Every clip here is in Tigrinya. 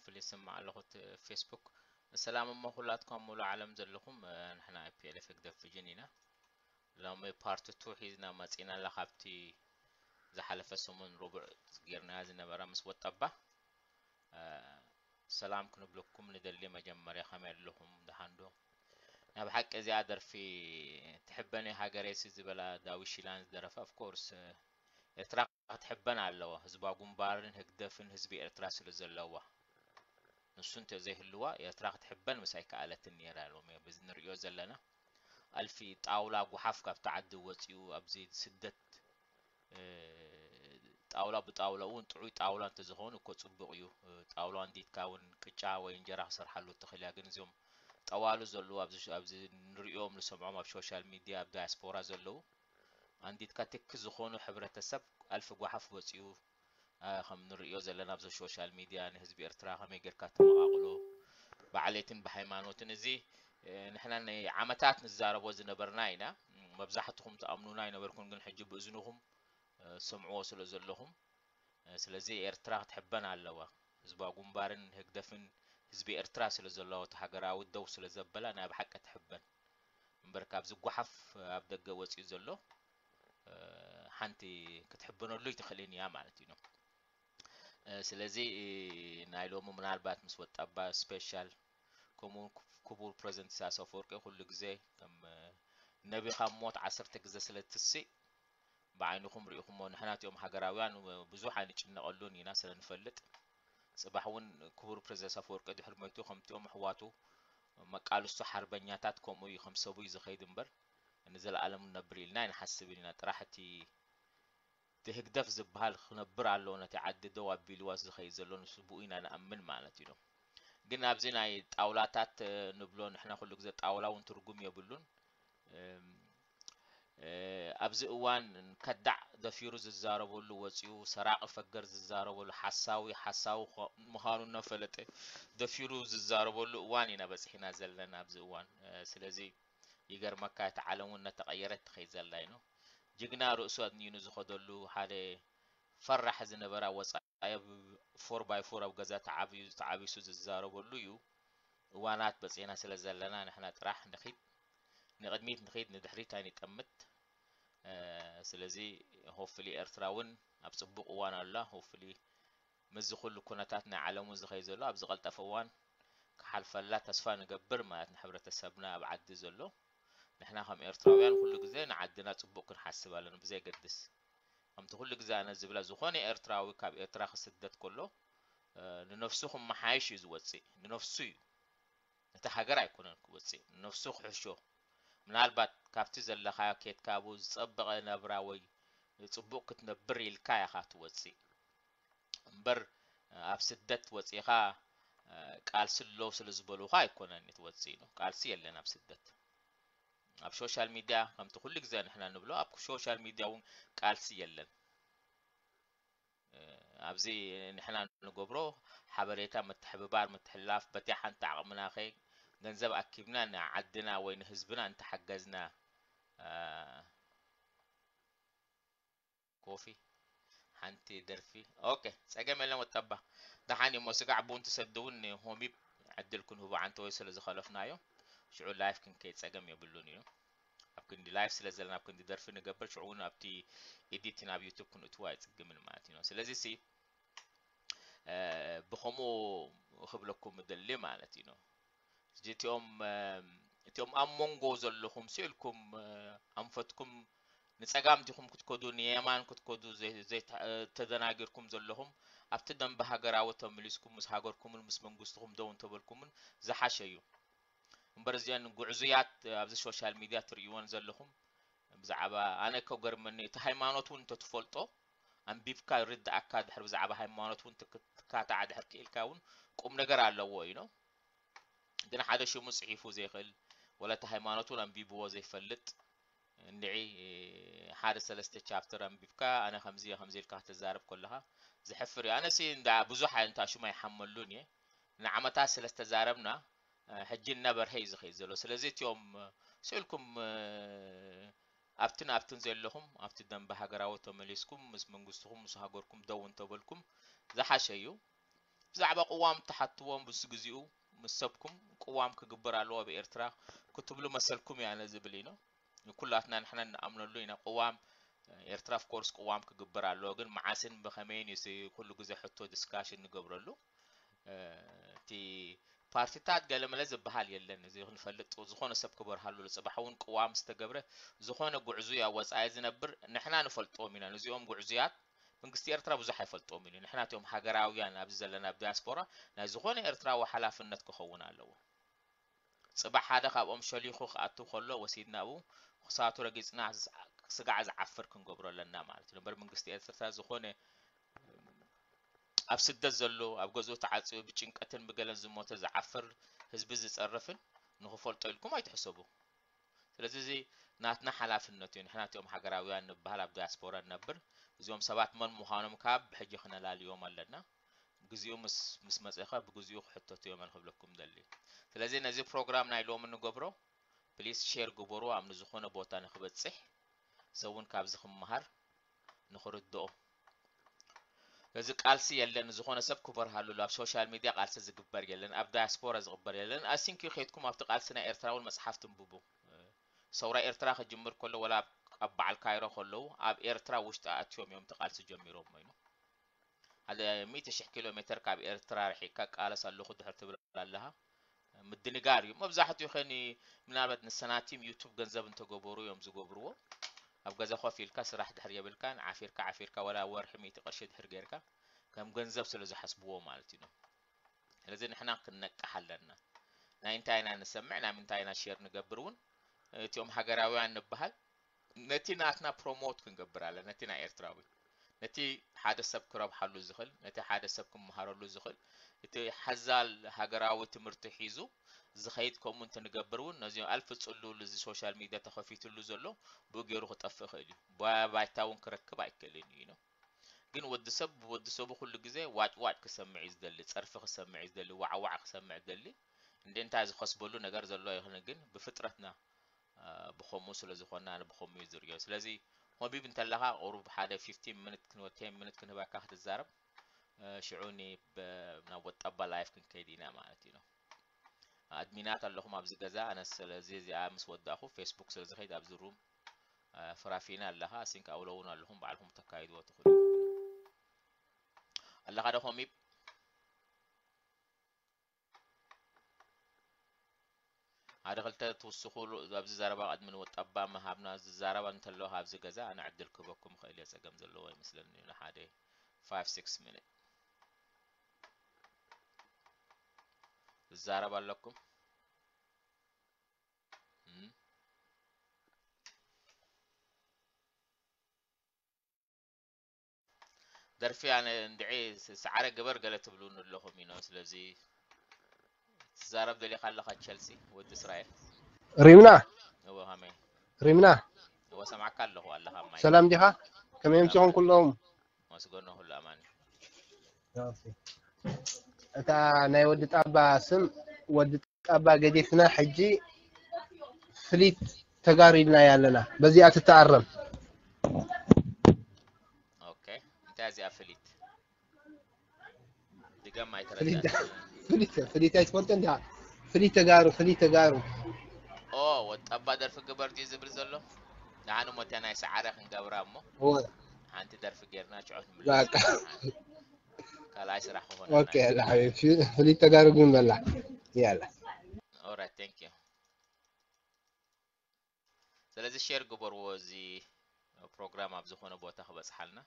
ፕሊስ ስማዕ ኣለኹ እቲ ፌስቡክ። ሰላም እሞ ኩላትኩም ኣብ ሙሉእ ዓለም ዘለኹም፣ እ፣ ንሕና ኣይ ፒ ኤል ኤፍ ህግደፍ ቪዥን ኢና። ሎሚ ፓርት ቱ ሒዝና መጺና ኣላ ካብቲ ዝሓለፈ ሰሙን ርቡዕ ጌርናያ ዝነበራ ምስ ወጠባ። እ፣ ሰላም ክንብለኩም ንደሊ። መጀመርያ ከመይ ኣለኹም? ደሓን ዶ? ናይ ብሓቂ እዚኣ ደርፊ ትሕበኒ ሃገረይሲ ዝበላ ዳዊት ሺላን ዝደረፋ፣ ኦፍ ኮርስ፣ እ፣ ኤርትራ ክትሕበን ኣለዋ። ህዝባ ጉንባርን ህግደፍን ህዝቢ ኤርትራ ስለ ዘለዋ፣ ንሱ እንተዘይህልዋ ኤርትራ ክትሕበን ምስ ኣይከኣለትን ነይራ። ሎሚ በዚ ንርእዮ ዘለና ኣልፊ ጣውላ ጉሓፍ ካብቲ ዓዲ ወጺኡ ኣብዚ ስደት፣ እ፣ ጣውላ ብጣውላ እውን ጥዑይ ጣውላ እንተዝኸውን እኮ ጽቡቕ እዩ። እ፣ ጣውላ እንዲትካ እውን ቅጫ ወይ እንጀራ ክሰርሓሉ ትኽእል እያ። ግን እዚኦም ጠዋሉ ዘለዉ ኣብዚ፣ ኣብዚ ንርእዮም ንሰምዖም ኣብ ሶሻል ሚድያ ኣብ ዳያስፖራ ዘለዉ ኣንዲትካ ትኪ ዝኾኑ ሕብረተሰብ ኣልፊ ጓሓፍ ወፂኡ፣ አ፣ ከም ንርእዮ ዘለና ኣብዚ ሶሻል ሚድያ ንህዝቢ ኤርትራ ከመይ ጌርካ ተመቓቕሎ ብዓሌትን ብሃይማኖትን። እዚ፣ እ፣ ንሕና ንዓመታት ንዛረቦ ዝነበርና ኢና። መብዛሕትኹም ትኣምኑና ኣይነበርኩን፣ ግን ሕጂ ብእዝንኹም፣ እ፣ ትሰምዕዎ ስለ ዘለኹም፣ እ፣ ስለዚ ኤርትራ ክትሕበን ኣለዋ። ህዝባ ጉንባርን ህግደፍን ህዝቢ ኤርትራ ስለ ዘለዋ፣ እቲ ሃገራዊ ደው ስለ ዘበላ ናይ ብሓቂ ትሕበን። እምበር ካብዚ ጓሓፍ ኣብ ደገ ወፂኡ ዘሎ፣ እ፣ ሓንቲ ክትሕበነሉ ኣይትኽእልን እያ ማለት እዩ። እ፣ ስለዚ፣ እ፣ ናይ ሎሚ ምናልባት ምስ ወጣባ ስፔሻል፣ ከምኡ እውን ክቡር ፕረዚደንት ኢሳያስ ኣፈወርቂ ኩሉ ግዜ ከም፣ እ፣ ነቢ ካብ ሞት ዓሰርተ ግዜ ስለ ትስእ ብዓይንኹም ርኢኹሞ። ንሕና እቲኦም ሃገራውያን ብዙሕ ኣይንጭነቐሉን ኢና ስለ ንፈልጥ። ጽባሕ እውን ክቡር ፕረዚደንት ኣፈወርቂ ድሕሪ ሞይቱ ከምቲኦም ኣሕዋቱ መቃልስቱ ሓርበኛታት ከምኡ እዩ፣ ከም ሰቡ እዩ ዝኸይድ እምበር ንዘለኣለም ንነብር ኢልና ኣይንሓስብን ኢና። ጥራሕ እቲ እቲ ህግደፍ ዝበሃል ክነብር ኣለዎ፣ ነቲ ዓዲ ደው ኣቢልዋ ዝኸይድ ዘሎ ንሱ ብኡ ኢና ንኣምን ማለት እዩ። ግን ኣብዚ ናይ ጣውላታት፣ እ፣ ንብሎ ንሕና ኩሉ ግዜ ጣውላ እውን ትርጉም የብሉን። እም፣ እ፣ ኣብዚ እዋን ከዳዕ ደፊሩ ዝዛረበሉ ወፂኡ፣ ሰራቒ ፈገር ዝዛረበሉ፣ ሓሳዊ ሓሳዊ ኾ-፣ ምዃኑ እናፈለጠ ደፊሩ ዝዛረበሉ እዋን ኢና በፂሕና ዘለና ኣብዚ እዋን። እ፣ ስለዚ ይገርመካ፣ እቲ ዓለም እውን እናተቐየረት ትኸይድ ዘላ እዩ። ጅግና ርእሱ ኣድንዩ ንዝኸደሉ ሓደ ፈራሕ ዝነበራ ወፃኢ ኣብ ፎር ባይ ፎር ኣብ ገዛ ተዓብዩ፣ ተዓቢሱ ዝዛረበሉ እዩ። እዋናት በፂሕና ስለ ዘለና ንሕና ጥራሕ ንኺድ፣ ንቕድሚት ንኺድ፣ ንድሕሪት ኣይንጠምት። እ፣ ስለዚ ሆፍሊ ኤርትራ እውን ኣብ ፅቡቕ እዋን ኣላ። ሆፍሊ ምስዚ ኩሉ ኩነታት ናይ ዓለም እውን ዝኸይድ ዘሎ ኣብ ዝቐልጠፈ እዋን ክሓልፈላ ተስፋ ንገብር ማለት ንሕብረተሰብና ኣብ ዓዲ ዘሎ። ንሕና ከም ኤርትራውያን ኩሉ ግዜ ንዓድና ጽቡቕ ክንሓስብ ኣለና ብዘየገድስ። ከምቲ ኩሉ ግዜ ኣነ ዝብላ፣ ዝኾነ ኤርትራዊ ካብ ኤርትራ ክስደት ከሎ፣ እ፣ ንነፍሱ ክመሓየሽ እዩ ዝወጽእ። ንነፍሱ እዩ። ነታ ሃገር ኣይኮነን ክወጽእ። ንነፍሱ ክሕሾ። ምናልባት ካብቲ ዘለኻዮ ኬድካ ኣብኡ ዝጸበቐ ናብራ ወይ ጽቡቕ ክትነብር ኢልካ ኢኻ ትወጽእ። እምበር ኣብ ስደት ወጺኻ፣ እ፣ ቃልሲ ኣለዉ ስለ ዝበሉኻ ኣይኮነን ትወጽእ ኢሉ። ቃልሲ የለን ኣብ ስደት። ኣብ ሶሻል ሚድያ ከምቲ ኩሉ ግዜ ንሕና ንብሎ፣ ኣብ ሶሻል ሚድያ እውን ቃልሲ የለን። እ፣ ኣብዚ ንሕና ንገብሮ ሓበሬታ ምትሕብባር፣ ምትሕልላፍ፣ በቲ ሓንቲ ዓቕምናኸ ገንዘብ ኣኪብና ንዓድና ወይ ንህዝብና እንተሓገዝና፣ እ፣ ኮፊ፣ ሓንቲ ደርፊ። ኦኬ፣ ጸገም የለን ወጠባ። ደሓን እዩ እሞ ስጋዕ ቡን ትሰዱ እውን ንሆሚብ ዕድል ክንህቦ ዓንተ ወይ ስለ ዝኸለፍናዮ፣ ሽዑ ላይፍ ክንከይድ ጸገም የብሉን እዩ። ኣብ ክንዲ ላይፍ ስለ ዘለና፣ ኣብ ክንዲ ደርፊ ንገብር፣ ሽዑ እውን ኣብቲ ኤዲት ናብ ዩቱብ ክንእትዎ ኣይጽግምን ማለት እዩ። ስለዚ ሲ፣ እ፣ ብኸምኡ ክብለኩም እደሊ ማለት እዩ። ሕጂ እቲኦም፣ እ፣ እቲኦም ኣብ መንጎ ዘለኹም ስኢልኩም፣ እ፣ ኣንፈትኩም ንጸጋም ዲኹም ክትከዱ፣ ንየማን ክትከዱ ዘይ-፣ ዘይተ-፣ እ፣ ተደናጊርኩም ዘለኹም፣ ኣብቲ ደንበ ሃገራዊ ተመሊስኩም ምስ ሃገርኩምን ምስ መንግስትኹም ደው እንተበልኩምን ዝሓሸ እዩ። እምበር እዚአን ጉዕዙያት ኣብዚ ሶሻል ሚድያ ትርእይወን ዘለኹም ብዛዕባ፣ ኣነ እኮ ገርመኒ፣ እቲ ሃይማኖት እውን እንተትፈልጦ ኣንቢብካ ይርድኣካ፣ ድሕሪ ብዛዕባ ሃይማኖት እውን ትክ-፣ ትካታዕ ድሕር ክኢልካ እውን ቁም ነገር ኣለዎ እዩ ነው። ግን ሓደ ሽሙ ጽሒፉ ዘይኽእል፣ ወላ እቲ ሃይማኖት እውን ኣንቢብዎ ዘይፈልጥ፣ እንድዒ ሓደ ሰለስተ ቻፕተር ኣንቢብካ፣ ኣነ ከምዚ እየ፣ ከምዚ ኢልካ ክትዛረብ ከለኻ ዘሕፍር እዩ። ኣነሲ እንዳ ብዙሕ እንታ ሽሙ ኣይሓመሉን እየ። ንዓመታት ስለ ዝተዛረብና፣ እ፣ ሕጂ እናበርሀ እዩ ዝኸይድ ዘሎ። ስለዚ እቲኦም፣ እ፣ ስእልኩም፣ እ፣ ኣብትን ኣብትን ዘለኹም፣ ኣብቲ ደንበ ሃገራዊ ተመሊስኩም፣ ምስ መንግስትኹም፣ ምስ ሃገርኩም ደው እንተበልኩም ዝሓሸ እዩ። ብዛዕባ ቅዋም ትሓትዎም ብዝግዜኡ ምስ ሰብኩም ቅዋም ክግበር ኣለዎ ኣብ ኤርትራ ክትብሉ መሰልኩም እያ ነዚ ዝብል ኢኖ። ኩላትና ንሕና ንኣምነሉ ኢና። ቅዋም ኤርትራ of course ቅዋም ክግበር ኣለዎ፣ ግን መዓስን ብኸመይን እዩ እቲ ኩሉ ግዜ ሕቶ ዲስካሽን ንገብረሉ። እቲ ፓርቲታት ገለመለ ዝበሃል የለን። እዚ ክንፈልጥ ዝኾነ ሰብ ክበርሃሉ ጽባሕ እውን ቅዋም ዝተገብረ ዝኾነ ጉዕዙይ ኣብ ወጻኢ ዝነብር ንሕና ንፈልጦም ኢና። ነዚኦም ጉዕዙያት መንግስቲ ኤርትራ ብዙሕ ኣይፈልጦም እዩ። ንሕና እቲኦም ሃገራውያን ኣብዚ ዘለና ኣብ ዲያስፖራ ናይ ዝኾነ ኤርትራዊ ሓላፍነት ክኸውን ኣለዎ። ጽባሕ ሓደ ካብኦም ሸሊኹ ክኣቱ ከሎ ወሲድና ኣብኡ ክሳቱ ረጊጽና ስጋዕ ዝዓፍር ክንገብሮ ኣለና ማለት እዩ። እምበር መንግስቲ ኤርትራ ዝኾነ ኣብ ስደት ዘሎ ኣብ ገዝኡ ተዓጽዩ ብጭንቀትን ብገለን ዝሞተ ዝዓፍር ህዝቢ ዝጸርፍን ንኽፈልጦ ኢልኩም ኣይትሕሰቡ። ስለዚ እዚ ናትና ሓላፍነት እዩ። ንሕና እቲኦም ሃገራውያን ንበሃል ኣብ ዲያስፖራ ንነብር። እዚኦም ሰባት መን ምዃኖም ካብ ብሕጂ ክነላልዮም ኣለና። ግዜኡ ምስ ምስ መጸኸ ብግዜኡ ክሕተቱ እዮም ክብለኩም ደሊ። ስለዚ ነዚ ፕሮግራም ናይ ሎሚ ንገብሮ ፕሊስ ሼር ግበሩ ኣብ ንዝኾነ ቦታ ንክበጽሕ ሰብ እውን ካብዚ ክመሃር ንኽርድኦ። እዚ ቃልሲ የለን ዝኾነ ሰብ ክበርሃሉ ኣብ ሶሻል ሚድያ ቃልሲ ዝግበር የለን ኣብ ዳያስፖራ ዝግበር የለን። ኣሲንኪ ከይድኩም ኣብቲ ቃልሲ ናይ ኤርትራ እውን መጽሓፍ ትንብቡ። ሰውራ ኤርትራ ክጅምር ከሎ ወላ ኣብ በዓል ካይሮ ከለዉ ኣብ ኤርትራ ውሽጢ ኣትዮም እዮም እቲ ቃልሲ ጀሚሮም ኮይኑ ሓደ ሚእቲ ሽሕ ኪሎ ሜትር ካብ ኤርትራ ርሒቅካ ቃለስ ኣለኹ ድሕር ትብል ኣለኻ። ምድንጋር እዩ መብዛሕትኡ ኸኒ ምናልባት ንሰናቲም ዩቱብ ገንዘብ እንተገበሩ እዮም ዝገብርዎ። ኣብ ገዛ ኮፍ ኢልካ ስራሕ ድሕር የብልካን ዓፊርካ ዓፊርካ ወላ ወርሒ ሚእቲ ቅርሺ ድሕር ጌርካ ከም ገንዘብ ስለ ዝሓስብዎ ማለት እዩ። ስለዚ ንሕና ክንነቅሕ ኣለና። ናይ እንታይ ኢና ንሰምዕ ናይ ምንታይ ኢና ሼር ንገብር እውን እቲኦም ሃገራውያን ንበሃል ነቲ ናትና ፕሮሞት ክንገብር ኣለና ነቲ ናይ ኤርትራዊ ነቲ ሓደ ሰብ ክረብሓሉ ዝኽእል ነቲ ሓደ ሰብ ክመሃረሉ ዝኽእል እቲ ሓዛል ሃገራዊ ትምህርቲ ሒዙ ዝኸይድ ከምኡ እንትንገብር እውን ነዚኦም ኣልፊ ጽሉል እዚ ሶሻል ሚድያ ተኸፊትሉ ዘሎ ብኡ ገይሩ ክጠፍእ ይኽእል እዩ። ባይታ እውን ክረክብ ኣይክእልን እዩ ነው። ግን ወዲ ሰብ ብወዲ ሰቡ ኩሉ ግዜ ዋጭ ዋጭ ክሰምዕ እዩ ዝደሊ፣ ጸርፊ ክሰምዕ እዩ ዝደሊ፣ ዋዕዋዕ ክሰምዕ ዝደሊ እንደ እንታይ ዝኸስበሉ ነገር ዘሎ ይኽን ግን ብፍጥረትና ብኸምኡ ስለ ዝኾንና ኣነ ብኸምኡ እዩ ዝርእዮ። ስለዚ ሆቢብ እንተለኻ ቁሩብ ሓደ fifteen minute ክን ten minute ክንህበካ ክትዛረብ ሽዑ ናብ ወጣባ ላይፍ ክንከይድ ኢና ማለት እዩ። ኣድሚናት ኣለኹም ኣብዚ ገዛ ኣነ ስለዚ እዚኣ ምስ ወዳእኹ ፌስቡክ ስለ ዝኸይድ ኣብዚ ሩም ፍራፊና ኣለኻ ሲንክ ኣውለውን ኣለኹም ባዕልኹም ተካይድዎ ትኽእሉ ኣለኻ ዶ ሆሚብ ሓደ ክልተ ትውስኹ ኣብዚ ዘረባ ቅድሚ ንወጣባ ምሃብና ዝዛረባ እንተሎ ኣብዚ ገዛ ኣነ ዕድል ክህበኩም ይኽእል እየ ጸገም ዘለዎ ይመስለኒ ንሓደ five six minute ዝዛረብ ኣለኩም ደርፊ ኣነ እንድዒ ሰዓረ ግበር ገለ ትብሉኒ ኣለኹም ኢኖ ስለዚ ትዛረብ ደሊኻ ኣለኻ ቸልሲ ወዲ እስራኤል ሪምና እወ ሃመይ ሪምና እወ ሰማዕካ ኣለኹ ኣለኻ ማይ ሰላም ዲኻ ከመይ ምጽኹም ኩሎም መስገኖ ሁሉ ኣማን እታ ናይ ወዲ ጣባ ስም ወዲ ጣባ ገዲፍና ሕጂ ፍሊት ተጋሩ ኢልና ያለና በዚኣ ትተኣረም ኦኬ እንታይ እዚኣ ፍሊት ድገም ፍሊት ፍሊት ፍሊት ኣይትፈልጥን ዲኻ ፍሊት ተጋሩ ፍሊት ተጋሩ ኦ ወጣባ ደርፊ ግበር ድዩ ዝብል ዘሎ ንሓን ሞተ ናይ ሰዓረ ክንገብራ እሞ እወ ሓንቲ ደርፊ ጌርና ጭዖት በቃ ካልኣይ ስራሕ ክኾነ ኦኬ ያላ ሓቢቢ ፍሊት ተጋሩ ግን በላ ያላ ኦራይት ቴንክ ዩ ስለዚ ሼር ግበርዎ እዚ ፕሮግራም ኣብ ዝኾነ ቦታ ክበፅሓልና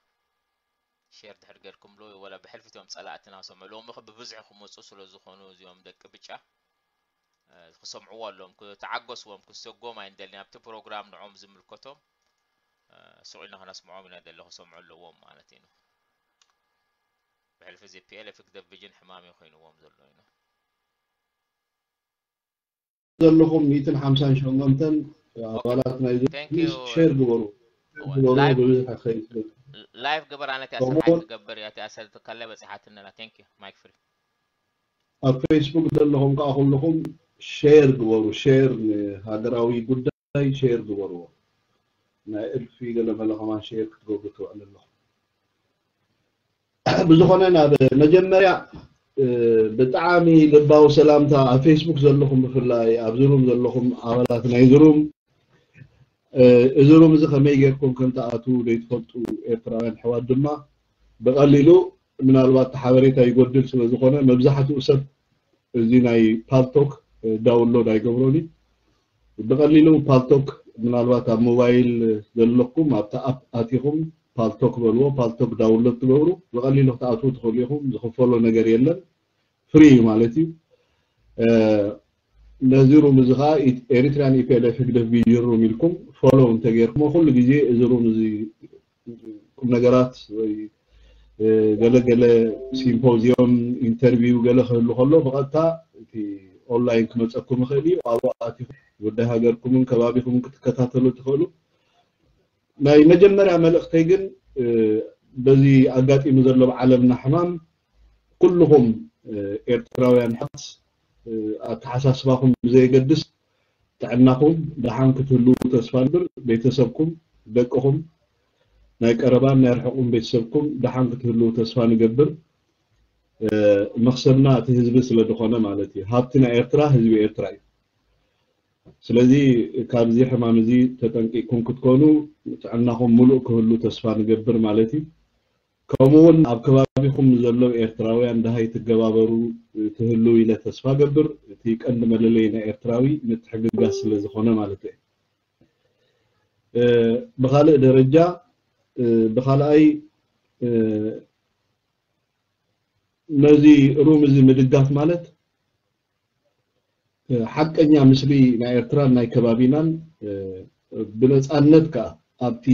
ሼር ድሕር ገርኩምሉ ወላ ብሕልፊ እቶም ፀላእትና ክሰምዑ ሎሚ ብብዝሒ ክመፁ ስለ ዝኾኑ እዚኦም ደቂ ብጫ ክሰምዕዎ ኣለዎም ክተዓገስዎም ክሰጎም ኣይንደልን ኣብቲ ፕሮግራም ንዖም ዝምልከቶም ስቕ ኢልና ክነስምዖም ኢና ደለ ክሰምዑ ኣለዎም ማለት እዩ ብሕልፊ እዚ ፒኤልኤፍ ህግደፍ ቪዥን ሕማም እዩ ኮይንዎም ዘሎ እዩ ዘለኹም ሚእትን ሓምሳን ሸሞንተን ኣባላት ናይ ሸር ግበሩ ግበሩ ብብዝሒ ከይድ ላይፍ ግበር ኣነ እቲኣ ሰብሓይ ክገብር እያ እቲኣ ሰብ ትካለ በፂሓትነላ ቴንክ ዩ ማይክ ፍሪ ኣብ ፌስቡክ ዘለኹም ከዓ ኩልኹም ሼር ግበሩ ሼር ንሃገራዊ ጉዳይ ሼር ግበርዎ ናይ እልፊ ገለመለ ከማን ሼር ክትገብሩ ትውዕል ኣለኹም ብዝኾነ ናብ መጀመርያ ብጣዕሚ ልባዊ ሰላምታ ኣብ ፌስቡክ ዘለኹም፣ ብፍላይ ኣብ ዝሩም ዘለኹም ኣባላት ናይ ዝሩም። እዚ ሩም እዚ ከመይ ጌርኩም ከም ትኣትዉ ዘይትፈልጡ ኤርትራውያን ኣሕዋት ድማ ብቐሊሉ፣ ምናልባት ሓበሬታ ይጎድል ስለ ዝኾነ፣ መብዛሕትኡ ሰብ እዚ ናይ ፓልቶክ ዳውንሎድ ኣይገብሮን እዩ። ብቐሊሉ ፓልቶክ፣ ምናልባት ኣብ ሞባይል ዘለኩም ኣብቲ ኣፕ ኣቲኹም ፓልቶክ በልዎ፣ ፓልቶክ ዳውንሎድ ትገብሩ ብቐሊሉ ክትኣትዉ ትኽእሉ ኢኹም። ዝኽፈሎ ነገር የለን፣ ፍሪ እዩ ማለት እዩ። ነዚ ሩም እዚ ከዓ ኤሪትሪያን ኢፒኤልኤፍ ህግደፍ ቢጅን ሩም ኢልኩም ፎሎው እንተጌርኩሞ፣ ኩሉ ግዜ እዚ ሩም እዚ ቁም ነገራት ወይ ገለገለ ሲምፖዚዮም፣ ኢንተርቪው ገለ ክህሉ ከሎ ብቐጥታ እቲ ኦንላይን ክመፀኩም ይኽእል እዩ። ኣብኡ ኣቲኹም ጉዳይ ሃገርኩምን ከባቢኹምን ክትከታተሉ ትኽእሉ። ናይ መጀመርያ መልእኽተይ ግን በዚ ኣጋጢሙ ዘሎ ኣብ ዓለምና ሕማም ኩልኹም ኤርትራውያን ሓት ኣተሓሳስባኹም ብዘየገድስ ጥዕናኹም ደሓን ክትህልዉ ተስፋ ንገብር። ቤተሰብኩም፣ ደቅኹም፣ ናይ ቀረባን ናይ ርሑቕን ቤተሰብኩም ደሓን ክትህልዉ ተስፋ ንገብር። መኽሰብና እቲ ህዝቢ ስለ ዝኾነ ማለት እዩ። ሃብቲ ናይ ኤርትራ ህዝቢ ኤርትራ እዩ። ስለዚ ካብዚ ሕማም እዚ ተጠንቂቕኩም ክትኮኑ ጥዕናኹም ሙሉእ ክህሉ ተስፋ ንገብር ማለት እዩ። ከምኡ እውን ኣብ ከባቢኹም ንዘለዉ ኤርትራውያን ደሃይ ትገባበሩ ትህልው ኢለ ተስፋ ገብር። እቲ ቀንዲ መለለይ ናይ ኤርትራዊ ምትሕግጋዝ ስለ ዝኾነ ማለት እዩ። ብኻልእ ደረጃ ብኻልኣይ ነዚ ሩም እዚ ምድጋፍ ማለት ሓቀኛ ምስሊ ናይ ኤርትራን ናይ ከባቢናን ብነፃነት ከዓ ኣብቲ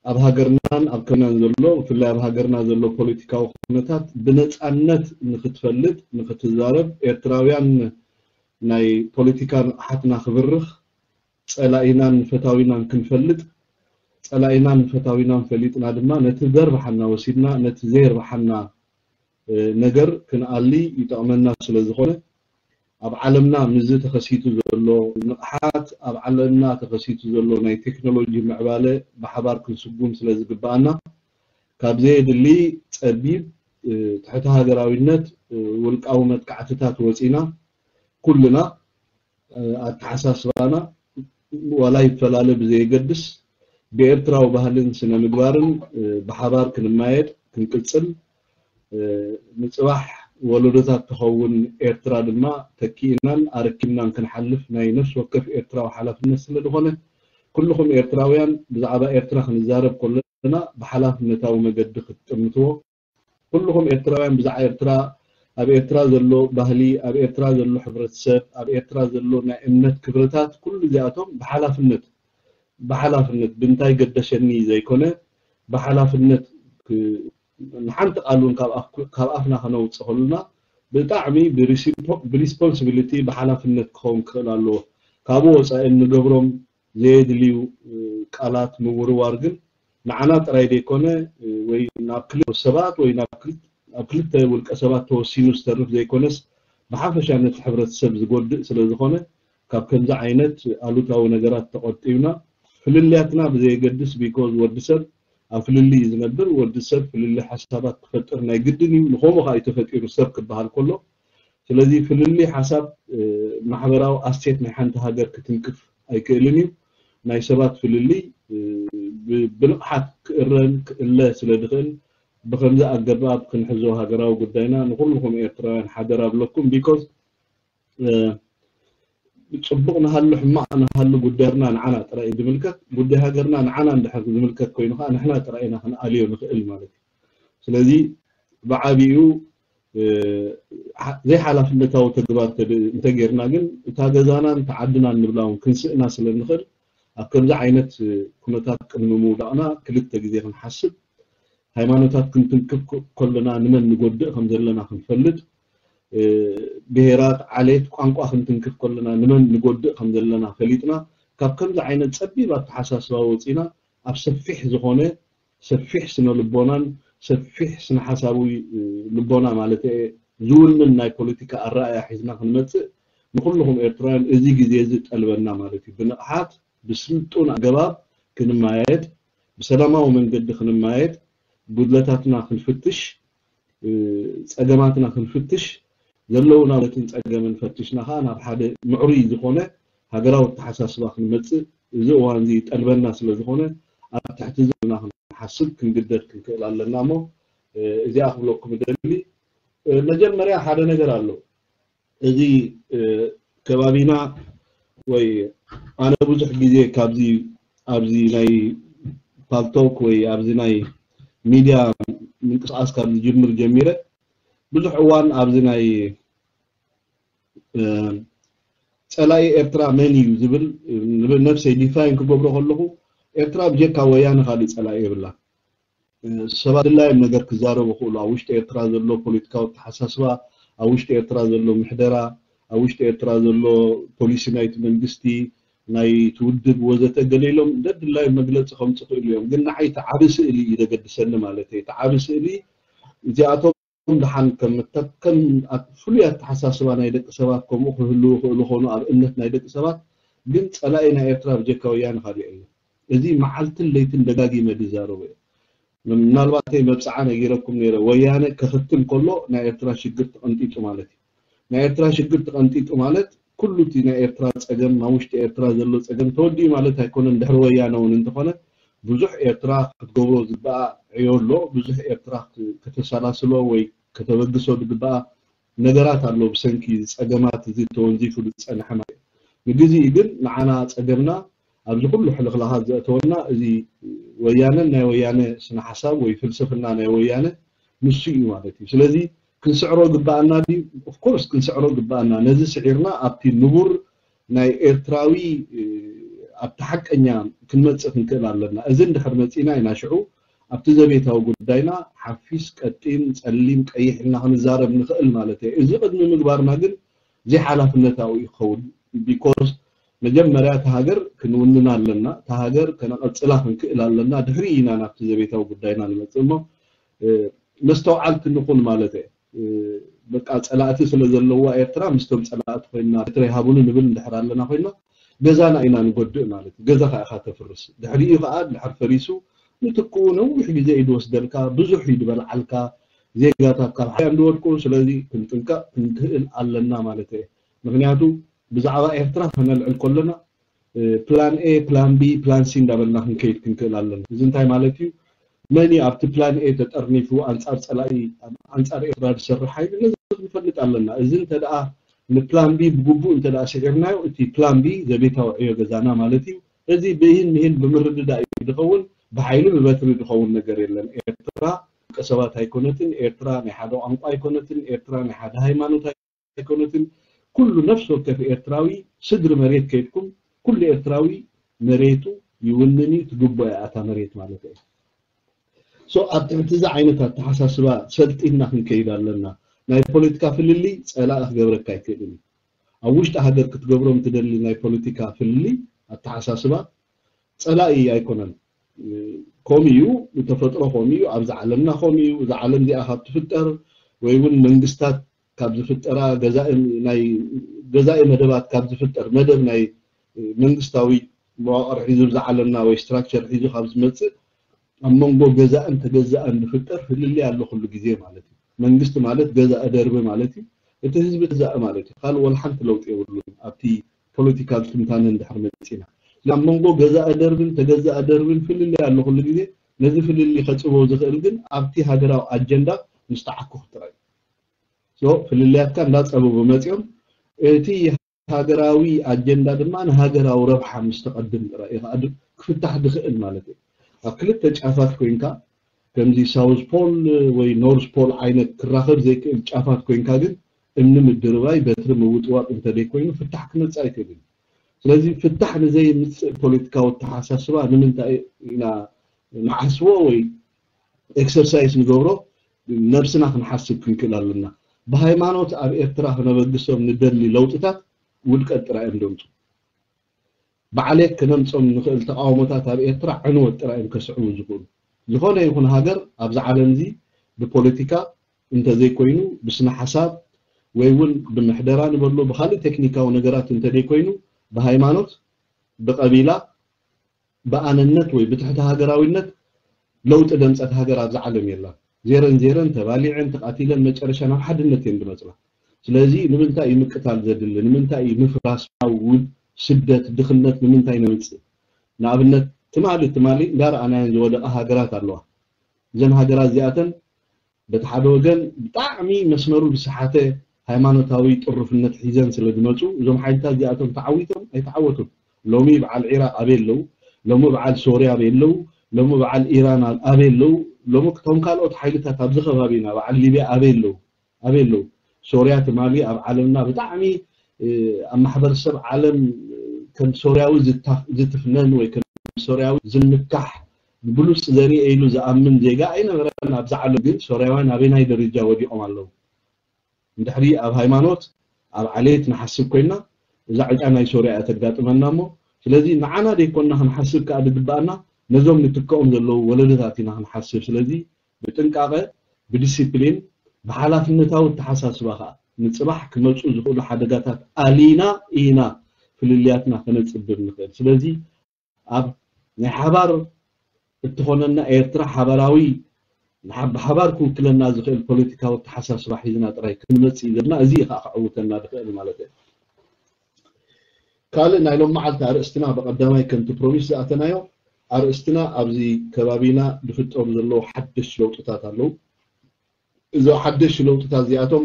ኣብ ሃገርናን ኣብ ከባቢናን ዘሎ፣ ብፍላይ ኣብ ሃገርና ዘሎ ፖለቲካዊ ኩነታት ብነፃነት ንክትፈልጥ፣ ንክትዛረብ፣ ኤርትራውያን ናይ ፖለቲካ ንቕሓትና ክብርኽ፣ ጸላኢናን ፈታዊናን ክንፈልጥ፣ ጸላኢናን ፈታዊናን ፈሊጥና ድማ ነቲ ዘርብሓና ወሲድና ነቲ ዘየርብሓና ነገር ክንኣሊ ይጠቕመና ስለ ዝኾነ፣ ኣብ ዓለምና ምስዚ ተኸሲቱ ዘሎ ንቕሓት፣ ኣብ ዓለምና ተኸሲቱ ዘሎ ናይ ቴክኖሎጂ ምዕባለ ብሓባር ክንስጉም ስለ ዝግብኣና፣ ካብ ዘየድሊ ጸቢብ ትሕተ ሃገራዊነት፣ ውልቃዊ መጥቃዕትታት ወጺና ኩልና ኣተሓሳስባና ዋላ ይፈላለ ብዘየገድስ ብኤርትራዊ ባህልን ስነ ምግባርን ብሓባር ክንማየጥ ክንቅጽል፣ ንጽባሕ ወለዶታት ትኸውን ኤርትራ ድማ ተኪእናን ኣረኪብናን ክንሓልፍ ናይ ነፍሲ ወከፍ ኤርትራዊ ሓላፍነት ስለ ዝኾነ፣ ኩልኹም ኤርትራውያን ብዛዕባ ኤርትራ ክንዛረብ ከለና ብሓላፍነታዊ መገዲ ክትጥምትዎ፣ ኩልኹም ኤርትራውያን ብዛዕባ ኤርትራ፣ ኣብ ኤርትራ ዘሎ ባህሊ፣ ኣብ ኤርትራ ዘሎ ሕብረተሰብ፣ ኣብ ኤርትራ ዘሎ ናይ እምነት ክብርታት፣ ኩሉ እዚኣቶም ብሓላፍነት፣ ብሓላፍነት፣ ብእንታይ ገደሸኒ ዘይኮነ፣ ብሓላፍነት ክ-፣ ንሓንቲ ቃል እውን ካብ ኣፍ-፣ ካብ ኣፍና ከነውፅእ ከሉና ብጣዕሚ ብሪሲፖ-፣ ብሪስፖንሲቢሊቲ፣ ብሓላፍነት ክኸውን ክኽእል ኣለዎ። ካብኡ ወፃኢ እንገብሮም ዘየድልዩ ቃላት ምውርዋር ግን ንዓና ጥራይ ዘይኮነ ወይ ናብ ክልተ ሰባት ወይ ናብ ክልተ፣ ኣብ ክልተ ውልቀ ሰባት ተወሲኑ ዝተርፍ ዘይኮነስ ብሓፈሻ ነቲ ሕብረተሰብ ዝጎድእ ስለ ዝኾነ ካብ ከምዚ ዓይነት ኣሉታዊ ነገራት ተቆጢብና ፍልልያትና ብዘየገድስ፣ ቢኮዝ ወዲ ሰብ ኣብ ፍልልይ እዩ ዝነብር፣ ወዲ ሰብ ፍልልይ ሓሳባት ክፈጥር ናይ ግድን እዩ፣ ንኸምኡ ከዓ እዩ ተፈጢሩ ሰብ ክበሃል ከሎ። ስለዚ ፍልልይ ሓሳብ ማሕበራዊ ኣሴት ናይ ሓንቲ ሃገር ክትንክፍ ኣይክእልን እዩ። ናይ ሰባት ፍልልይ ብ-፣ ብንቕሓት ክእረም ክእለ ስለ ዝኽእል ብኸምዚ ኣገባብ ክንሕዞ ሃገራዊ ጉዳይና ንኹልኹም ኤርትራውያን ሓደራ ኣብለኩም። ቢኮዝ ጽቡቕ ንሃሉ ሕማቕ ንሃሉ ጉዳይና ንዓና ጥራይ እዩ ዝምልከት። ጉዳይ ሃገርና ንዓና እንድሕር ዝምልከት ኮይኑ ከዓ ንሕና ጥራይ ኢና ክንኣልዮ ንኽእል ማለት እዩ። ስለዚ ብዓቢኡ ዘይሓላፍነታዊ ተግባር እንተጌርና ግን እታ ገዛናን እታ ዓድናን ንብላ እውን ክንስእና ስለ ንኽእል ኣብ ከምዚ ዓይነት ኩነታት ቅድሚ ምውዳቕና ክልተ ግዜ ክንሓስብ፣ ሃይማኖታት ክንትንክፍ ከለና ንመን ንጎድእ ከም ዘለና ክንፈልጥ፣ ብሄራት፣ ዓሌት፣ ቋንቋ ክንትንክፍ ከለና ንመን ንጎድእ ከም ዘለና ፈሊጥና ካብ ከምዚ ዓይነት ጸቢብ ኣተሓሳስባ ወፂና ኣብ ሰፊሕ ዝኾነ ሰፊሕ ስነ ልቦናን ሰፊሕ ስነ ሓሳባዊ ልቦና ማለት ዝውንን ናይ ፖለቲካ ኣረኣእያ ሒዝና ክንመጽእ ንኹልኹም ኤርትራውያን እዚ ግዜ እዚ ጠልበና ማለት እዩ። ብንቕሓት ብስልጡን ኣገባብ ክንማየጥ፣ ብሰላማዊ መንገዲ ክንማየጥ፣ ጉድለታትና ክንፍትሽ፣ ጸገማትና ክንፍትሽ፣ ዘለውና ነትን ጸገምን ፈትሽና ከዓ ናብ ሓደ ምዕሩይ ዝኾነ ሃገራዊ ኣተሓሳስባ ክንመጽእ እዚ እዋን እዚ ይጠልበና ስለ ዝኾነ ኣብ ትሕቲ ዝና ክንሓስብ ክንግደድ ክንክእል ኣለና። እሞ እዚኣ ክብለኩም ደሊ፣ መጀመርያ ሓደ ነገር ኣሎ። እዚ ከባቢና ወይ ኣነ ብዙሕ ግዜ ካብዚ ኣብዚ ናይ ፓልቶክ ወይ ኣብዚ ናይ ሚድያ ምንቅስቃስ ካብ ዝጅምር ጀሚረ ብዙሕ እዋን ኣብዚ ናይ ጸላኢ ኤርትራ መን እዩ ዝብል ነብሰይ ዲፋይን ክገብሮ ከለኹ ኤርትራ ብጀካ ወያነ ካልእ ጸላኢ የብላ። ሰባት ድላዮም ነገር ክዛረቡ ክእሉ ኣብ ውሽጢ ኤርትራ ዘሎ ፖለቲካዊ ኣተሓሳስባ፣ ኣብ ውሽጢ ኤርትራ ዘሎ ምሕደራ፣ ኣብ ውሽጢ ኤርትራ ዘሎ ፖሊሲ ናይቲ መንግስቲ፣ ናይ ትውድብ ወዘተ ገለ ኢሎም ደድላዮም መግለፂ ከምፁ ክእሉ እዮም። ግን ንዓይ እቲ ዓቢ ስእሊ እዩ ዘገድሰኒ ማለት እዩ። እቲ ዓቢ ስእሊ እዚኣቶም ደሓን ከም ከም ፍሉይ ኣተሓሳስባ ናይ ደቂ ሰባት ከምኡ ክህልዉ ክእሉ ኾኑ ኣብ እምነት ናይ ደቂ ሰባት ግን ጸላኢ ናይ ኤርትራ ብጀካ ወያነ ካልእ የለን። እዚ መዓልትን ለይትን ደጋጊመ ዝዛረቦ እየ። ምናልባተይ መብጽዓ ነጊረኩም ነይረ። ወያነ ከኽትም ከሎ ናይ ኤርትራ ሽግር ተቐንጢጡ ማለት እዩ። ናይ ኤርትራ ሽግር ተቐንጢጡ ማለት ኩሉ እቲ ናይ ኤርትራ ጸገም ናብ ውሽጢ ኤርትራ ዘሎ ጸገም ተወዲኡ ማለት ኣይኮነን። ድሕሪ ወያነ እውን እንተኾነ ብዙሕ ኤርትራ ክትገብሮ ዝግባኣ ዕዮ ኣሎ። ብዙሕ ኤርትራ ከተሰላስሎ ወይ ከተበግሶ ዝግባኣ ነገራት ኣሎ። ብሰንኪ ጸገማት እዚ ተወንዚፉ ዝጸንሐ ማለት እዩ። ንግዜኡ ግን ንዓና ጸገምና ኣብዚ ኩሉ ሕልኽላኻት ዘእተወና እዚ ወያነን ናይ ወያነ ስነ ሓሳብ ወይ ፍልስፍና ናይ ወያነ ንሱ እዩ ማለት እዩ። ስለዚ ክንስዕሮ ግባኣና ድዩ? ኦፍኮርስ ክንስዕሮ ግባኣና። ነዚ ስዒርና ኣብቲ ንቡር ናይ ኤርትራዊ ኣብቲ ሓቀኛ ክንመጽእ ክንክእል ኣለና። እዚ እንድሕር መጺና ኢና ሽዑ ኣብቲ ዘቤታዊ ጉዳይና ሓፊስ ቀጢን ጸሊም ቀይሕ ኢልና ክንዛረብ ንኽእል ማለት እየ። እዚ ቅድሚ ምግባርና ግን ዘይሓላፍነታዊ ይኸውን። ቢኮዝ መጀመርያ እታ ሃገር ክንውንና ኣለና። እታ ሃገር ከነቐጽላ ክንክእል ኣለና። ድሕሪ ኢና ናብቲ ዘቤታዊ ጉዳይና ንመጽእ እሞ መስተውዓልቲ ንኹን ማለት እየ። በቃ ጸላእቲ ስለ ዘለዋ ኤርትራ ምስቶም ጸላእቲ ኮይና ኤርትራ ይሃቡኒ ንብል እንድሕር ኣለና ኮይና ገዛና ኢና ንጎድእ ማለት እዩ። ገዛኻ ኢኻ ተፍርስ። ድሕሪኡ ከዓ ድሕር ፈሪሱ ምትክኡ ነዊሕ ግዜ እዩ ዝወስደልካ፣ ብዙሕ እዩ ዝበልዓልካ። ዜጋታት ካብ ሓያ እንድወድቁ ስለዚ ክንጥንቀቕ ክንክእል ኣለና ማለት እየ። ምክንያቱ ብዛዕባ ኤርትራ ከነልዕል ከለና ፕላን ኤ ፕላን ቢ ፕላን ሲ እንዳበልና ክንከይድ ክንክእል ኣለና። እዚ እንታይ ማለት እዩ? መን እዩ ኣብቲ ፕላን ኤ ተጠርኒፉ ኣንጻር ጸላኢ ኣንጻር ኤርትራ ዝሰርሕ ሓይሊ ነዚ ክንፈልጥ ኣለና። እዚ እንተ ደኣ ንፕላን ቢ ብግቡእ እንተ ደኣ ስዒርናዮ እቲ ፕላን ቢ ዘቤታዊ ዕዮ ገዛና ማለት እዩ። እዚ ብኢህን ምሂን ብምርድዳእ እዩ ዝኸውን። ብሓይሊ ብበትሪ ዝኸውን ነገር የለን። ኤርትራ ውልቀ ሰባት ኣይኮነትን። ኤርትራ ናይ ሓደ ቋንቋ ኣይኮነትን። ኤርትራ ናይ ሓደ ሃይማኖት ኣይኮነትን። ኩሉ ነፍሲ ወከፍ ኤርትራዊ ስድሪ መሬት ከይድኩም ኩሉ ኤርትራዊ መሬቱ ይውንን እዩ፣ ትግቦ እያ እታ መሬት ማለት እዩ። ሶ ኣብ ትሕቲ እዚ ዓይነት ኣተሓሳስባ ሰልጢንና ክንከይድ ኣለና። ናይ ፖለቲካ ፍልልይ ጸላኢ ክገብረካ ኣይክእልን እዩ። ኣብ ውሽጢ ሃገር ክትገብሮም ትደሊ ናይ ፖለቲካ ፍልልይ ኣተሓሳስባ ጸላኢ ኣይኮነን። ከምኡ እዩ፣ ተፈጥሮ ከምኡ እዩ፣ ኣብዚ ዓለምና ከምኡ እዩ። እዛ ዓለም እዚኣ ካብ ትፍጠር ወይ እውን መንግስታት ካብ ዝፍጠራ ገዛኢ ናይ ገዛኢ መደባት ካብ ዝፍጠር መደብ ናይ መንግስታዊ መዋቕር ሒዙ እዛ ዓለምና ወይ ስትራክቸር ሒዙ ካብ ዝመጽእ ኣብ መንጎ ገዛእን ተገዛእን ዝፍጠር ፍልልይ ኣሎ ኩሉ ግዜ ማለት እዩ። መንግስቲ ማለት ገዛኢ ደርቢ ማለት እዩ። እቲ ህዝቢ ተገዛኢ ማለት እዩ። ካልእ ወላ ሓንቲ ለውጢ የብሉን። ኣብቲ ፖለቲካል ትንታነ እንድሕር መጺና ኣብ መንጎ ገዛኢ ደርብን ተገዛኢ ደርብን ፍልልይ ኣሎ ኩሉ ግዜ። ነዚ ፍልልይ ከጽቦ ዝኽእል ግን ኣብቲ ሃገራዊ ኣጀንዳ ምስ ተዓኩኽ ጥራይ። ሶ ፍልልያትካ እንዳጸበቡ መጺኦም እቲ ሃገራዊ ኣጀንዳ ድማ ንሃገራዊ ረብሓ ምስ ተቐድም ጥራይ እዩ ክዓ ክፍታሕ ዝኽእል ማለት እዩ። ኣብ ክልተ ጫፋት ኮይንካ ከምዚ ሳውዝ ፖል ወይ ኖርዝ ፖል ዓይነት ክራኸብ ዘይክእል ጫፋት ኮይንካ ግን እምኒ ምድርባይ በትሪ ምውጥዋጥ እንተደይ ኮይኑ ፍታሕ ክመጽእ ኣይክእልን። ስለዚ ፍታሕ ንዘይምጽእ ፖለቲካዊ ኣተሓሳስባ ንምንታይ ኢና ንዓስቦ ወይ ኤክሰርሳይስ ንገብሮ? ነብስና ክንሓስብ ክንክእል ኣለና። ብሃይማኖት ኣብ ኤርትራ ክነበግሶም ንደሊ ለውጥታት ውድቀት ጥራይ እዮም ደምጹ። ብዓሌት ክነምጾም ንኽእል ተቃውሞታት ኣብ ኤርትራ ዕንወት ጥራይ እዮም ከስዕቡ ዝኽእሉ። ዝኾነ ይኹን ሃገር ኣብዚ ዓለም እዚ ብፖለቲካ እንተዘይኮይኑ ብስነ ሓሳብ ወይ እውን ብምሕደራ ንበሎ ብካልእ ቴክኒካዊ ነገራት እንተዘይኮይኑ ብሃይማኖት ብቀቢላ ብኣነነት ወይ ብትሕቲ ሃገራዊነት ለውጢ ደምጸት ሃገር ኣብዚ ዓለም የላን። ዜረን ዜረን ተባሊዐን ተቃቲለን መጨረሻ ናብ ሓድነት እየን ዝመፅላ። ስለዚ ንምንታይ እዩ ምቅታል ዘድሊ? ንምንታይ እዩ ምፍራስ፣ ውድ ስደት፣ ድኽነት ንምንታይ ነምፅእ? ንኣብነት ትማሊ ትማሊ እንዳረኣናየን ዝወደቃ ሃገራት ኣለዋ። እዘን ሃገራት እዚኣተን በቲ ሓደ ወገን ብጣዕሚ መስመሩ ዝሰሓተ ሃይማኖታዊ ጥሩፍነት ሒዘን ስለ ዝመፁ እዞም ሓይልታት እዚኣቶም ተዓዊቶም ኣይተዓወቱን። ሎሚ በዓል ዒራቅ ኣበይ ኣለዉ? ሎሚ በዓል ሶርያ ኣበይ ኣለዉ? ሎሚ በዓል ኢራን ኣበይ ኣለዉ? ሎሚ እቶም ካልኦት ሓይልታት ኣብዚ ከባቢና በዓል ሊብያ ኣበይ ኣለዉ? ኣበይ ኣለዉ? ሶርያ ትማሊ ኣብ ዓለምና ብጣዕሚ ኣብ ማሕበረሰብ ዓለም ከም ሶርያዊ ዝትፍነን ወይ ከም ሶርያዊ ዝምካሕ ብሉፅ ዘርኢ ኢሉ ዝኣምን ዜጋ ኣይነበረን ኣብዚ ዓለም። ግን ሶርያውያን ኣበናይ ደረጃ ወዲቖም ኣለዉ? እንድሕሪ ኣብ ሃይማኖት ኣብ ዓሌት ንሓስብ ኮይና እዛ ዕጫ ናይ ሶርያ እያ ተጋጥመና እሞ ስለዚ ንዓና ደይኮንና ክንሓስብ ከዓ ዝግበኣና ነዞም ንትከኦም ዘለዉ ወለዶታት ኢና ክንሓስብ። ስለዚ ብጥንቃቐ ብዲሲፕሊን ብሓላፍነታዊ ኣተሓሳስባ ከዓ ንፅባሕ ክመፁ ዝኽእሉ ሓደጋታት ኣሊና ኢና ፍልልያትና ከነፅብብ ንኽእል። ስለዚ ኣብ ናይ ሓባር እትኾነና ኤርትራ ሓባራዊ ብሓባር ክውክለና ዝኽእል ፖለቲካዊ ኣተሓሳስባ ሒዝና ጥራይ ክንመፅእ ዘለና እዚ ከዓ ክዕውተና ዝኽእል ማለት እዩ። ካልእ ናይ ሎም መዓልቲ ኣርእስትና ብቐዳማይ ከምቲ ፕሮሚስ ዝኣተናዮ ኣርእስትና ኣብዚ ከባቢና ዝፍጠሩ ዘለዉ ሓደሽ ለውጥታት ኣለዉ። እዞ ሓደሽ ለውጥታት እዚኣቶም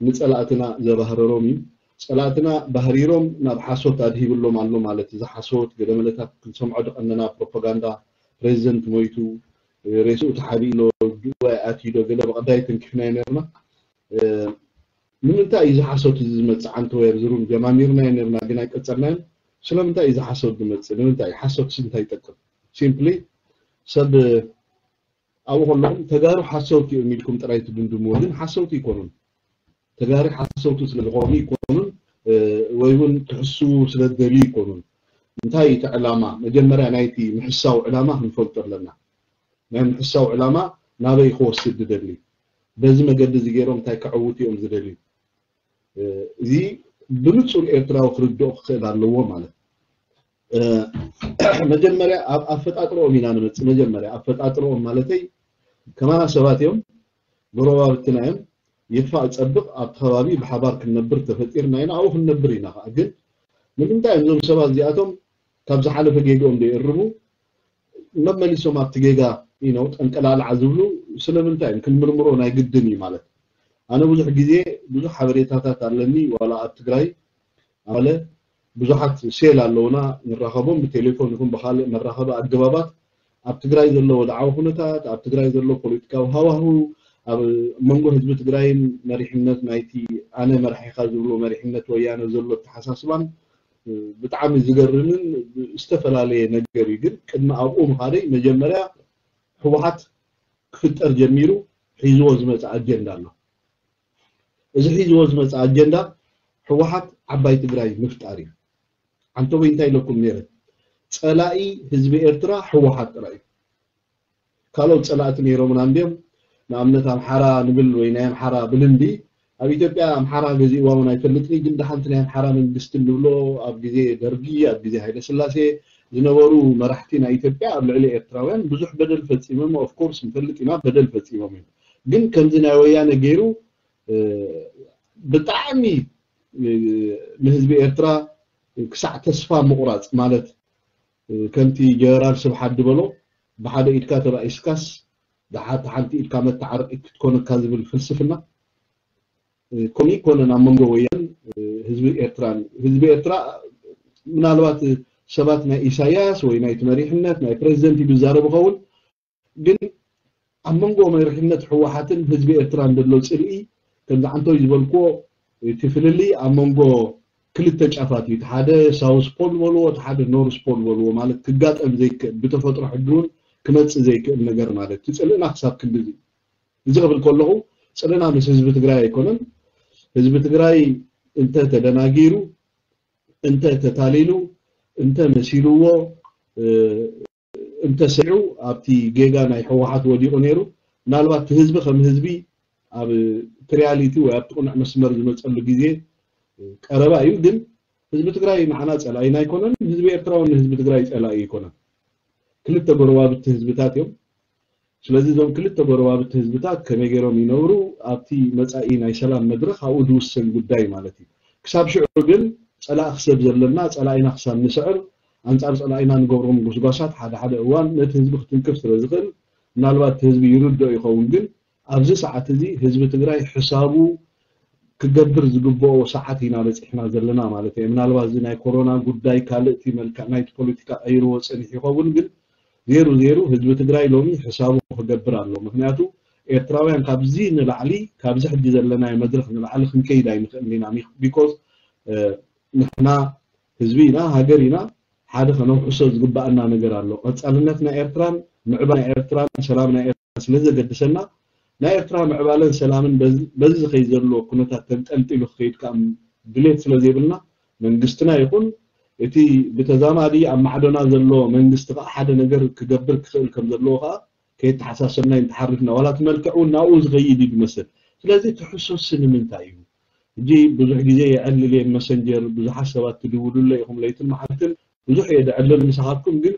ንፀላእትና ዘባህረሮም እዩ። ፀላእትና ባህሪሮም ናብ ሓሶት ኣድሂብሎም ኣሎ ማለት እዚ ሓሶት ገለመለታት ክንሰምዖ ዝቐነና ፕሮፓጋንዳ ፕሬዚደንት ሞይቱ ሬስኡ ተሓቢእሎ ዱባይ ኣትዩዶ ገለ ብቐዳይ ተንኪፍናዮ ነርና። ንምንታይ እዩ እዚ ሓሶት እዚ ዝመፅእ ዓንተወይ ኣብዚ ሩም ጀማሚርናዮ ነርና ግን ኣይቀፀልናዮን። ስለምንታይ እዩ እዚ ሓሶት ዝመፅእ? ንምንታይ ሓሶት እንታይ ይጠቅም? ሲምፕሊ ሰብ ኣብኡ ከለኹም ተጋሩ ሓሰውቲ እዮም ኢልኩም ጥራይ ትድምድምዎ ግን ሓሰውቲ ይኮኑን። ተጋሩ ሓሰውቲ ስለዝኾኑ ይኮኑን ወይ እውን ትሕስዉ ስለዝደልዩ ይኮኑን። እንታይ እቲ ዕላማ? መጀመርያ ናይቲ ምሕሳው ዕላማ ክንፈልጦ ኣለና። ናይ ምሕሳው ዕላማ ናበይ ክወስድ ዝደሊ? በዚ መገዲ እዚ ገይሮም እንታይ ከዕውቱ እዮም ዝደልዩ? እዚ ብንጹር ኤርትራዊ ክርድኦ ክኽእል ኣለዎ ማለት መጀመርያ ኣብ ኣፈጣጥሮኦም ኢና ንመጽእ። መጀመርያ ኣፈጣጥሮኦም ማለተይ ከማና ሰባት እዮም፣ ጎረባብትና እዮም። ይጥፋእ ጸብቕ ኣብቲ ከባቢ ብሓባር ክንነብር ተፈጢርና ኢና፣ ኣብኡ ክንነብር ኢና ከዓ። ግን ንምንታይ እዮም እዞም ሰባት እዚኣቶም ካብ ዝሓለፈ ጌግኦም ዘይእርሙ መመሊሶም ኣብቲ ጌጋ ኢኖ ጠንቀላልዓ ዝብሉ ስለምንታይ እዮም ክንምርምሮ ናይ ግድን እዩ ማለት። ኣነ ብዙሕ ግዜ ብዙሕ ሓበሬታታት ኣለኒ ዋላ ኣብ ትግራይ ኣለ ብዙሓት ሴል ኣለውና ንራኸቦም ብቴሌፎን ይኹን ብካልእ መራኸቢ ኣገባባት ኣብ ትግራይ ዘሎ ወድዓዊ ኩነታት ኣብ ትግራይ ዘሎ ፖለቲካዊ ሃዋሁ ኣብ መንጎ ህዝቢ ትግራይን መሪሕነት ናይቲ ኣነ መራሒኻ ዝብሎ መሪሕነት ወያነ ዘሎ ኣተሓሳስባን ብጣዕሚ ዝገርምን ዝተፈላለየ ነገር እዩ። ግን ቅድሚ ኣብኡ ምኻደይ መጀመርያ ህወሓት ክፍጠር ጀሚሩ ሒዝዎ ዝመፀ ኣጀንዳ ኣሎ። እዚ ሒዝዎ ዝመፀ ኣጀንዳ ህወሓት ዓባይ ትግራይ ምፍጣር እዩ። ዓንተቦይ እንታይ ኢለኩም ነይረ? ፀላኢ ህዝቢ ኤርትራ ህወሓት ጥራይ እዩ። ካልኦት ፀላእቲ ነይሮምና እንድዮም። ንኣብነት ኣምሓራ ንብል ወይ ናይ ኣምሓራ ብልምዲ ኣብ ኢትዮጵያ ኣምሓራ ገዚእዋ እውን ኣይፈልጥን እዩ። ግን ደሓንቲ ናይ ኣምሓራ መንግስቲ እንብሎ ኣብ ግዜ ደርጊ ኣብ ግዜ ሃይለ ስላሴ ዝነበሩ መራሕቲ ናይ ኢትዮጵያ ኣብ ልዕሊ ኤርትራውያን ብዙሕ በደል ፈፂሞም። ኦፍኮርስ ንፈልጥ ኢና በደል ፈፂሞም እዮም። ግን ከምዚ ናይ ወያነ ገይሩ ብጣዕሚ ንህዝቢ ኤርትራ ክሳዕ ተስፋ ምቑራፅ ማለት ከምቲ ጀነራል ስብሓት ዝበሎ ብሓደ ኢድካ ተባኢስካስ ብሓንቲ ሓንቲ ኢድካ መተዓረቂ ክትኮነካ ዝብል ፍልስፍና ኮኒ ኮነ ናብ መንጎ ወያን ህዝቢ ኤርትራን ህዝቢ ኤርትራ ምናልባት ሰባት ናይ ኢሳያስ ወይ ናይቲ መሪሕነት ናይ ፕሬዚደንት ይዛረቡ ኸውን ግን ኣብ መንጎ መሪሕነት ህወሓትን ህዝቢ ኤርትራን ዘሎ ፅልኢ ከምዚ ዓንተው ዝበልክዎ እቲ ፍልልይ ኣብ መንጎ ክልተ ጫፋት እዩ። ሓደ ሳውስ ፖል ዝበልዎ እቲ ሓደ ኖርስ ፖል ዝበልዎ ማለት ክጋጠም ዘይክእል ብተፈጥሮ ሕጊ እውን ክመፅእ ዘይክእል ነገር ማለት እቲ ፅልእና ክሳብ ክንድዚ እዚ ክብል ከለኹ ፅልእና ምስ ህዝቢ ትግራይ ኣይኮነን። ህዝቢ ትግራይ እንተ ተደናጊሩ እንተ ተታሊሉ እንተ መሲልዎ እንተሰዒቡ ኣብቲ ጌጋ ናይ ህወሓት ወዲቑ ነይሩ። ምናልባት እቲ ህዝቢ ከም ህዝቢ ኣብ እቲ ሪያሊቲ ወይ ኣብቲ ቅኑዕ መስመር ዝመፀሉ ግዜ ቀረባ እዩ። ግን ህዝቢ ትግራይ ንዓና ፀላኢና ኣይኮነን፣ ህዝቢ ኤርትራ እውን ንህዝቢ ትግራይ ፀላኢ ኣይኮነን። ክልተ ጎረባብቲ ህዝብታት እዮም። ስለዚ እዞም ክልተ ጎረባብቲ ህዝብታት ከመይ ገይሮም ይነብሩ ኣብቲ መጻኢ ናይ ሰላም መድረኽ ኣብኡ ዝውሰን ጉዳይ ማለት እዩ። ክሳብ ሽዑ ግን ጸላኢ ክሰብ ዘለና፣ ጸላኢና ክሳብ ንስዕር ኣንጻር ጸላኢና ንገብሮም ጉስጓሳት ሓደ ሓደ እዋን ነቲ ህዝቢ ክትንክፍ ስለ ዝኽእል ምናልባት እቲ ህዝቢ ይርድኦ ይኸውን። ግን ኣብዚ ሰዓት እዚ ህዝቢ ትግራይ ሕሳቡ ክገብር ዝግብኦ ሰዓት ኢና በፂሕና ዘለና ማለት እየ። ምናልባት እዚ ናይ ኮሮና ጉዳይ ካልእ እቲ መልክዕ ናይቲ ፖለቲካ ቀይርዎ ፀኒሑ ይኸውን፣ ግን ዜሩ ዜሩ ህዝቢ ትግራይ ሎሚ ሕሳቡ ክገብር ኣሎ። ምክንያቱ ኤርትራውያን ካብዚ ንላዕሊ ካብዚ ሕጂ ዘለናዮ መድረክ ንላዕሊ ክንከይድ ኣይንኽእልን ኢና። ቢኮዝ ንሕና ህዝቢ ኢና፣ ሃገር ኢና። ሓደ ከነውሕሶ ዝግባኣና ነገር ኣሎ። ቀፃልነት ናይ ኤርትራን ምዕባለ ናይ ኤርትራን ሰላም ናይ ኤርትራ ስለ ዘገድሰና ናይ ኤርትራ ምዕባለን ሰላምን በዚ ዝኸይ ዘሎ ኩነታት ተንጠልጢሉ ክኸይድ ከዓ ድሌት ስለ ዘይብልና መንግስትና ይኹን እቲ ብተዛማዲ ኣብ ማዕዶና ዘሎ መንግስቲ ከዓ ሓደ ነገር ክገብር ክኽእል ከም ዘለዎ ከዓ ከየተሓሳሰብና እዩ ተሓሪፍና። ዋላ እቲ መልክዕ እውን ናብኡ ዝኸይድ እዩ ዝመስል። ስለዚ ትሕሶሲ ንምንታይ እዩ? ሕጂ ብዙሕ ግዜ የዕልል እየ መሰንጀር፣ ብዙሓት ሰባት ትድውሉለ ኢኹም ለይትን መዓልትን፣ ብዙሕ እየ ዝዕልል ምሳኻትኩም። ግን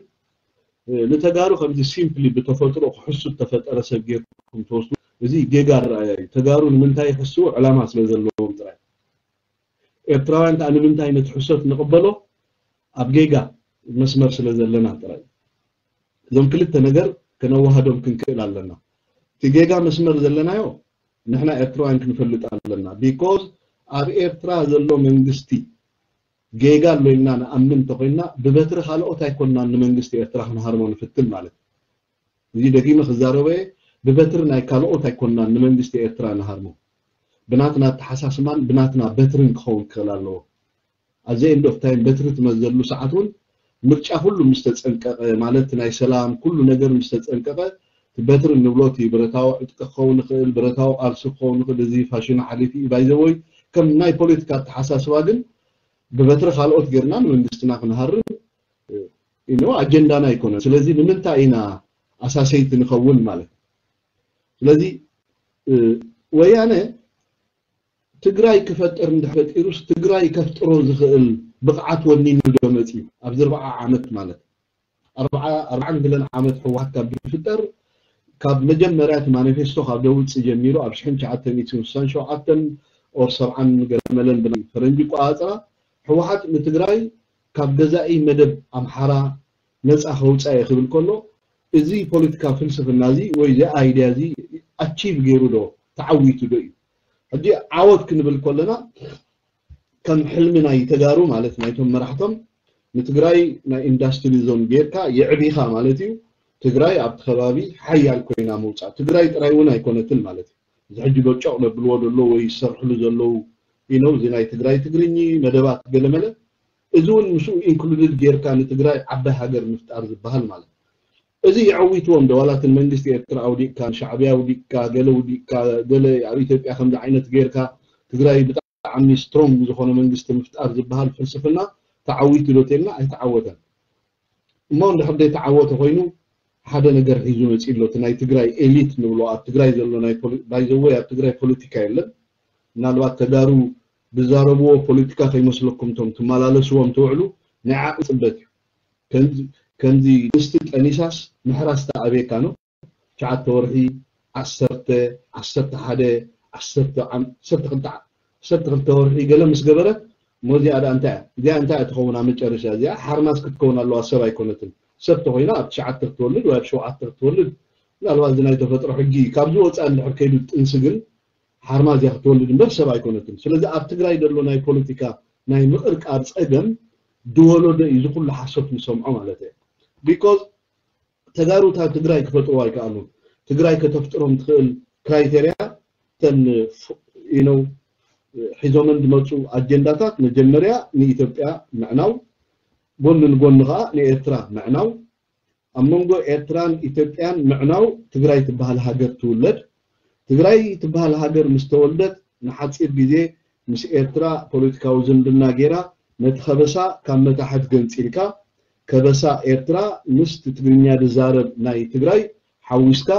ንተጋሩ ከምዚ ሲምፕሊ ብተፈጥሮ ክሕሱ ዝተፈጠረ ሰብ ጌርኩም ትወስዱ፣ እዚ ጌጋ ኣረኣያ እዩ። ተጋሩ ንምንታይ ይሕስዉ? ዕላማ ስለ ዘለዎም ጥራይ። ኤርትራውያን ከዓ ንምንታይ ነቲ ሕሶት ንቕበሎ? ኣብ ጌጋ መስመር ስለ ዘለና ጥራይ። እዞም ክልተ ነገር ከነዋህዶም ክንክእል ኣለና። እቲ ጌጋ መስመር ዘለናዮ ንሕና ኤርትራውያን ክንፈልጥ ኣለና። ቢኮዝ ኣብ ኤርትራ ዘሎ መንግስቲ ጌጋ ኣሎ ኢልና ንኣምን እንተኮይና ብበትሪ ካልኦት ኣይኮናን ንመንግስቲ ኤርትራ ክንሃርሞ ንፍትን ማለት እዩ። እዚ ደጊመ ክዛረቦ እየ። ብበትሪ ናይ ካልኦት ኣይኮናን ንመንግስቲ ኤርትራ ንሃርሞ። ብናትና ኣተሓሳስማን ብናትና በትርን ክኸውን ክኽእል ኣለዎ። ኣብዚ ኤንድ ኦፍ ታይም በትሪ ትመዘሉ ሰዓት እውን ምርጫ ኩሉ ምስ ተፀንቀቐ ማለት ናይ ሰላም ኩሉ ነገር ምስ ተፀንቀቐ በትሪ እንብሎ እቲ ብረታዊ ዕጥቂ ክኸውን ይኽእል፣ ብረታዊ ቃልሲ ክኸውን ይኽእል። እዚ ፋሽኑ ሓሊፉ እዩ ባይዘወይ። ከም ናይ ፖለቲካ ኣተሓሳስባ ግን ብበትሪ ካልኦት ጌርና ንመንግስትና ክንሃርም ኢኖ ኣጀንዳና ኣይኮነን። ስለዚ ንምንታይ ኢና ኣሳሰይቲ ንኸውን ማለት? ስለዚ ወያነ ትግራይ ክፈጥር እንድሕር ፈጢሩስ ትግራይ ከፍጥሮ ዝኽእል ብቕዓት ወኒኑ ዶ መፅዩ? ኣብዚ ኣርባዓ ዓመት ማለት ኣርባዓ ኣርባዓን ገለን ዓመት ህወሓት ካብ ዝፍጠር ካብ መጀመርያ እቲ ማኒፌስቶ ካብ ደውፅእ ጀሚሩ ኣብ ሽሕን ትሽዓተ ሚእትን ስሳን ሸውዓተን ኦር ሰብዓን ገለመለን ብናይ ፈረንጂ ኣቆፃፅራ ህወሓት ንትግራይ ካብ ገዛኢ መደብ ኣምሓራ ነፃ ከውፃእ እየ ክብል ከሎ እዚ ፖለቲካ ፍልስፍና እዚ ወይ እዚ ኣይድያ እዚ ኣቺቭ ገይሩ ዶ ተዓዊቱ ዶ እዩ? ሕጂ ዓወት ክንብል ከለና ከም ሕልሚ ናይ ተጋሩ ማለት ናይቶም መራሕቶም ንትግራይ ናይ ኢንዳስትሪ ዞን ጌርካ የዕቢኻ ማለት እዩ። ትግራይ ኣብቲ ከባቢ ሓያል ኮይና ምውፃእ ትግራይ ጥራይ እውን ኣይኮነትን ማለት እዩ። እዚ ሕጂ ዶ ጨቕ ነብልዎ ዘሎ ወይ ዝሰርሕሉ ዘለዉ ኢነው እዚ ናይ ትግራይ ትግርኚ መደባት ገለመለ እዚ እውን ምስኡ ኢንክሉድድ ጌርካ ንትግራይ ዓባይ ሃገር ምፍጣር ዝበሃል ማለት እዚ የዐዊትዎም ዶ ዋላ እቲ መንግስቲ ኤርትራ ኣውዲቅካ ንሻዕብያ ኣውዲቅካ ገለ ውዲቅካ ገለ ኣብ ኢትዮጵያ ከምዚ ዓይነት ጌርካ ትግራይ ብጣዕሚ ስትሮንግ ዝኾነ መንግስቲ ምፍጣር ዝበሃል ፍልስፍና ተዓዊቱ ዶ ተልና ኣይተዓወተን። እሞ እንድሕር ዘይተዓወተ ኮይኑ ሓደ ነገር ሒዙ መፂኡ ኣሎ። እቲ ናይ ትግራይ ኤሊት ንብሎ ኣብ ትግራይ ዘሎ ናይ ባይዘወይ ኣብ ትግራይ ፖለቲካ የለን። ምናልባት ተጋሩ ብዛረብዎ ፖለቲካ ከይመስለኩም እቶም ትመላለስዎም ትውዕሉ ናይ ዓቕሊ ፅበት እዩ። ከምዚ ምስቲ ጠኒሳስ ምሕራስ ተኣብየካ ነው። ትሽዓተ ወርሒ ዓሰርተ ዓሰርተ ሓደ ዓሰርተ ዓም- ዓሰርተ ክልተ ዓሰርተ ክልተ ወርሒ ገለ ምስ ገበረት እሞ እዚኣ ደኣ እንታይ እያ? እዚኣ እንታይ እያ ትኸውን ኣብ መጨረሻ? እዚኣ ሓርማዝ ክትከውን ኣለዋ ሰብ ኣይኮነትን። ሰብ ተኮይና ኣብ ትሽዓተ ክትወልድ ወይ ኣብ ሸውዓተ ክትወልድ ምናልባት እዚ ናይ ተፈጥሮ ሕጊ እዩ። ካብዚ ወፃኢ እንድሕር ከይዱ ጥንሲ ግን ሓርማዝ እያ ክትወልድ እምበር ሰብ ኣይኮነትን። ስለዚ ኣብ ትግራይ ዘሎ ናይ ፖለቲካ ናይ ምቕርቃር ፀገም ዝወለዶ እዩ እዚ ኩሉ ሓሶት ንሰምዖ ማለት እየ። ቢኮዝ ተጋሩ እታ ትግራይ ክፈጥሩ ኣይከኣሉን። ትግራይ ከተፍጥሮም ትኽእል ክራይቴርያ እተን ኢነው ሒዞመን ዝመፁ ኣጀንዳታት መጀመርያ ንኢትዮጵያ ምዕናው፣ ጎኒ ንጎኒ ከዓ ንኤርትራ ምዕናው፣ ኣብ መንጎ ኤርትራን ኢትዮጵያን ምዕናው ትግራይ ትበሃል ሃገር ትውለድ። ትግራይ ትበሃል ሃገር ምስ ተወልደት ንሓፂር ግዜ ምስ ኤርትራ ፖለቲካዊ ዝምድና ገይራ ነቲ ከበሳ ካብ መታሕት ገንፂልካ ከበሳ ኤርትራ ምስቲ ትግርኛ ዝዛረብ ናይ ትግራይ ሓዊስካ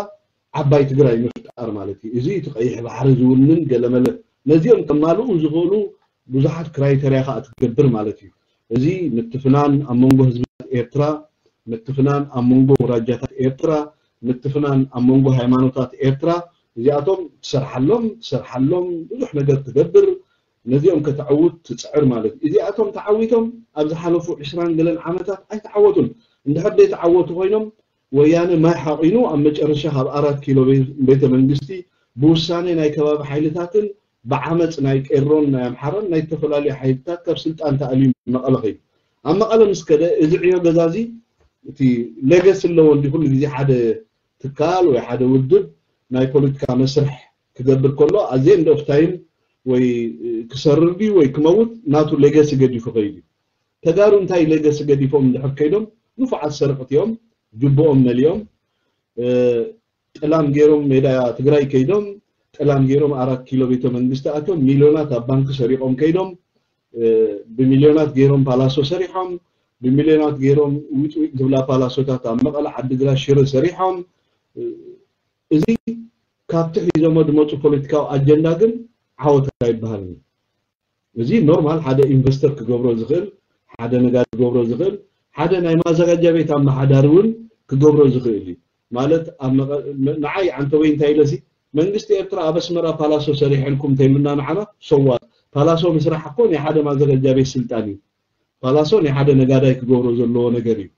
ዓባይ ትግራይ ምፍጣር ማለት እዩ። እዚ እቲ ቀይሕ ባሕሪ ዝውንን ገለመለ ነዚኦም ከማልኡ ዝኽእሉ ብዙሓት ክራይተርያ ከዓ ትገብር ማለት እዩ። እዚ ምትፍናን ኣብ መንጎ ህዝብታት ኤርትራ፣ ምትፍናን ኣብ መንጎ ውራጃታት ኤርትራ፣ ምትፍናን ኣብ መንጎ ሃይማኖታት ኤርትራ፣ እዚኣቶም ትሰርሓሎም ትሰርሓሎም ብዙሕ ነገር ትገብር፣ ነዚኦም ከተዕውት ትፅዕር ማለት እዩ። እዚኣቶም ተዓዊቶም ኣብ ዝሓለፉ ዕስራን ገለን ዓመታት ኣይተዓወቱን። እንድሕር ዘይተዓወቱ ኮይኖም ወያነ ማይ ሓቒኑ ኣብ መጨረሻ ካብ ኣራት ኪሎ ቤተ መንግስቲ ብውሳኔ ናይ ከባቢ ሓይልታትን ብዓመፅ ናይ ቄሮን ናይ ኣምሓራን ናይ ዝተፈላለዩ ሓይልታት ካብ ስልጣን ተኣልዩ መቐለ ከይዱ። ኣብ መቐለ ምስ ከደ እዚ ዕዮ ገዛ እዚ እቲ ሌገሲ ኣለዎ እንዲ ኩሉ ግዜ ሓደ ትካል ወይ ሓደ ውድብ ናይ ፖለቲካ መስርሕ ክገብር ከሎ ኣዜ እንደ ኦፍ ታይም ወይ ክሰርር ድዩ ወይ ክመውት ናቱ ሌገሲ ገዲፉ ከይዱ። ተጋሩ እንታይ ሌገሲ ገዲፎም እንድሕር ከይዶም ንፉዓት ሰርቕቲ እዮም። ጅቦኦም መሊኦም ጠላም ገይሮም ሜዳ ትግራይ ከይዶም ጠላም ገይሮም ኣራት ኪሎ ቤተ መንግስቲ ኣቶም ሚሊዮናት ኣብ ባንክ ሰሪቆም ከይዶም ብሚሊዮናት ገይሮም ፓላሶ ሰሪሖም ብሚሊዮናት ገይሮም ዊጥ ዊጥ ዝብላ ፓላሶታት ኣብ መቐለ ዓዲግራት ሽረ ሰሪሖም እዚ ካብቲ ሒዞሞ ዝመፁ ፖለቲካዊ ኣጀንዳ ግን ዓወት ኣይበሃልን እዩ። እዚ ኖርማል ሓደ ኢንቨስተር ክገብሮ ዝኽእል ሓደ ነጋዲ ክገብሮ ዝኽእል ሓደ ናይ ማዘጋጃ ቤት ኣመሓዳሪ እውን ክገብሮ ዝኽእል እዩ። ማለት ንዓይ ዓንተወይ እንታይ ኢለሲ መንግስቲ ኤርትራ ኣብ ኣስመራ ፓላሶ ሰሪሐልኩም ተይሉና ንዓና ሰዋት ፓላሶ ምስራሕ እኮ ናይ ሓደ ማዘጋጃ ቤት ስልጣን እዩ። ፓላሶ ናይ ሓደ ነጋዳይ ክገብሮ ዘለዎ ነገር እዩ።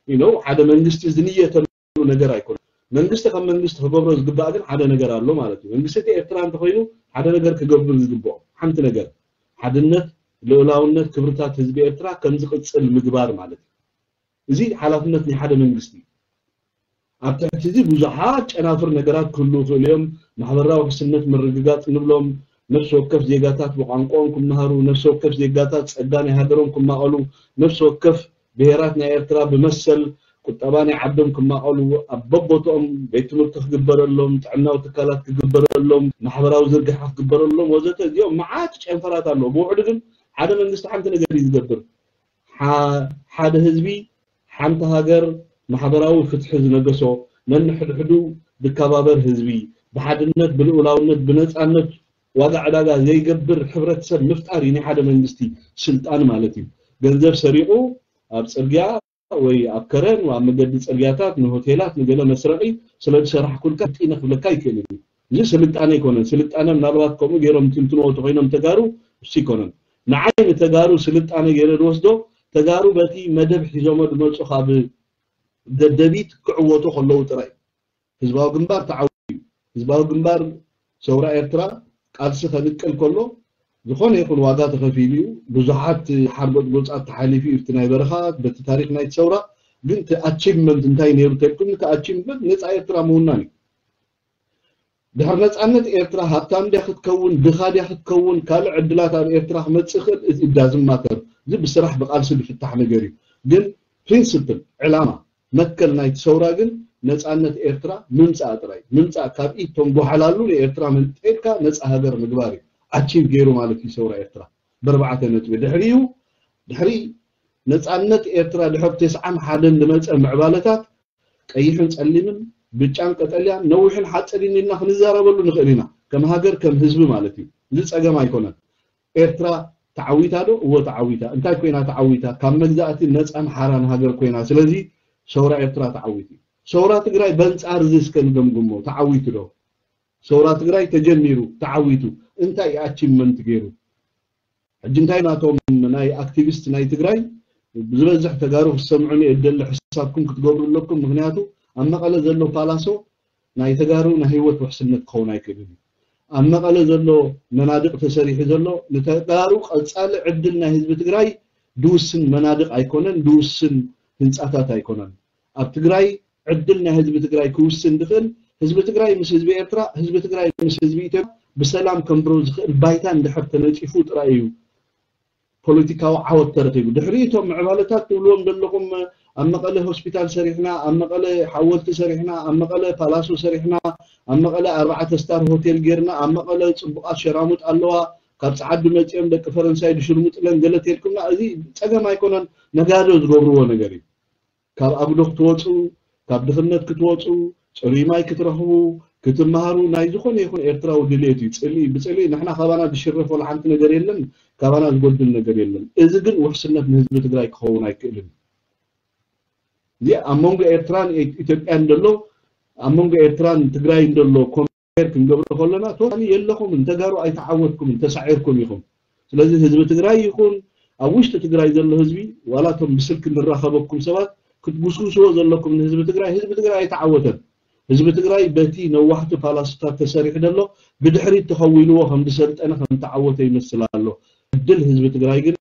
You know ሓደ መንግስቲ ዝንየተሉ ነገር ኣይኮነን። መንግስቲ ከም መንግስቲ ክገብሮ ዝግባእ ግን ሓደ ነገር ኣሎ ማለት እዩ። መንግስቲ ኤርትራ እንተኮይኑ ሓደ ነገር ክገብር ዝግብኦ ሓንቲ ነገር ሓድነት ልኡላውነት ክብርታት ህዝቢ ኤርትራ ከም ዝቕጽል ምግባር ማለት እዩ። እዚ ሓላፍነት ናይ ሓደ መንግስቲ እዩ። ኣብ ትሕቲ እዚ ብዙሓት ጨናፍር ነገራት ክህሉ ይኽእሉ እዮም። ማሕበራዊ ውሕስነት ምርግጋፅ ንብሎም ነፍሲ ወከፍ ዜጋታት ብቋንቋኦም ክመሃሩ፣ ነፍሲ ወከፍ ዜጋታት ፀጋ ናይ ሃገሮም ክማቐሉ፣ ነፍሲ ወከፍ ብሄራት ናይ ኤርትራ ብመሰል ቁጠባ ናይ ዓዶም ክማቐሉ፣ ኣብ በቦትኦም ቤት ትምህርቲ ክግበረሎም፣ ጥዕናዊ ትካላት ክግበረሎም፣ ማሕበራዊ ዝርግሓ ክግበረሎም ወዘተ እዚኦም መዓት ጨንፈራት ኣለዉ። ብውሕዱ ግን ሓደ መንግስቲ ሓንቲ ነገር እዩ ዝገብር። ሓደ ህዝቢ፣ ሓንቲ ሃገር፣ ማሕበራዊ ፍትሒ ዝነገሶ፣ ነንሕድሕዱ ዝከባበር ህዝቢ፣ ብሓድነት፣ ብልኡላውነት፣ ብነፃነት ዋጋ ዕዳጋ ዘይገብር ሕብረተሰብ ምፍጣር እዩ ናይ ሓደ መንግስቲ ስልጣን ማለት እዩ። ገንዘብ ሰሪቑ ኣብ ፅርግያ ወይ ኣብ ከረን ኣብ መገዲ ፅርግያታት ንሆቴላት ንገለ መስረቒ ስለ ዝሰራሕኩልካ ጢነ ክብለካ ይክእል እዩ። እዚ ስልጣነ ኣይኮነን። ስልጣነ ምናልባት ከምኡ ገይሮም ትንትንዎ ተኮይኖም ተጋሩ እሱ ኣይኮነን። ንዓይ ንተጋሩ ስልጣነ ገይረ ዝወስዶ ተጋሩ በቲ መደብ ሒዞሞ ዝመፁ ካብ ደደቢት ክዕወቱ ከለዉ ጥራይ ህዝባዊ ግንባር ተዓዊቱ እዩ። ህዝባዊ ግንባር ሰውራ ኤርትራ ቃልሲ ከንቅል ከሎ ዝኾነ ይኹን ዋጋ ተኸፊሉ እዩ። ብዙሓት ሓርጎፅጎፃት ተሓሊፉ እዩ እቲ ናይ በረኻ በቲ ታሪክ ናይቲ ሰውራ። ግን እቲ ኣቺቭመንት እንታይ ነይሩ ተልኩም እቲ ኣቺቭመንት ነፃ ኤርትራ ምውናን እዩ። ድሕሪ ነፃነት ኤርትራ ሃብታም ድያ ክትከውን ድኻ ድያ ክትከውን ካልእ ዕድላት ኣብ ኤርትራ ክመፅእ ይኽእል። It doesn't matter። እዚ ብስራሕ ብቃልሲ ዝፍታሕ ነገር እዩ። ግን ፕሪንስፕል ዕላማ መትከል ናይቲ ሰውራ ግን ነፃነት ኤርትራ ምምፃእ ጥራይ ምምፃእ ካብ ኢድ ቶም ጓሓላሉ ንኤርትራ መንጢልካ ነፃ ሃገር ምግባር እዩ። ኣቺቭ ገይሩ ማለት እዩ ሰውራ ኤርትራ ብኣርባዕተ ነጥቢ ድሕሪኡ ድሕሪ ነፃነት ኤርትራ ድሕሪ ተስዓን ሓደን ዝመፀ ምዕባለታት ቀይሕን ፀሊምን ብጫን ቀጠልያን ነዊሕን ሓፂርን ኢልና ክንዛረበሉ ንኽእል ኢና ከም ሃገር ከም ህዝቢ ማለት እዩ። እዚ ፀገም ኣይኮነን። ኤርትራ ተዓዊታ ዶ? እወ ተዓዊታ። እንታይ ኮይና ተዓዊታ? ካብ መግዛእቲ ነፃን ሓራን ሃገር ኮይና። ስለዚ ሰውራ ኤርትራ ተዓዊቱ እዩ። ሰውራ ትግራይ በንፃር እዚ እስከ ንገምግሞ። ተዓዊቱ ዶ? ሰውራ ትግራይ ተጀሚሩ ተዓዊቱ እንታይ ኣቺቭመንት ገይሩ? ሕጂ እንታይ ናቶም ናይ ኣክቲቪስት ናይ ትግራይ ብዝበዝሕ ተጋሩ ክሰምዑኒ እደሊ ሕሳብኩም ክትገብሩ ኣለኩም። ምክንያቱ ኣብ መቐለ ዘሎ ፓላሶ ናይ ተጋሩ ናይ ህይወት ውሕስነት ክኸውን ኣይክእልን እዩ። ኣብ መቐለ ዘሎ መናድቕ ተሰሪሑ ዘሎ ንተጋሩ ቀፃሊ ዕድል ናይ ህዝቢ ትግራይ ድውስን መናድቕ ኣይኮነን፣ ድውስን ህንፃታት ኣይኮነን። ኣብ ትግራይ ዕድል ናይ ህዝቢ ትግራይ ክውስን ዝኽእል ህዝቢ ትግራይ ምስ ህዝቢ ኤርትራ፣ ህዝቢ ትግራይ ምስ ህዝቢ ኢትዮጵያ ብሰላም ከንብሮ ዝኽእል ባይታ እንድሕር ተነፂፉ ጥራይ እዩ ፖለቲካዊ ዓወት ተረኺቡ። ድሕሪ እቶም ምዕባለታት ትብልዎም ዘለኹም ኣብ መቐለ ሆስፒታል ሰሪሕና፣ ኣብ መቐለ ሓወልቲ ሰሪሕና፣ ኣብ መቐለ ፓላሶ ሰሪሕና፣ ኣብ መቐለ ኣርባዕተ ስታር ሆቴል ጌርና፣ ኣብ መቐለ ፅቡቓት ሸራሙጥ ኣለዋ፣ ካብ ፀዓዱ መፂኦም ደቂ ፈረንሳይ ድሽርሙጥለን ገለ ተልኩምና፣ እዚ ፀገም ኣይኮነን፣ ነጋዶ ዝገብርዎ ነገር እዩ። ካብ ኣጉዶ ክትወፁ፣ ካብ ድኽነት ክትወፁ፣ ፅሩይ ማይ ክትረኽቡ፣ ክትመሃሩ ናይ ዝኾነ ይኹን ኤርትራዊ ድልየት እዩ። ፅልኢ ብፅልኢ ንሕና ካባና ዝሽረፍ ወላ ሓንቲ ነገር የለን፣ ካባና ዝጎድል ነገር የለን። እዚ ግን ውሕስነት ንህዝቢ ትግራይ ክኸውን ኣይክእልን። እዚ ኣብ መንጎ ኤርትራን ኢትዮጵያን ዘሎ ኣብ መንጎ ኤርትራን ትግራይን ዘሎ ኮምፔር ክንገብሮ ከለና ቶታሊ የለኹምን። ተጋሩ ኣይተዓወትኩምን፣ ተሳዒርኩም ኢኹም። ስለዚ ህዝቢ ትግራይ ይኹን ኣብ ውሽጢ ትግራይ ዘሎ ህዝቢ፣ ዋላ እቶም ብስልኪ ንራኸበኩም ሰባት ክትጉስጉስዎ ዘለኩም ንህዝቢ ትግራይ፣ ህዝቢ ትግራይ ኣይተዓወተን። ህዝቢ ትግራይ በቲ ነዋሕቲ ፓላስታት ተሰሪሑ ዘሎ ብድሕሪት ተኸዊልዎ ከም ዝሰልጠነ ከም ተዓወተ ይመስል ኣሎ። ዕድል ህዝቢ ትግራይ ግን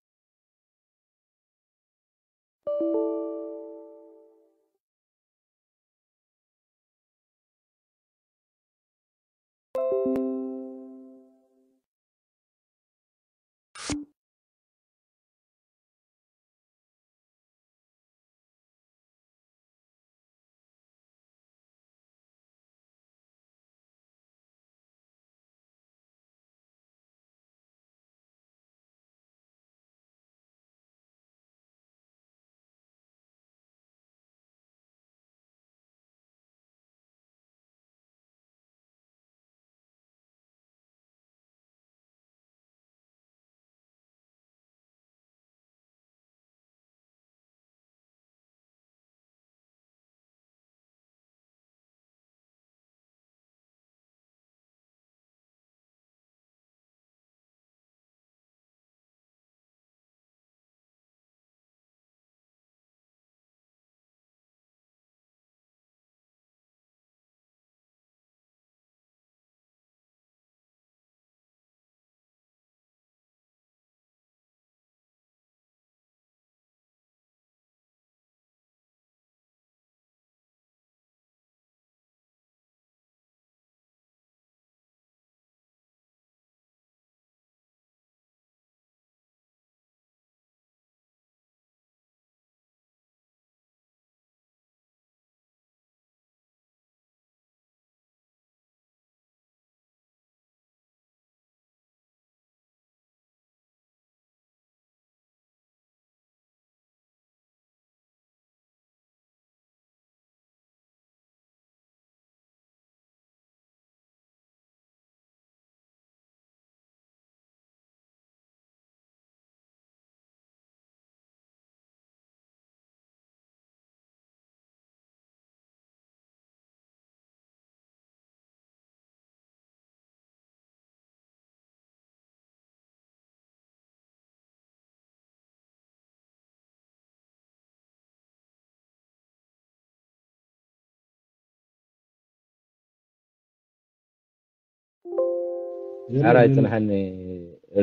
ኣራይ ጽንሓኒ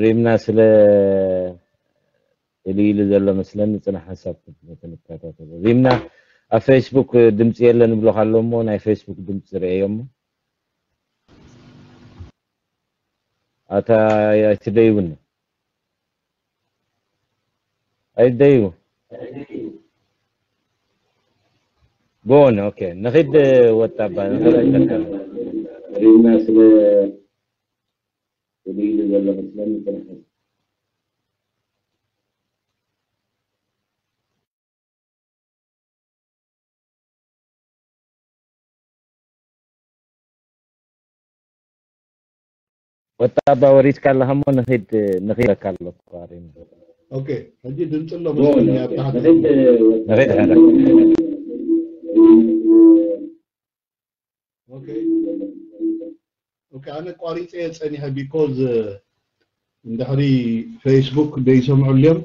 ሪምና ስለ ኢሉ ኢሉ ዘሎ መስለኒ ጽናሕ ሓሳብ ክንከታተሎ ሪምና ኣብ ፌስቡክ ድምፂ የለን ይብሎካ ኣሎ እሞ ናይ ፌስቡክ ድምፂ ርእዮ እሞ ኣታ ኣይትደይቡኒ ኣይደዩ ጎን ኦኬ ንኺድ ወጣባ ንኺድ ኣይጠቀም ሪና ስለ ወዲሉ ዘሎ መስለኒ ጽንሐ ወጣባ ወሪድካ ኣለኻ እሞ ንኺድ ንኺደካ ኣለኩ ኣሪና ኦኬ ሕጂ ድምፂ ኣሎ መስለኒ ኣብታ ንኺድ ንኺድ ሓደ ኦኬ ኦኬ ኣነ ቋሪፀ ጸኒሐ because እንድሕሪ ፌስቡክ ደይሰምዑ ልዮም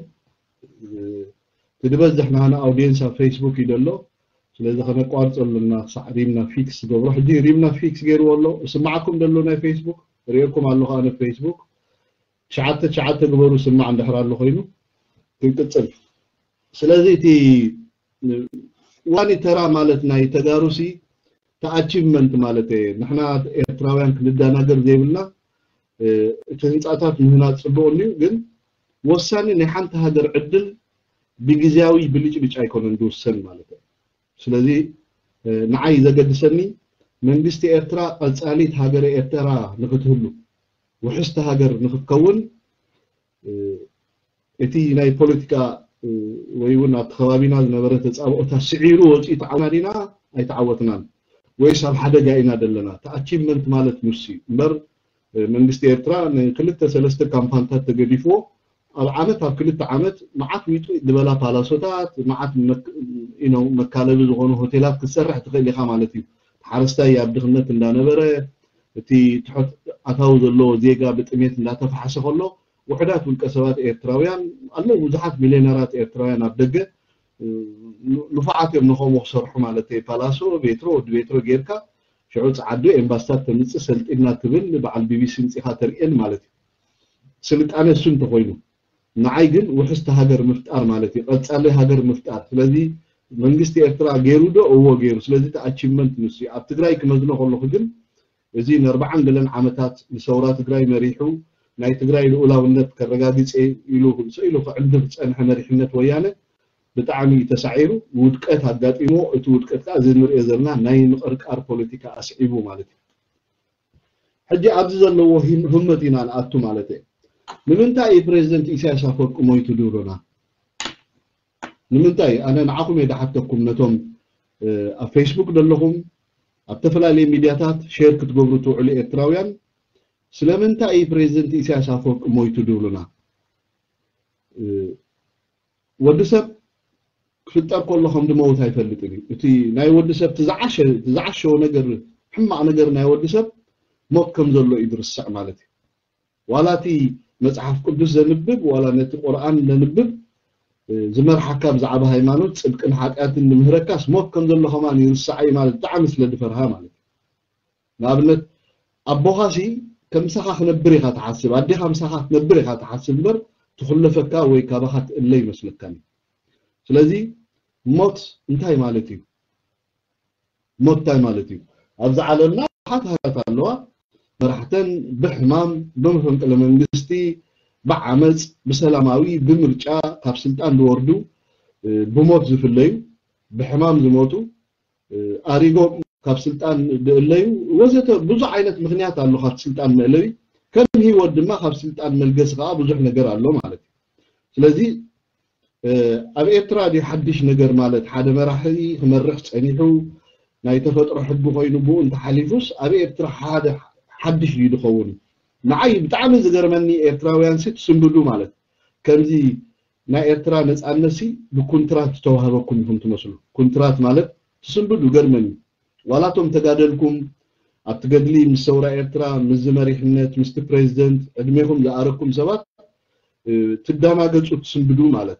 እቲ ዝበዝሕ ናህና ኣውዲየንስ ኣብ ፌስቡክ እዩ ዘሎ ስለዚ ከነቋርፀሉ እና ክሳዕ ሪምና ፊክስ ገብሮ ሕጂ ሪምና ፊክስ ገይርዎ ኣሎ እስማዓኩም ደሎ ናይ ፌስቡክ ርእየኩም ኣለኹ ኣነ ፌስቡክ ትሽዓተ ትሽዓተ ግበሩ ስማዕ እንድሕር ኣሎ ኮይኑ ክንቅፅል ስለዚ እቲ ዋኒ ተራ ማለት ናይ ተጋሩሲ እቲ ኣቺቭመንት ማለት ንሕና ኤርትራውያን ክንደናገር ዘይብልና እቲ ህንፃታት ምህናፅ ፅቡቅ እንድዩ ግን ወሳኒ ናይ ሓንቲ ሃገር ዕድል ብግዜያዊ ብልጭልጭ ኣይኮነን ዝውሰን ማለት እዩ ስለዚ ንዓይ ዘገድሰኒ መንግስቲ ኤርትራ ቀፃሊት ሃገረ ኤርትራ ንክትህሉ ውሕስቲ ሃገር ንክትከውን እቲ ናይ ፖለቲካ ወይ እውን ኣብቲ ከባቢና ዝነበረ ተፃብኦታት ስዒሩ ወፂኡ ተዓወትና ዲና ኣይተዓወትናን ወይስ ኣብ ሓደጋ ኢና ዘለና እቲ ኣቺቭመንት ማለት ንሱ እዩ እምበር መንግስቲ ኤርትራ ንክልተ ሰለስተ ካምፓንታት ተገዲፍዎ ኣብ ዓመት ኣብ ክልተ ዓመት መዓት ውፅእ ዝበላ ፓላሶታት መዓት መካለቢ ዝኾኑ ሆቴላት ክትሰርሕ ትኽእል ኢኻ ማለት እዩ ሓረስታይ ኣብ ድኽነት እንዳነበረ፣ እቲ ትሑት ኣታዊ ዘለዎ ዜጋ ብጥሜት እንዳተፋሕሰ ከሎ፣ ውሑዳት ውልቀ ሰባት ኤርትራውያን ኣለዉ፣ ብዙሓት ሚልዮነራት ኤርትራውያን ኣብ ደገ፣ እ፣ ኑ-፣ ንፉዓት እዮም ንኸምኡ ክሰርሑ ማለት እዩ። ፓላሶ፣ ቤትሮ፣ ወዲ ቤትሮ ጌርካ፣ ሽዑ ጸዓዱ ኤምባስታት ተምጽእ ሰልጢና ትብል በዓል ቢቢሲ ምጺኻ ተርእየን ማለት እዩ። ስልጣነ እሱ እንተኾይኑ፣ ንዓይ ግን ውሕስቲ ሃገር ምፍጣር ማለት እዩ። ቀጻሊ ሃገር ምፍጣር። ስለዚ መንግስቲ ኤርትራ ገይሩ ዶ? እዎ ገይሩ። ስለዚ እቲ ኣቺቭመንት ንሱ እዩ። ኣብ ትግራይ ክመዝኖ ከለኹ ግን፣ እዚ ንኣርባዓን ገለን ዓመታት ንሰውራ ትግራይ መሪሑ፣ ናይ ትግራይ ልኡላውነት ከረጋግጽ ኢሉ፣ ኢሉ ክዕንድር ዝጸንሐ መሪሕነት ወያነ ብጣዕሚ እዩ ተሳዒሩ፣ ውድቀት ኣጋጢሞ፣ እቲ ውድቀት ከኣ እዚ ንሪኦ ዘለና ናይ ምቕርቃር ፖለቲካ ኣስዒቡ ማለት እዩ። ሕጂ ኣብዚ ዘለዎ ህም-፣ ህመት ኢና ንኣቱ ማለት እዩ። ንምንታይ እዩ ፕሬዚደንት ኢሳያስ ኣፈወርቂ ሞይቱ ድብሉና? ንምንታይ? ኣነ ንዓኹም እየ ድሓተኩም፣ ነቶም፣ እ፣ ኣብ ፌስቡክ ዘለኹም፣ ኣብ ተፈላለየ ሚድያታት ሼር ክትገብሩ ትውዕሉ ኤርትራውያን፣ ስለምንታይ እዩ ፕሬዚደንት ኢሳያስ ኣፈወርቂ ሞይቱ ድብሉና? እ፣ ወዲ ሰብ ክፍጠር ከሎ ከም ድመውት ኣይፈልጥን እዩ። እቲ ናይ ወዲ ሰብ እቲ ዝዓሸ-፣ እቲ ዝዓሸወ ነገር፣ ሕማቕ ነገር ናይ ወዲ ሰብ ሞት ከም ዘሎ እዩ ዝርስዕ ማለት እዩ። ዋላ እቲ መጽሓፍ ቅዱስ ዘንብብ፣ ዋላ ነቲ ቁርኣን ዘንብብ፣ እ፣ ዝመርሓካ ብዛዕባ ሃይማኖት፣ ጽድቅን ሓጢኣትን ዝምህረካስ ሞት ከም ዘሎ ከማን ይርስዓ እዩ ማለት ብጣዕሚ ስለ ዝፈርሃ ማለት እዩ። ንኣብነት፣ ኣቦኻሲ ከም ምሳኻ ክነብር ኢኻ ትሓስብ፣ ኣዴኻ ምሳኻ ክትነብር ኢኻ ትሓስብ እምበር፣ ትኹለፈካ ወይ ካባኻ ትእለ ይመስለካን እዩ። ስለዚ ሞት እንታይ ማለት እዩ? ሞት እንታይ ማለት እዩ? ኣብዚ ዓለምና ብዙሓት ሃገራት ኣለዋ፣ መራሕተን ብሕማም፣ ብመፈንቅለ መንግስቲ፣ ብዓመፅ፣ ብሰላማዊ፣ ብምርጫ ካብ ስልጣን ዝወርዱ፣ እ፣ ብሞት ዝፍለዩ፣ ብሕማም ዝሞቱ፣ እ፣ ኣሪጎም ካብ ስልጣን ዝእለዩ፣ ወዘተ ብዙሕ ዓይነት ምኽንያት ኣሎ ካብ ስልጣን መእለዊ። ከም ህይወት ድማ ካብ ስልጣን መልገሲ ከዓ ብዙሕ ነገር ኣሎ ማለት እዩ። ስለዚ፣ እ፣ ኣብ ኤርትራ ድዩ ሓድሽ ነገር ማለት ሓደ መራሒ ክመርሕ ጸኒሑ ናይ ተፈጥሮ ሕጊ ኮይኑ ብኡ እንተሓሊፉስ ኣብ ኤርትራ ሓደ ሓድሽ ድዩ ዝኸውን? ንዓይ ብጣዕሚ ዝገርመኒ ኤርትራውያን ሲ ትስንብዱ ማለት ከምዚ ናይ ኤርትራ ነጻነት ሲ ብኩንትራት ዝተዋህበኩም ኢኹም ትመስሉ። ኩንትራት ማለት ትስንብዱ ገርመኒ። ዋላቶም ተጋደልኩም ኣብቲ ገድሊ ምስ ሰውራ ኤርትራ ምስዚ መሪሕነት ምስቲ ፕሬዚደንት ዕድሜኹም ዝኣረኩም ሰባት እ፣ ትዳናገጹ ትስንብዱ ማለት።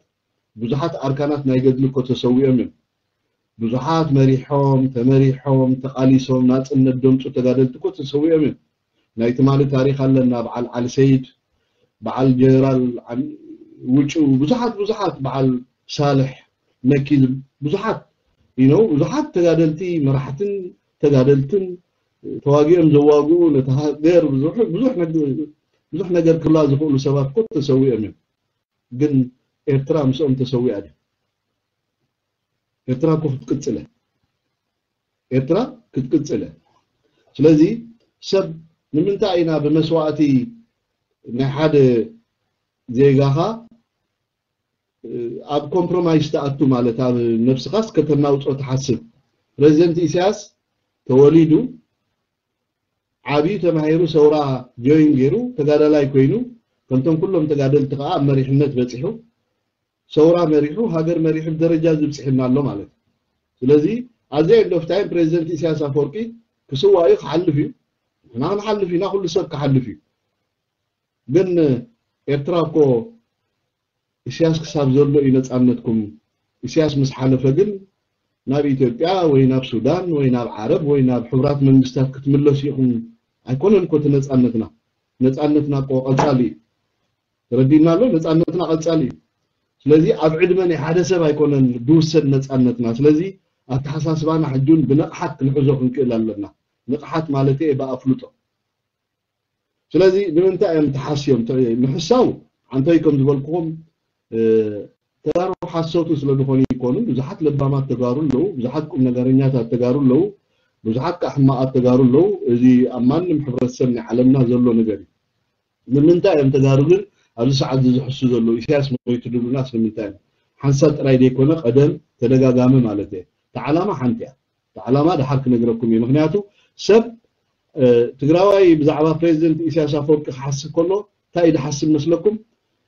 ብዙሓት ኣርካናት ናይ ገድሊ እኮ ተሰዊኦም እዮም። ብዙሓት መሪሖም፣ ተመሪሖም፣ ተቓሊሶም፣ ናጽነት ደምጹ ተጋደልቲ እኮ ተሰዊኦም እዮም። ናይ ትማሊ ታሪኽ ኣለና፣ በዓል ዓሊ ሰይድ፣ በዓል ጀነራል ዓም-፣ ውጩ፣ ብዙሓት፣ ብዙሓት፣ በዓል ሳልሕ ነኪ፣ ብዙሓት፣ you know፣ ብዙሓት ተጋደልቲ፣ መራሕትን ተጋደልትን ተዋጊኦም ዘዋግኡ፣ ነቲ ሃገር ብዙሕ፣ ብዙሕ ነግ-፣ ብዙሕ ነገር ክብላ ዝኽእሉ ሰባት እኮ ተሰዊኦም እዮም። ግን ኤርትራ ምስኦም ተሰዊኣ ድያ? ኤርትራ እኮ ክትቅጽል እያ። ኤርትራ ክትቅጽል እያ። ስለዚ ሰብ ንምንታይ ኢና ብመስዋእቲ ናይ ሓደ ዜጋኻ፣ እ፣ ኣብ ኮምፕሮማይስ ትኣቱ ማለት ኣብ ነብስኻስ ከተናውጾ ትሓስብ? ፕሬዚደንት ኢሳያስ ተወሊዱ ዓብዩ ተማሂሩ ሰውራ ጆይን ገይሩ ተጋዳላይ ኮይኑ ከምቶም ኩሎም ተጋደልቲ ከዓ ኣብ መሪሕነት በፂሑ ሰውራ መሪሑ ሃገር መሪሑ ብደረጃ ዝብፅሕና ኣሎ ማለት እዩ። ስለዚ ኣዚ ኤንድ ኦፍ ታይም ፕሬዚደንት ኢሳያስ ኣፈወርቂ ክስዋ እዩ፣ ክሓልፍ እዩ። ንሕና ክንሓልፍ ኢና፣ ኩሉ ሰብ ክሓልፍ እዩ። ግን ኤርትራ እኮ ኢሳያስ ክሳብ ዘሎ እዩ ነጻነትኩም። ኢሳያስ ምስ ሓለፈ ግን ናብ ኢትዮጵያ ወይ ናብ ሱዳን ወይ ናብ ዓረብ ወይ ናብ ሕቡራት መንግስታት ክትምለሱ ኢኹም። ኣይኮነን እኮ እቲ ነጻነትና። ነጻነትና እኮ ቀጻሊ እዩ። ተረዲእና ኣሎ? ነጻነትና ቀጻሊ እዩ። ስለዚ ኣብ ዕድመ ናይ ሓደ ሰብ ኣይኮነን ዝውሰን ነጻነትና። ስለዚ ኣተሓሳስባና ሕጂ እውን ብንቕሓት ክንሕዞ ክንክእል ኣለና። ንቕሓት ማለት እየ ብኣፍልጦ። ስለዚ ንምንታይ እዮም ተሓስዮም? ተ-፣ ምሕሳው ዓንተይ ከም ዝበልኩኹም፣ እ፣ ተጋሩ ሓሰውቲ ስለ ዝኾኑ ይኮኑ። ብዙሓት ለባማት ተጋሩ ኣለዉ፣ ብዙሓት ቁም ነገረኛታት ተጋሩ ኣለዉ፣ ብዙሓት ከዓ ሕማቓት ተጋሩ ኣለዉ። እዚ ኣብ ማንም ሕብረተሰብ ናይ ዓለምና ዘሎ ነገር እዩ። ንምንታይ እዮም ተጋሩ ግን ኣብዚ ሰዓት እዚ ዝሕሱ ዘለዉ? ኢሳያስ ሞይቱ ድብሉናስ ንምንታይ እዮም? ሓንሳብ ጥራይ ዘይኮነ ቀደም ተደጋጋሚ ማለት እየ። እታ ዓላማ ሓንቲ እያ። እታ ዓላማ ደሓር ክነግረኩም እየ። ምክንያቱ ሰብ፣ እ፣ ትግራዋይ ብዛዕባ ፕሬዚደንት ኢሳያስ ኣፈወርቂ ክሓስብ ከሎ እንታይ እዩ ዝሓስብ መስለኩም?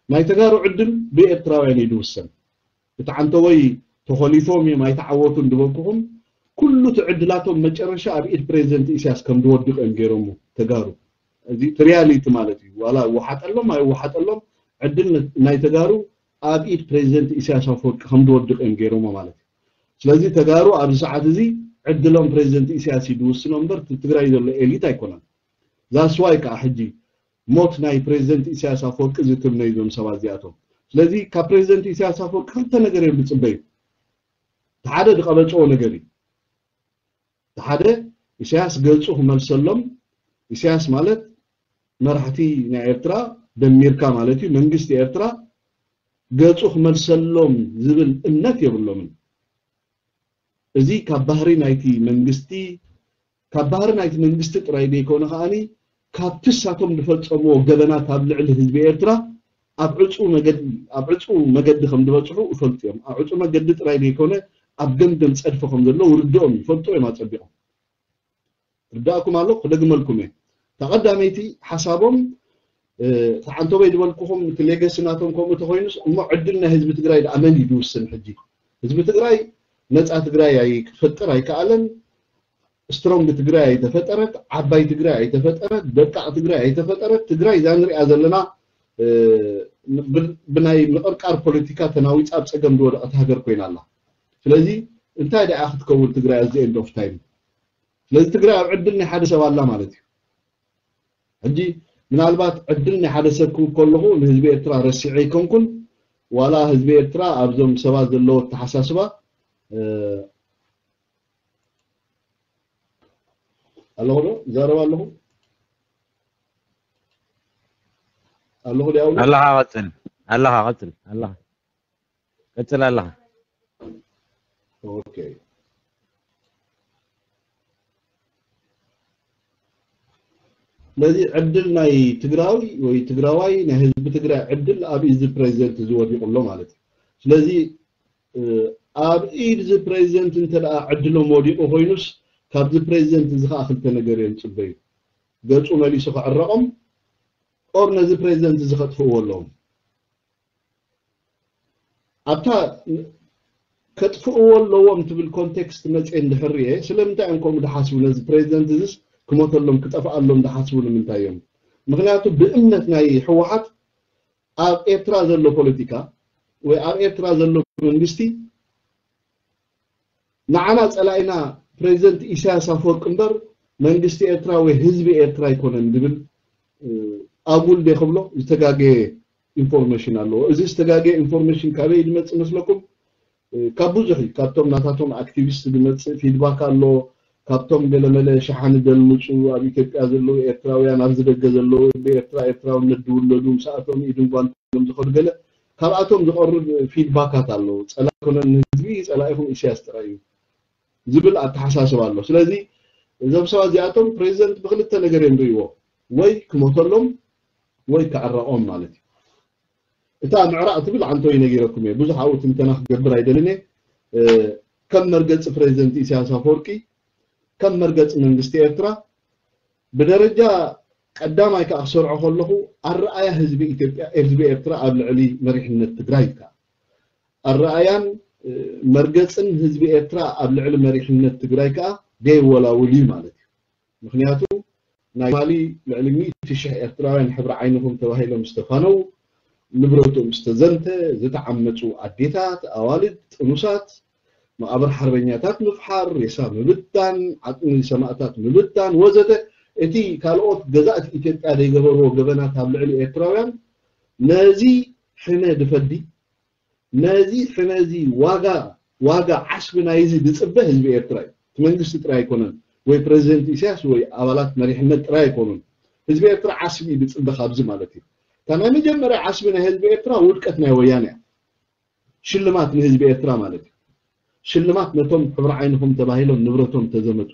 ናይ ተጋሩ ዕድል ብኤርትራውያን እዩ ዝውሰን። እቲ ዓንተወይ ተኾሊፎም እዮም ኣይተዓወቱን ዝበልኩኹም፣ ኩሉ እቲ ዕድላቶም መጨረሻ ኣብ ኢድ ፕሬዚደንት ኢሳያስ ከም ዝወድቕ እዮም ገይሮሞ ተጋሩ። እዚ እቲ ሪያሊቲ ማለት እዩ። ዋላ ይወሓጠሎም ኣይወሓጠሎም ዕድል ናይ ተጋሩ ኣብ ኢድ ፕሬዚደንት ኢሳያስ ኣፈወርቂ ከም ዝወድቕ እዮም ገይሮሞ ማለት እዩ። ስለዚ ተጋሩ ኣብዚ ሰዓት እዚ ዕድሎም ፕሬዚደንት ኢሳያስ እዩ ዝውስኖ እምበር እቲ ትግራይ ዘሎ ኤሊት ኣይኮነን። ዛስዋይ ከዓ ሕጂ ሞት ናይ ፕሬዚደንት ኢሳያስ ኣፈወርቂ ዝትምነዩ እዞም ሰባት እዚኣቶም። ስለዚ ካብ ፕሬዚደንት ኢሳያስ ኣፈወርቂ ክልተ ነገር እዮም ዝፅበዩ። እቲ ሓደ ዝቐበፅዎ ነገር እዩ። እቲ ሓደ ኢሳያስ ገፁ ክመልሰሎም፣ ኢሳያስ ማለት መራሕቲ ናይ ኤርትራ ደሚርካ ማለት እዩ፣ መንግስቲ ኤርትራ ገፁ ክመልሰሎም ዝብል እምነት የብሎምን። እዚ ካብ ባህሪ ናይቲ መንግስቲ ካብ ባህሪ ናይቲ መንግስቲ ጥራይ ዘይኮነ ከዓኒ ካብቲ ንሳቶም ዝፈጸምዎ ገበናት ኣብ ልዕሊ ህዝቢ ኤርትራ ኣብ ዕጹ መገዲ ኣብ ዕጹ መገዲ ከም ዝበጽሑ ይፈልጡ እዮም። ኣብ ዕጹ መገዲ ጥራይ ዘይኮነ ኣብ ገምገም ጸድፊ ከም ዘለዉ ርድኦም ይፈልጡ እዮም ኣጸቢቖም። ርዳእኩም ኣሎ ክደግመልኩም እየ። እታ ቀዳመይቲ ሓሳቦም ተዓንተበይ ዝበልኩኹም እቲ ሌገሲ ናቶም ከምኡ ተኮይኑስ እሞ ዕድል ናይ ህዝቢ ትግራይ ደኣ መን እዩ ዝውስን ሕጂ? ህዝቢ ትግራይ ነፃ ትግራይ ኣይክፈጥር ኣይከኣለን። ስትሮንግ ትግራይ ኣይተፈጠረት፣ ዓባይ ትግራይ ኣይተፈጠረት፣ ደቃቕ ትግራይ ኣይተፈጠረት። ትግራይ እዛ ንሪኣ ዘለና ብናይ ምቕርቃር ፖለቲካ ተናዊፃ ኣብ ፀገም ዝወደቐት ሃገር ኮይና ኣላ። ስለዚ እንታይ ደኣ ክትከውን ትግራይ ኣዚ ኤንድ ኦፍ ታይም? ስለዚ ትግራይ ኣብ ዕድል ናይ ሓደ ሰብ ኣላ ማለት እዩ። ሕጂ ምናልባት ዕድል ናይ ሓደ ሰብ ክውከል ኣለኹ ንህዝቢ ኤርትራ ረሲዐ ኣይኮንኩን፣ ዋላ ህዝቢ ኤርትራ ኣብዞም ሰባት ዘለዎ ኣተሓሳስባ ኣለኹ ዶ? ይዛረብ ኣለኹ? ኣለኹ ዲያውሎ? ኣለኻ ቀጽል። ኣለኻ ቀጽል። ኣለኻ። ቀጽል ኣለኻ። ኦኬ። ስለዚ ዕድል ናይ ትግራዊ ወይ ትግራዋይ ናይ ህዝቢ ትግራይ ዕድል ኣብ ኢዚ ፕሬዚደንት ዝወዲቑ ኣሎ ማለት እዩ። ስለዚ ኣብ ኢድ እዚ ፕሬዚደንት እንተ ደኣ ዕድሎም ወዲቑ ኮይኑስ ካብዚ ፕሬዚደንት እዚ ከዓ ክልተ ነገር እዮም ዝፅበዩ። ገፁ መሊሱ ክዕረቖም ኦር ነዚ ፕሬዚደንት እዚ ከጥፍእዎ ኣለዎም። ኣብታ ከጥፍእዎ ኣለዎም ትብል ኮንቴክስት መፅየ እንድሕር ርኤ ስለምንታይ እዮም ከምኡ ድሓስቡ ነዚ ፕሬዚደንት እዚስ ክሞተሎም ክጠፍኣሎም ድሓስቡ ንምንታይ እዮም? ምክንያቱ ብእምነት ናይ ህወሓት ኣብ ኤርትራ ዘሎ ፖለቲካ ወይ ኣብ ኤርትራ ዘሎ መንግስቲ ንዓና ፀላኢና ፕሬዚደንት ኢሳያስ ኣፈወርቂ እምበር መንግስቲ ኤርትራ ወይ ህዝቢ ኤርትራ ኣይኮነን ዝብል ኣጉል ደ ክብሎ ዝተጋገየ ኢንፎርሜሽን ኣለዎ። እዚ ዝተጋገየ ኢንፎርሜሽን ካበይ ዝመፅእ መስለኩም? ካብ ብዙሕ እዩ። ካብቶም ናታቶም ኣክቲቪስት ዝመፅእ ፊድባክ ኣሎ። ካብቶም ገለመለ ሸሓኒ ደልምፁ ኣብ ኢትዮጵያ ዘለዉ ኤርትራውያን ኣብዚ ደገ ዘለዉ ብኤርትራ ኤርትራውነት ዝውለዱ ምስኣቶም ኢድን ጓንቶም ዝኸዱ ገለ ካብኣቶም ዝቐርብ ፊድባካት ኣለዉ። ፀላኢ ኮነ ንህዝቢ ፀላኢኹም ኢሳያስ ጥራይ እዩ ዝብል ኣተሓሳስባ ኣሎ። ስለዚ እዞም ሰባት እዚኣቶም ፕሬዚደንት ብክልተ ነገር እዮም ርእይዎ፣ ወይ ክሞተሎም ወይ ክዕረቖም ማለት እዩ። እታ ምዕራቕ ትብል ዓንተወይ ነጊረኩም እየ። ብዙሕ ኣብኡ ትንተና ክገብር ኣይደልን እየ። ከም መርገፂ ፕሬዚደንት ኢሳያስ ኣፈወርቂ ከም መርገፂ መንግስቲ ኤርትራ ብደረጃ ቀዳማይ ከዓ ክሰርዖ ከለኹ ኣረኣያ ህዝቢ ኢትዮጵያ ህዝቢ ኤርትራ ኣብ ልዕሊ መሪሕነት ትግራይ ከዓ ኣረኣያን መርገፅን ህዝቢ ኤርትራ ኣብ ልዕሊ መሪሕነት ትግራይ ከዓ ደይወላውል እዩ ማለት እዩ። ምክንያቱ ናይ ማሊ ልዕሊ ሚእቲ ሽሕ ኤርትራውያን ሕብሪ ዓይንኹም ተባሂሎም ዝተፋነው፣ ንብረቶም ዝተዘምተ፣ ዝተዓመፁ ኣዴታት፣ ኣዋልድ፣ ጥኑሳት፣ መቓብር ሓርበኛታት ምፍሓር፣ ሬሳ ምብታን፣ ዓፅሚ ሰማእታት ምብታን ወዘተ እቲ ካልኦት ገዛእቲ ኢትዮጵያ ዘይገበርዎ ገበናት ኣብ ልዕሊ ኤርትራውያን ነዚ ሕነ ድፈዲ ነዚ ሕነዚ ዋጋ ዋጋ ዓስቢ ናይዚ ዝፅበ ህዝቢ ኤርትራ እዩ። እቲ መንግስቲ ጥራይ ኣይኮነን ወይ ፕሬዚደንት ኢሳያስ ወይ ኣባላት መሪሕነት ጥራይ ኣይኮኑን። ህዝቢ ኤርትራ ዓስቢ እዩ ዝፅበ ካብዚ ማለት እዩ። እታ ናይ መጀመርያ ዓስቢ ናይ ህዝቢ ኤርትራ ውድቀት ናይ ወያነ እያ። ሽልማት ንህዝቢ ኤርትራ ማለት እዩ። ሽልማት ነቶም ሕብሪ ዓይንኹም ተባሂሎም ንብረቶም ተዘመቱ።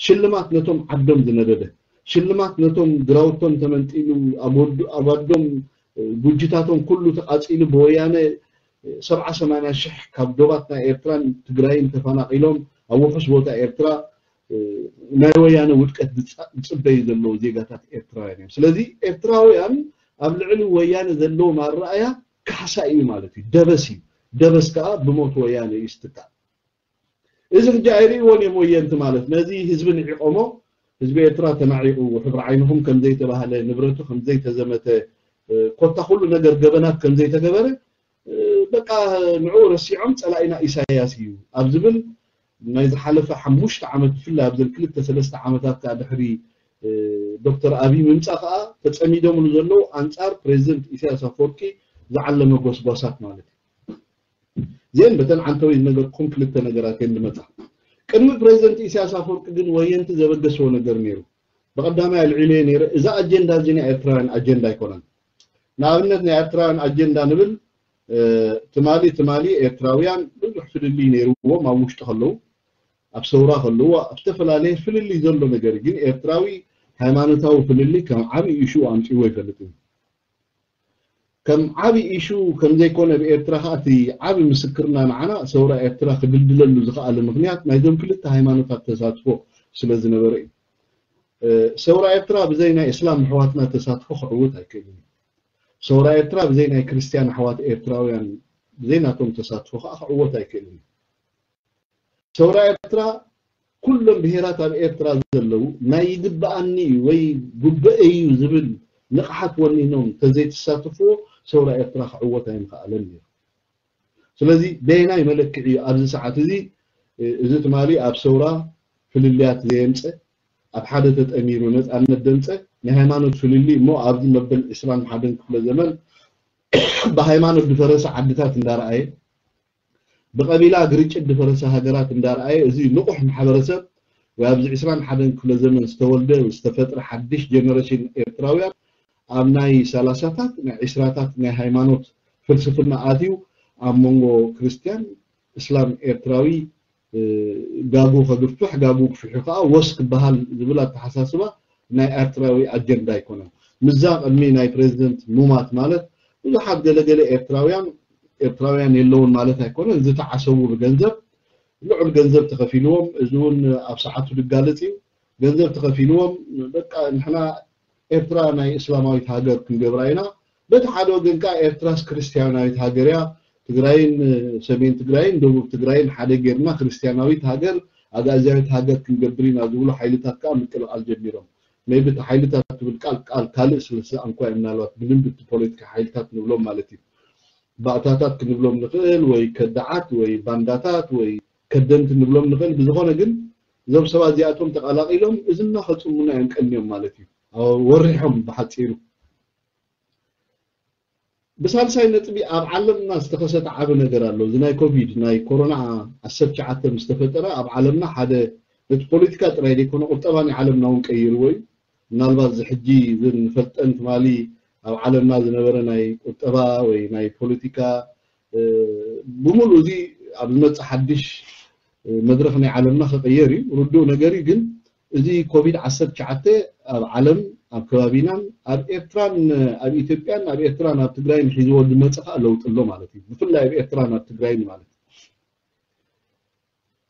ሽልማት ነቶም ዓዶም ዝነደደ። ሽልማት ነቶም ግራውቶም ተመንጢሉ ኣብ ኣዶም ጉጅታቶም ኩሉ ተቃፂሉ ብወያነ ሰብዓ ሰማንያ ሽሕ ካብ ዶባት ናይ ኤርትራን ትግራይን ተፈናቒሎም ኣብ ውሑስ ቦታ ኤርትራ ናይ ወያነ ውድቀት ዝፅበዩ ዘለዉ ዜጋታት ኤርትራውያን እዮም። ስለዚ ኤርትራውያን ኣብ ልዕሊ ወያነ ዘለዎም ኣረኣያ ካሕሳ እዩ ማለት እዩ። ደበስ እዩ። ደበስ ከዓ ብሞት ወያነ እዩ ዝትካእ። እዚ ሕጂ ኣይርእይዎን እዮም ወየንቲ ማለት ነዚ ህዝቢ ንዒቆሞ ህዝቢ ኤርትራ ተናዒቑ ሕብሪ ዓይንኹም ከም ዘይተባህለ ንብረቱ ከም ዘይተዘመተ ኮታ ኩሉ ነገር ገበናት ከም ዘይተገበረ በቃ ንዑ ረሲዖም ጸላኢና ኢሳያስ እዩ ኣብ ዝብል ናይ ዝሓለፈ ሓሙሽተ ዓመት ብፍላይ ኣብዘን ክልተ ሰለስተ ዓመታት ከዓ ድሕሪ ዶክተር ኣብይ ምምፃእ ከዓ ተፀሚዶምሉ ዘለዉ ኣንፃር ፕሬዚደንት ኢሳያስ ኣፈወርቂ ዝዓለመ ጎስጓሳት ማለት እዩ። እዚአን በተን ዓንተወይ ዝነገርኩም ክልተ ነገራት እየን ዝመፃ። ቅድሚ ፕሬዚደንት ኢሳያስ ኣፈወርቂ ግን ወየንቲ ዘበገስዎ ነገር ነይሩ። ብቐዳማይ ኣልዒለዮ ነይረ። እዛ ኣጀንዳ እዚ ናይ ኤርትራውያን ኣጀንዳ ኣይኮነን። ንኣብነት ናይ ኤርትራውያን ኣጀንዳ ንብል ትማሊ ትማሊ ኤርትራውያን ብዙሕ ፍልልይ ነይርዎም ኣብ ውሽጢ ከለዉ ኣብ ሰውራ ከለዉ ኣብ ዝተፈላለየ ፍልልይ ዘሎ ነገር ግን ኤርትራዊ ሃይማኖታዊ ፍልልይ ከም ዓብዪ ኢሹ ኣምፅዎ ይፈልጥ እዩ። ከም ዓብዪ ኢሹ ከም ዘይኮነ ብኤርትራ ከዓ እቲ ዓብዪ ምስክርና ንዓና ሰውራ ኤርትራ ክድልድለሉ ዝኸኣለ ምክንያት ናይዞም ክልተ ሃይማኖታት ተሳትፎ ስለ ዝነበረ እዩ። ሰውራ ኤርትራ ብዘይ ናይ እስላም ኣሕዋትና ተሳትፎ ክዕውት ኣይክእልን እዩ። ሰውራ ኤርትራ ብዘይ ናይ ክርስትያን ኣሕዋት ኤርትራውያን ብዘይ ናቶም ተሳትፎ ከዓ ክዕወት ኣይክእልን እዩ። ሰውራ ኤርትራ ኩሎም ብሄራት ኣብ ኤርትራ ዘለዉ ናይ ይግበኣኒ እዩ ወይ ጉበኤ እዩ ዝብል ንቕሓት ወኒኖም ተዘይተሳትፍዎ ሰውራ ኤርትራ ክዕወት ኣይምኸኣለን ነይሩ። ስለዚ በየናይ መለክዒ እዩ ኣብዚ ሰዓት እዚ እዚ ትማሊ ኣብ ሰውራ ፍልልያት ዘየምፀ ኣብ ሓደ ተጠሚሩ ነፃነት ደምፀ ናይ ሃይማኖት ፍልልይ እሞ ኣብዚ መበል ዕስራን ሓደን ክፍለ ዘመን ብሃይማኖት ዝፈረሰ ዓድታት እንዳረኣየ ብቐቢላ ግርጭት ዝፈረሰ ሃገራት እንዳረኣየ እዚ ንቑሕ ማሕበረሰብ ወይ ኣብዚ ዕስራን ሓደን ክፍለ ዘመን ዝተወልደ ዝተፈጥረ ሓድሽ ጀነሬሽን ኤርትራውያን ኣብ ናይ ሰላሳታት ናይ ዕስራታት ናይ ሃይማኖት ፍልስፍና ኣትዩ ኣብ መንጎ ክርስትያን እስላም ኤርትራዊ ጋጉ ከግፍሕ ጋጉ ክፍሑ ከዓ ወስ ክበሃል ዝብል ኣተሓሳስባ ናይ ኤርትራዊ ኣጀንዳ ኣይኮነን። ምዛ ቅድሚ ናይ ፕሬዚደንት ሙማት ማለት ብዙሓት ገለገለ ኤርትራውያን ኤርትራውያን የለውን ማለት ኣይኮነን። ዝተዓሰቡ ብገንዘብ ልዑል ገንዘብ ተኸፊልዎም እዚ እውን ኣብ ሰዓቱ ዝጋለፅ እዩ። ገንዘብ ተኸፊልዎም በቃ ንሕና ኤርትራ ናይ እስላማዊት ሃገር ክንገብራ ኢና። በቲ ሓደ ወገን ከዓ ኤርትራስ ክርስትያናዊት ሃገር እያ። ትግራይን ሰሜን ትግራይን ደቡብ ትግራይን ሓደ ጌርና ክርስትያናዊት ሃገር ኣጋእዝያዊት ሃገር ክንገብር ኢና ዝብሉ ሓይልታት ከዓ ምቅልቃል ጀሚሮም። ሜቢ እቲ ሓይልታት ትብል ቃል ቃል ካልእ ስለ ዝሰኣንኳ እየ ምናልባት ብልምዲ እቲ ፖለቲካ ሓይልታት ንብሎም ማለት እዩ። ባእታታት ክንብሎም ንኽእል ወይ ከዳዓት ወይ ባንዳታት ወይ ከደምቲ ንብሎም ንኽእል። ብዝኾነ ግን እዞም ሰባት እዚኣቶም ተቐላቒሎም እዚ እናኸፅሙና እዮም ቀንዮም ማለት እዩ። ወሪሖም ብሓፂሩ። ብሳልሳይ ነጥቢ ኣብ ዓለምና ዝተኸሰተ ዓቢ ነገር ኣሎ። እዚ ናይ ኮቪድ ናይ ኮሮና ዓሰርተ ትሽዓተ ምስ ተፈጠረ ኣብ ዓለምና ሓደ ነቲ ፖለቲካ ጥራይ ዘይኮነ ቁጠባ ናይ ዓለምና እውን ቀይርዎ እዩ። ምናልባት እዚ ሕጂ እዚ ንፈልጠን ትማሊ ኣብ ዓለምና ዝነበረ ናይ ቁጠባ ወይ ናይ ፖለቲካ ብምሉእ እዚ ኣብ ዝመፅእ ሓድሽ መድረክ ናይ ዓለምና ክቅየር እዩ። ርዱእ ነገር እዩ ግን እዚ ኮቪድ ዓሰርተ ትሽዓተ ኣብ ዓለም ኣብ ከባቢናን ኣብ ኤርትራን ኣብ ኢትዮጵያን ኣብ ኤርትራን ኣብ ትግራይን ሒዝዎ ዝመፀ ከዓ ለውጢ ኣሎ ማለት እዩ። ብፍላይ ኣብ ኤርትራን ኣብ ትግራይን ማለት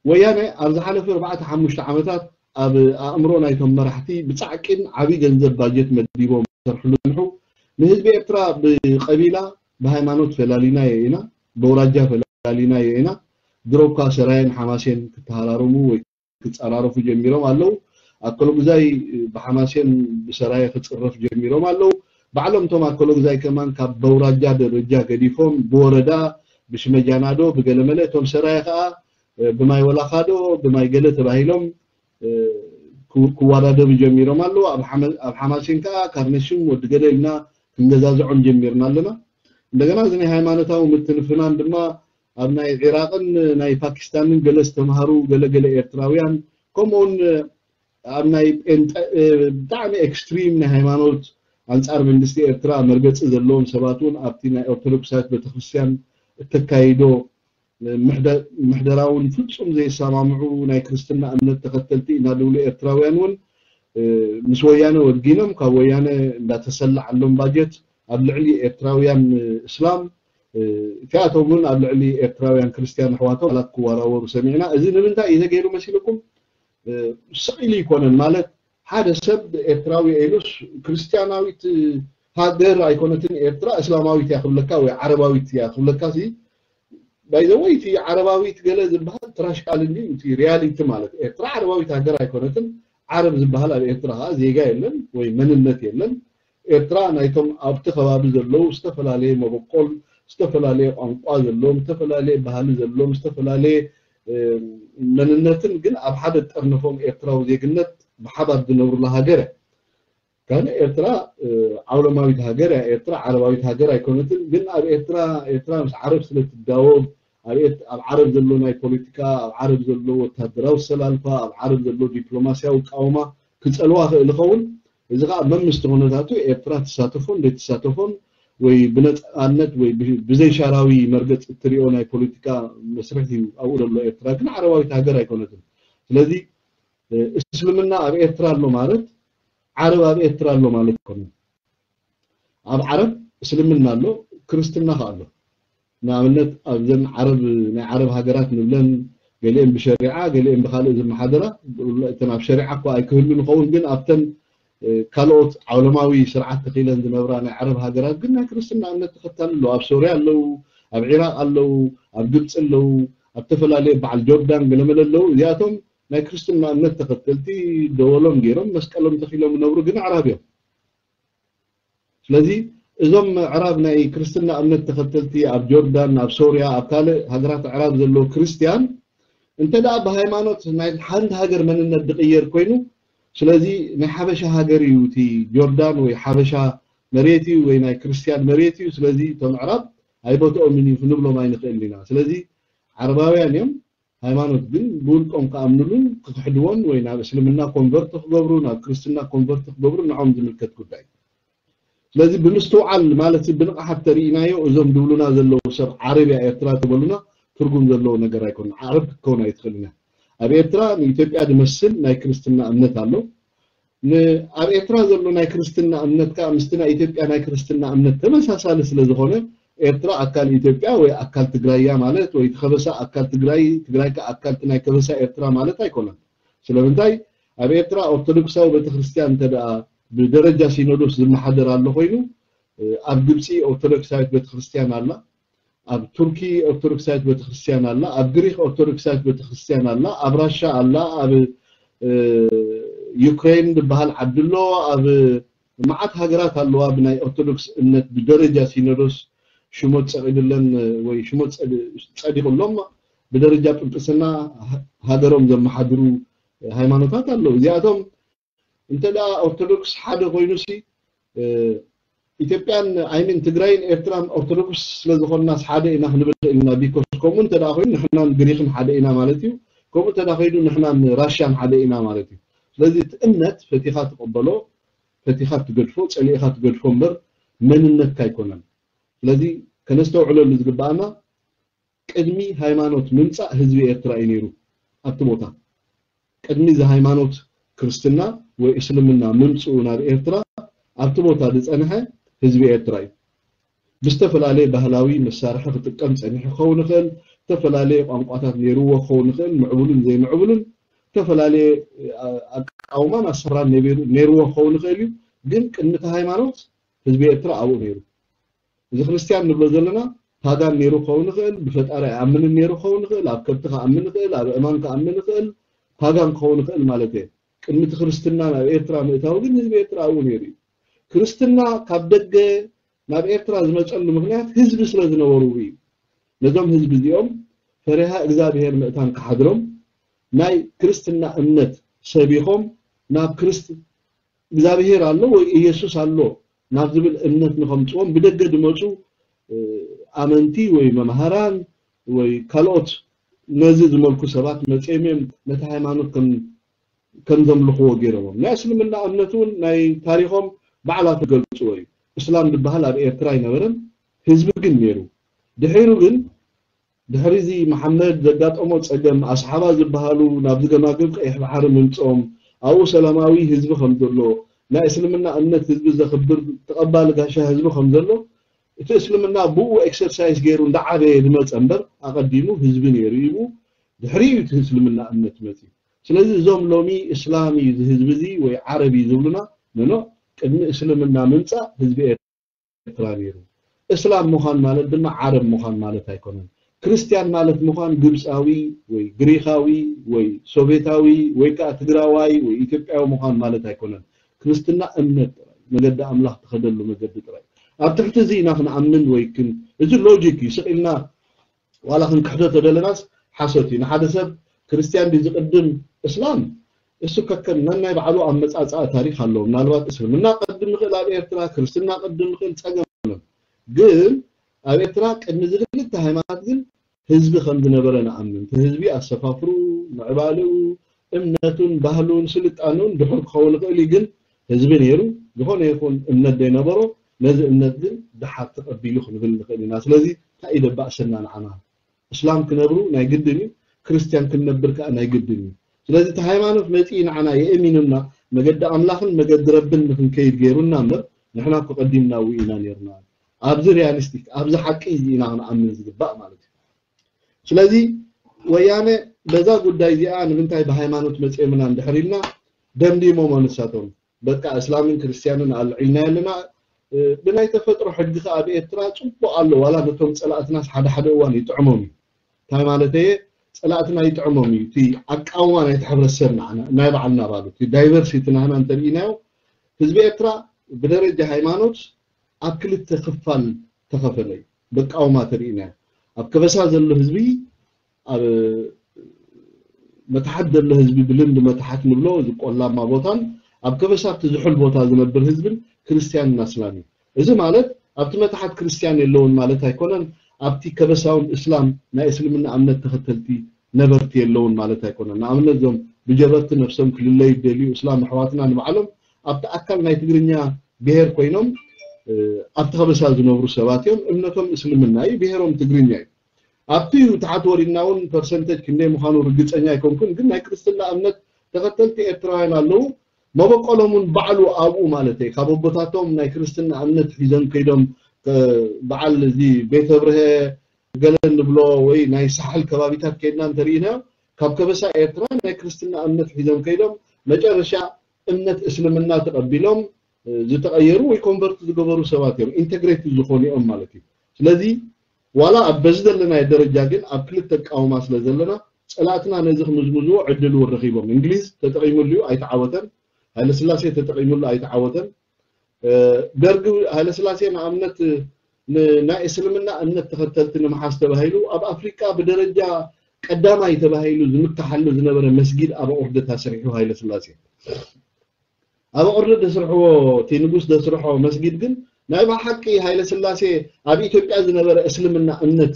ወያነ ኣብ ዝሓለፈ ኣርባዕተ ሓሙሽተ ዓመታት ኣብ ኣእምሮ ናይቶም መራሕቲ ብፃዕቂን ዓብዪ ገንዘብ ባጀት መዲቦም ዝሰርሕሉ ንሑ ንህዝቢ ኤርትራ ብቀቢላ ብሃይማኖት ፈላሊናዮ ኢና፣ በውራጃ ፈላሊናዮ ኢና። ድሮ እኳ ሰራየን ሓማሴን ክተሃራረሙ ወይ ክፀራረፉ ጀሚሮም ኣለዉ። ኣከለጉዛይ ብሓማሴን ብሰራየ ክፅረፍ ጀሚሮም ኣለዉ። ባዕሎም እቶም ኣከለጉዛይ ከማን ካብ በውራጃ ደረጃ ገዲፎም ብወረዳ ብሽመጃናዶ ብገለመለ እቶም ሰራየ ከዓ ብማይ ወላኻዶ ብማይ ገለ ተባሂሎም ክዋዳደሩ ጀሚሮም ኣለዉ። ኣብ ሓማሴን ከዓ ካርነሽም ወዲ ገለ ኢልና ክንገዛዝዖም ጀሚርና ኣለና። እንደገና እዚ ናይ ሃይማኖታዊ ምትንፍናን ድማ ኣብ ናይ ዒራቅን ናይ ፓኪስታንን ገለ ዝተምሃሩ ገለገለ ኤርትራውያን ከምኡውን ኣብ ናይ ጴንጠ ብጣዕሚ ኤክስትሪም ናይ ሃይማኖት ኣንጻር መንግስቲ ኤርትራ መርገጺ ዘለዎም ሰባት እውን ኣብቲ ናይ ኦርቶዶክሳዊት ቤተክርስትያን እተካይዶ ምሕደራውን ፍጹም ዘይሰማምዑ ናይ ክርስትና እምነት ተኸተልቲ ኢና ዝብሉ ኤርትራውያን እውን ምስ ወያነ ወጊኖም ካብ ወያነ እንዳተሰላዓሎም ባጀት ኣብ ልዕሊ ኤርትራውያን እስላም እቲኣቶም እውን ኣብ ልዕሊ ኤርትራውያን ክርስትያን ኣሕዋቶም ላት ክወራወሩ ሰሚዕና። እዚ ንምንታይ እዩ ተገይሩ መሲልኩም? ስቕ ኢሉ ይኮነን ማለት ሓደ ሰብ ኤርትራዊ ኢሉስ ክርስትያናዊት ሃገር ኣይኮነትን ኤርትራ እስላማዊት እያ ክብለካ ወይ ዓረባዊት እያ ክብለካ ሲ ባይዘወይ እቲ ዓረባዊት ገለ ዝበሃል ኤርትራ ሽቃል እንዲ እቲ ሪያሊቲ ማለት ኤርትራ ዓረባዊት ሃገር ኣይኮነትን። ዓረብ ዝበሃል ኣብ ኤርትራ ከዓ ዜጋ የለን ወይ መንነት የለን። ኤርትራ ናይቶም ኣብቲ ከባቢ ዘለዉ ዝተፈላለየ መበቆል፣ ዝተፈላለየ ቋንቋ ዘለዎም፣ ዝተፈላለየ ባህሊ ዘለዎም፣ ዝተፈላለየ መንነትን ግን ኣብ ሓደ ጠርነፎም ኤርትራዊ ዜግነት ብሓባር ዝነብሩላ ሃገር እያ። ካልእ ኤርትራ ዓውለማዊት ሃገር እያ። ኤርትራ ዓረባዊት ሃገር ኣይኮነትን። ግን ኣብ ኤርትራ ኤርትራ ምስ ዓረብ ስለ ትዳወብ ኣብ ዓረብ ዘሎ ናይ ፖለቲካ፣ ኣብ ዓረብ ዘሎ ወታደራዊ ሰላልፋ፣ ኣብ ዓረብ ዘሎ ዲፕሎማስያዊ ቃውማ ክጸልዋ ክእል ይኸውን። እዚ ከዓ መምስቲ ኩነታቱ ኤርትራ ትሳተፎን ዘይትሳተፎን ወይ ብነፃነት ወይ ብዘይሻራዊ መርገፂ እትሪኦ ናይ ፖለቲካ መስርሕ እዩ ኣብኡ ዘሎ። ኤርትራ ግን ዓረባዊት ሃገር ኣይኮነትን። ስለዚ እስልምና ኣብ ኤርትራ ኣሎ ማለት ዓረብ ኣብ ኤርትራ ኣሎ ማለት ኣይኮነን። ኣብ ዓረብ እስልምና ኣሎ፣ ክርስትና ከ ኣሎ። ንኣብነት ኣብዘን ዓረብ ናይ ዓረብ ሃገራት ንብለን ገሊአን ብሸሪዓ ገሊአን ብካልእ ዝመሓደራ፣ እተን ኣብ ሸሪዓ እኳ ኣይክህሉ ንኸውን፣ ግን ኣብተን ካልኦት ዓውለማዊ ስርዓት ተኺለን ዝነብራ ናይ ዓረብ ሃገራት ግን ናይ ክርስትና እምነት ተኸታሊ ኣለዉ። ኣብ ሶርያ ኣለዉ፣ ኣብ ዒራቅ ኣለዉ፣ ኣብ ግብፂ ኣለዉ፣ ኣብ ተፈላለየ በዓል ጆርዳን ገለመለ ኣለዉ። እዚኣቶም ናይ ክርስትና እምነት ተኸተልቲ ደወሎም ገይሮም መስቀሎም ተኺሎም ይነብሩ፣ ግን ኣዕራብ እዮም። ስለዚ እዞም ኣዕራብ ናይ ክርስትና እምነት ተኸተልቲ ኣብ ጆርዳን፣ ኣብ ሶርያ፣ ኣብ ካልእ ሃገራት ኣዕራብ ዘለዉ ክርስትያን እንተ ደኣ ብሃይማኖት ናይ ሓንቲ ሃገር መንነት ዝቕየር ኮይኑ፣ ስለዚ ናይ ሓበሻ ሃገር እዩ እቲ ጆርዳን ወይ ሓበሻ መሬት እዩ ወይ ናይ ክርስትያን መሬት እዩ። ስለዚ እቶም ኣዕራብ ኣይቦትኦምን እዩ ክንብሎም ኣይንኽእልን ኢና። ስለዚ ዓረባውያን እዮም። ሃይማኖት ግን ብውልቆም ክኣምንሉን ክኽሕድዎን ወይ ናብ እስልምና ኮንቨርት ክገብሩ ናብ ክርስትና ኮንቨርት ክገብሩ ንዖም ዝምልከት ጉዳይ። ስለዚ ብምስትውዓል ማለት ብንቕሓት ተርኢናዮ እዞም ድብሉና ዘለዉ ሰብ ዓረብ እያ ኤርትራ ተበሉና ትርጉም ዘለዎ ነገር ኣይኮነ። ዓረብ ክትከውን ኣይትኽእልን እያ። ኣብ ኤርትራ ንኢትዮጵያ ዝመስል ናይ ክርስትና እምነት ኣሎ። ኣብ ኤርትራ ዘሎ ናይ ክርስትና እምነት ከዓ ምስቲ ናይ ኢትዮጵያ ናይ ክርስትና እምነት ተመሳሳሊ ስለ ዝኾነ ኤርትራ ኣካል ኢትዮጵያ ወይ ኣካል ትግራይ እያ ማለት ወይ ከበሳ ኣካል ትግራይ፣ ትግራይ ከዓ ኣካል ናይ ከበሳ ኤርትራ ማለት ኣይኮነን። ስለምንታይ ኣብ ኤርትራ ኦርቶዶክሳዊ ቤተክርስትያን እንተ ደኣ ብደረጃ ሲኖዶስ ዝመሓደር ኣሎ ኮይኑ ኣብ ግብፂ ኦርቶዶክሳዊት ቤተክርስትያን ኣላ፣ ኣብ ቱርኪ ኦርቶዶክሳዊት ቤተክርስትያን ኣላ፣ ኣብ ግሪክ ኦርቶዶክሳዊት ቤተክርስትያን ኣላ፣ ኣብ ራሻ ኣላ፣ ኣብ ዩክሬን ዝበሃል ዓዲ ኣሎ፣ ኣብ መዓት ሃገራት ኣለዋ ብናይ ኦርቶዶክስ እምነት ብደረጃ ሲኖዶስ ሽሞት ፀቒድለን ወይ ሽሞት ፀዲቑሎም ብደረጃ ጵንጥስና ሃገሮም ዘመሓድሩ ሃይማኖታት ኣለዉ። እዚኣቶም እንተ ደኣ ኦርቶዶክስ ሓደ ኮይኑ ሲ ኢትዮጵያን ኣይምን ትግራይን ኤርትራን ኦርቶዶክስ ስለ ዝኾንናስ ሓደ ኢና ክንብል ኢና። ቢኮስ ከምኡ እንተ ደኣ ኮይኑ ንሕናን ግሪክን ሓደ ኢና ማለት እዩ። ከምኡ እንተ ደኣ ኮይኑ ንሕናን ራሽያን ሓደ ኢና ማለት እዩ። ስለዚ እቲ እምነት ፈቲኻ ትቕበሎ፣ ፈቲኻ ትገድፎ፣ ጸሊእኻ ትገድፎ እምበር መንነትካ ኣይኮነን። ስለዚ ከነስተውዕለሉ ዝግባኣና ቅድሚ ሃይማኖት ምምጻእ ህዝቢ ኤርትራ እዩ ነይሩ ኣብቲ ቦታ። ቅድሚ እዚ ሃይማኖት ክርስትና ወይ እስልምና ምምጽኡ ናብ ኤርትራ ኣብቲ ቦታ ዝጸንሐ ህዝቢ ኤርትራ እዩ። ብዝተፈላለየ ባህላዊ መሳርሒ ክጥቀም ጸኒሑ ክኸውን ይኽእል፣ ዝተፈላለየ ቋንቋታት ነይርዎ ክኸውን ይኽእል፣ ምዕቡልን ዘይምዕቡልን ዝተፈላለየ ኣቃውማን ኣሰራን ነይርዎ ክኸውን ይኽእል እዩ። ግን ቅድሚ እቲ ሃይማኖት ህዝቢ ኤርትራ ኣብኡ ነይሩ። እዚ ክርስትያን ንብሎ ዘለና ፓጋን ነይሩ ክኸውን ይኽእል፣ ብፈጣሪ ኣይኣምንን ነይሩ ክኸውን ይኽእል፣ ኣብ ከብቲ ክኣምን ይኽእል፣ ኣብ እማን ክኣምን ይኽእል፣ ፓጋን ክኸውን ይኽእል ማለት እየ። ቅድሚ እቲ ክርስትና ናብ ኤርትራ ምእታው ግን ህዝቢ ኤርትራ ኣብኡ ነይሩ እዩ። ክርስትና ካብ ደገ ናብ ኤርትራ ዝመፀሉ ምኽንያት ህዝቢ ስለ ዝነበሩ እዩ። ነዞም ህዝቢ እዚኦም ፈሪሃ እግዚኣብሔር ምእታን ክሓድሮም ናይ ክርስትና እምነት ሰቢኾም ናብ ክርስት እግዚኣብሔር ኣሎ ወይ ኢየሱስ ኣሎ ናብ ዝብል እምነት ንኸምፅዎም ብደገ ዝመፁ ኣመንቲ ወይ መምሃራን ወይ ካልኦት ነዚ ዝመልኩ ሰባት መፅኦም እዮም ነቲ ሃይማኖት ከም ዘምልኽዎ ገይሮምም። ናይ እስልምና እምነት እውን ናይ ታሪኾም ባዕላ ትገልፅዎ እዩ። እስላም ዝበሃል ኣብ ኤርትራ ኣይነበረን፣ ህዝቢ ግን ነይሩ። ድሒሩ ግን ድሕሪ እዚ መሓመድ ዘጋጠሞ ጸገም ኣስሓባ ዝበሃሉ ናብዚ ገማግም ቀይሕ ባሕሪ ምምጽኦም ኣብኡ ሰላማዊ ህዝቢ ከም ዘሎ ናይ እስልምና እምነት ህዝቢ ዘኽብር ተቐባሊ ጋሻ ህዝቢ ከም ዘሎ እቲ እስልምና ብኡ ኤክሰርሳይዝ ገይሩ እንዳዓበየ ዝመጸ እምበር ኣቐዲሙ ህዝቢ ነይሩ እዩ። ድሕሪኡ እቲ እስልምና እምነት መጺኡ። ስለዚ እዞም ሎሚ እስላም እዩ እዚ ህዝቢ እዚ ወይ ዓረብ እዩ ዝብሉና ኖኖ ቅድሚ እስልምና ምምጻእ ህዝቢ ኤርትራ ነይሩ። እስላም ምዃን ማለት ድማ ዓረብ ምዃን ማለት ኣይኮነን። ክርስትያን ማለት ምዃን ግብፃዊ ወይ ግሪኻዊ ወይ ሶቬታዊ ወይ ከዓ ትግራዋይ ወይ ኢትዮጵያዊ ምዃን ማለት ኣይኮነን። ክርስትና እምነት ጥራይ፣ መገዲ ኣምላኽ ትኸደሉ መገዲ ጥራይ። ኣብ ትሕቲ እዚ ኢና ክንኣምን ወይ ክን-፣ እዚ ሎጂክ እዩ። ስቕ ኢልና ዋላ ክንክሕዶ ተደለናስ ሓሶት እዩ። ንሓደ ሰብ ክርስትያን ድዩ ዝቕድም እስላም፣ እሱ ከከም ነናይ ባዕሉ ኣመጻጽኣ ታሪኽ ኣለዎ። ምናልባት እስልምና ቅድም ይኽእል ኣብ ኤርትራ፣ ክርስትና ቅድም ይኽእል፣ ጸገም የለን። ግን ኣብ ኤርትራ ቅድሚ እዚ ክልተ ሃይማኖት ግን ህዝቢ ከም ዝነበረ ንኣምን። እቲ ህዝቢ ኣሰፋፍሩ፣ ምዕባልኡ፣ እምነቱን ባህሉን ስልጣኑን ድሑር ክኸውን ይኽእል እዩ፣ ግን ህዝቢ ነይሩ። ዝኾነ ይኹን እምነት ዘይነበሮ ነዚ እምነት ግን ድሓር ተቐቢሉ ክንብል ንኽእል ኢና። ስለዚ እንታይ እዩ ደባእሰና ንዓና? እስላም ክነብሩ ናይ ግድን እዩ፣ ክርስትያን ክንነብር ከዓ ናይ ግድን እዩ። ስለዚ እቲ ሃይማኖት መፂኡ ንዓና የእሚኑና፣ መገዲ ኣምላኽን መገዲ ረብን ንክንከይድ ገይሩና እምበር ንሕና እኮ ቀዲምና ኣብኡ ኢና ነይርና። ኣብዚ ሪያሊስቲክ፣ ኣብዚ ሓቂ እዚ ኢና ክንኣምን ዝግባእ ማለት እዩ። ስለዚ ወያነ በዛ ጉዳይ እዚኣ ንምንታይ ብሃይማኖት መፂኦምና እንድሕር ኢልና ደምዲሞም ንሳቶም። በቃ እስላምን ክርስትያንን ኣልዒልና ኣለና። እ፣ ብናይ ተፈጥሮ ሕጊ ከኣ ኣብ ኤርትራ ጽቡቕ ኣሎ፣ ዋላ ነቶም ጸላእትናስ ሓደ ሓደ እዋን ይጥዕሞም እዩ። እንታይ ማለተየ? ጸላእትና ይጥዕሞም እዩ። እቲ ኣቃውማ ናይቲ ሕብረተሰብ ንዓና፣ ናይ ባዕልና ባሉ፣ እቲ ዳይቨርሲቲ ናህና እንተርኢናዮ፣ ህዝቢ ኤርትራ ብደረጃ ሃይማኖት ኣብ ክልተ ክፋል ተኸፈለ እዩ። በቃውማ ተርኢናዮ። ኣብ ከበሳ ዘሎ ህዝቢ፣ ኣብ መታሕት ዘሎ ህዝቢ፣ ብልምዲ መታሕት ንብሎ፣ እዚ ቆላማ ቦታን ኣብ ከበሳ እቲ ዝሑል ቦታ ዝነብር ህዝብን ክርስትያንን ኣስላም እዩ። እዚ ማለት ኣብቲ መታሕት ክርስትያን የለውን ማለት ኣይኮነን። ኣብቲ ከበሳውን እስላም ናይ እስልምና እምነት ተኸተልቲ ነበርቲ የለውን ማለት ኣይኮነን። ንኣብነት እዞም ብጀበርቲ ነብሶም ክልለዩ ደልዩ እስላም ኣሕዋትና ንባዕሎም ኣብቲ ኣካል ናይ ትግርኛ ብሄር ኮይኖም፣ እ፣ ኣብቲ ከበሳ ዝነብሩ ሰባት እዮም። እምነቶም እስልምና እዩ፣ ብሄሮም ትግርኛ እዩ። ኣብቲ ታሕቲ ወሪድና እውን ፐርሰንተጅ ክንደይ ምዃኑ ርግፀኛ ኣይኮንኩን፣ ግን ናይ ክርስትና እምነት ተኸተልቲ ኤርትራውያን ኣለዉ። መበቆሎም እውን ባዕሉ ኣብኡ ማለት እዩ። ካብ ኣቦታቶም ናይ ክርስትና እምነት ሒዞም ከይዶም፣ እ፣ በዓል እዚ ቤተ ብርሀ ገለ ንብሎ ወይ ናይ ሳሕል ከባቢታት ከይድና እንተርኢና፣ ካብ ከበሳ ኤርትራ ናይ ክርስትና እምነት ሒዞም ከይዶም፣ መጨረሻ እምነት እስልምና ተቐቢሎም፣ እ፣ ዝተቐየሩ ወይ ኮንቨርት ዝገበሩ ሰባት እዮም። ኢንተግሬትድ ዝኾኑ እዮም ማለት እዩ። ስለዚ ዋላ ኣብ በዚ ዘለናዮ ደረጃ ግን ኣብ ክልተ ቃውማ ስለ ዘለና፣ ጸላእትና ነዚ ክምዝምዝዎ ዕድል እውን ረኺቦም። እንግሊዝ ተጠቒሙሉ እዩ፣ ኣይተዓወተን። ሃይለስላሴ ተጠቒሙሉ፣ ኣይተዓወተን። እ፣ ደርጊ፣ ሃይለስላሴ ንኣብነት ን-፣ ናይ እስልምና እምነት ተኸተልቲ ንምሓዝ ተባሂሉ ኣብ ኣፍሪቃ ብደረጃ ቀዳማይ ተባሂሉ ዝምከሓሉ ዝነበረ መስጊድ ኣብ ኣቑርደት ኣስሪሑ ሃይለስላሴ። ኣብ ኣቑርደት ዘስርሕዎ፣ እቲ ንጉስ ዘስርሖ መስጊድ ግን ናይ ብሓቂ ሃይለስላሴ ኣብ ኢትዮጵያ ዝነበረ እስልምና እምነት፣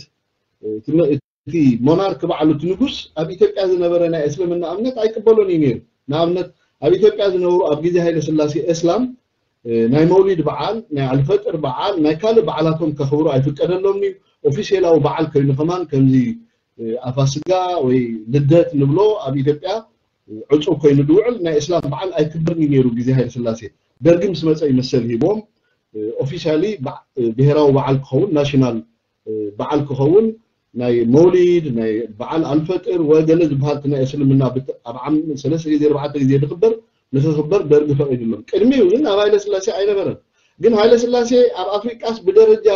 እቲ መ-፣ እቲ ሞናርክ ባዕሉ፣ እቲ ንጉስ ኣብ ኢትዮጵያ ዝነበረ ናይ እስልምና እምነት ኣይቅበሎን እዩ ነይሩ። ንኣብነት ኣብ ኢትዮጵያ ዝነበሩ ኣብ ግዜ ሃይለስላሴ እስላም፣ እ፣ ናይ መውሊድ በዓል፣ ናይ ኣልፈጥር በዓል፣ ናይ ካልእ በዓላቶም ከኽብሩ ኣይፍቀደሎምን እዩ። ኦፊሴላዊ በዓል ኮይኑ ከማን ከምዚ፣ እ፣ ኣፋስጋ ወይ ልደት ንብሎ ኣብ ኢትዮጵያ፣ እ፣ ዕጹብ ኮይኑ ዝውዕል ናይ እስላም በዓል ኣይክበርን እዩ ነይሩ ግዜ ሃይለስላሴ። ደርጊ ምስ መጸ እዩ መሰል ሂቦም፣ እ፣ ኦፊሻሊ በዓ-፣ እ፣ ብሄራዊ በዓል ክኸውን፣ ናሽናል፣ እ፣ በዓል ክኸውን፣ ናይ መውሊድ፣ ናይ በዓል ኣልፈጥር ወገለ ዝበሃል እቲ ናይ እስልምና ብት-፣ ኣብ ዓም ሰለስተ ግዜ ኣርባዕተ ግዜ ዝኽበር፣ ንኽኽበር ደርጊ ፈቒድሎም። ቅድሚኡ ግን ኣብ ሃይለስላሴ ኣይነበረን። ግን ሃይለስላሴ ኣብ ኣፍሪቃስ ብደረጃ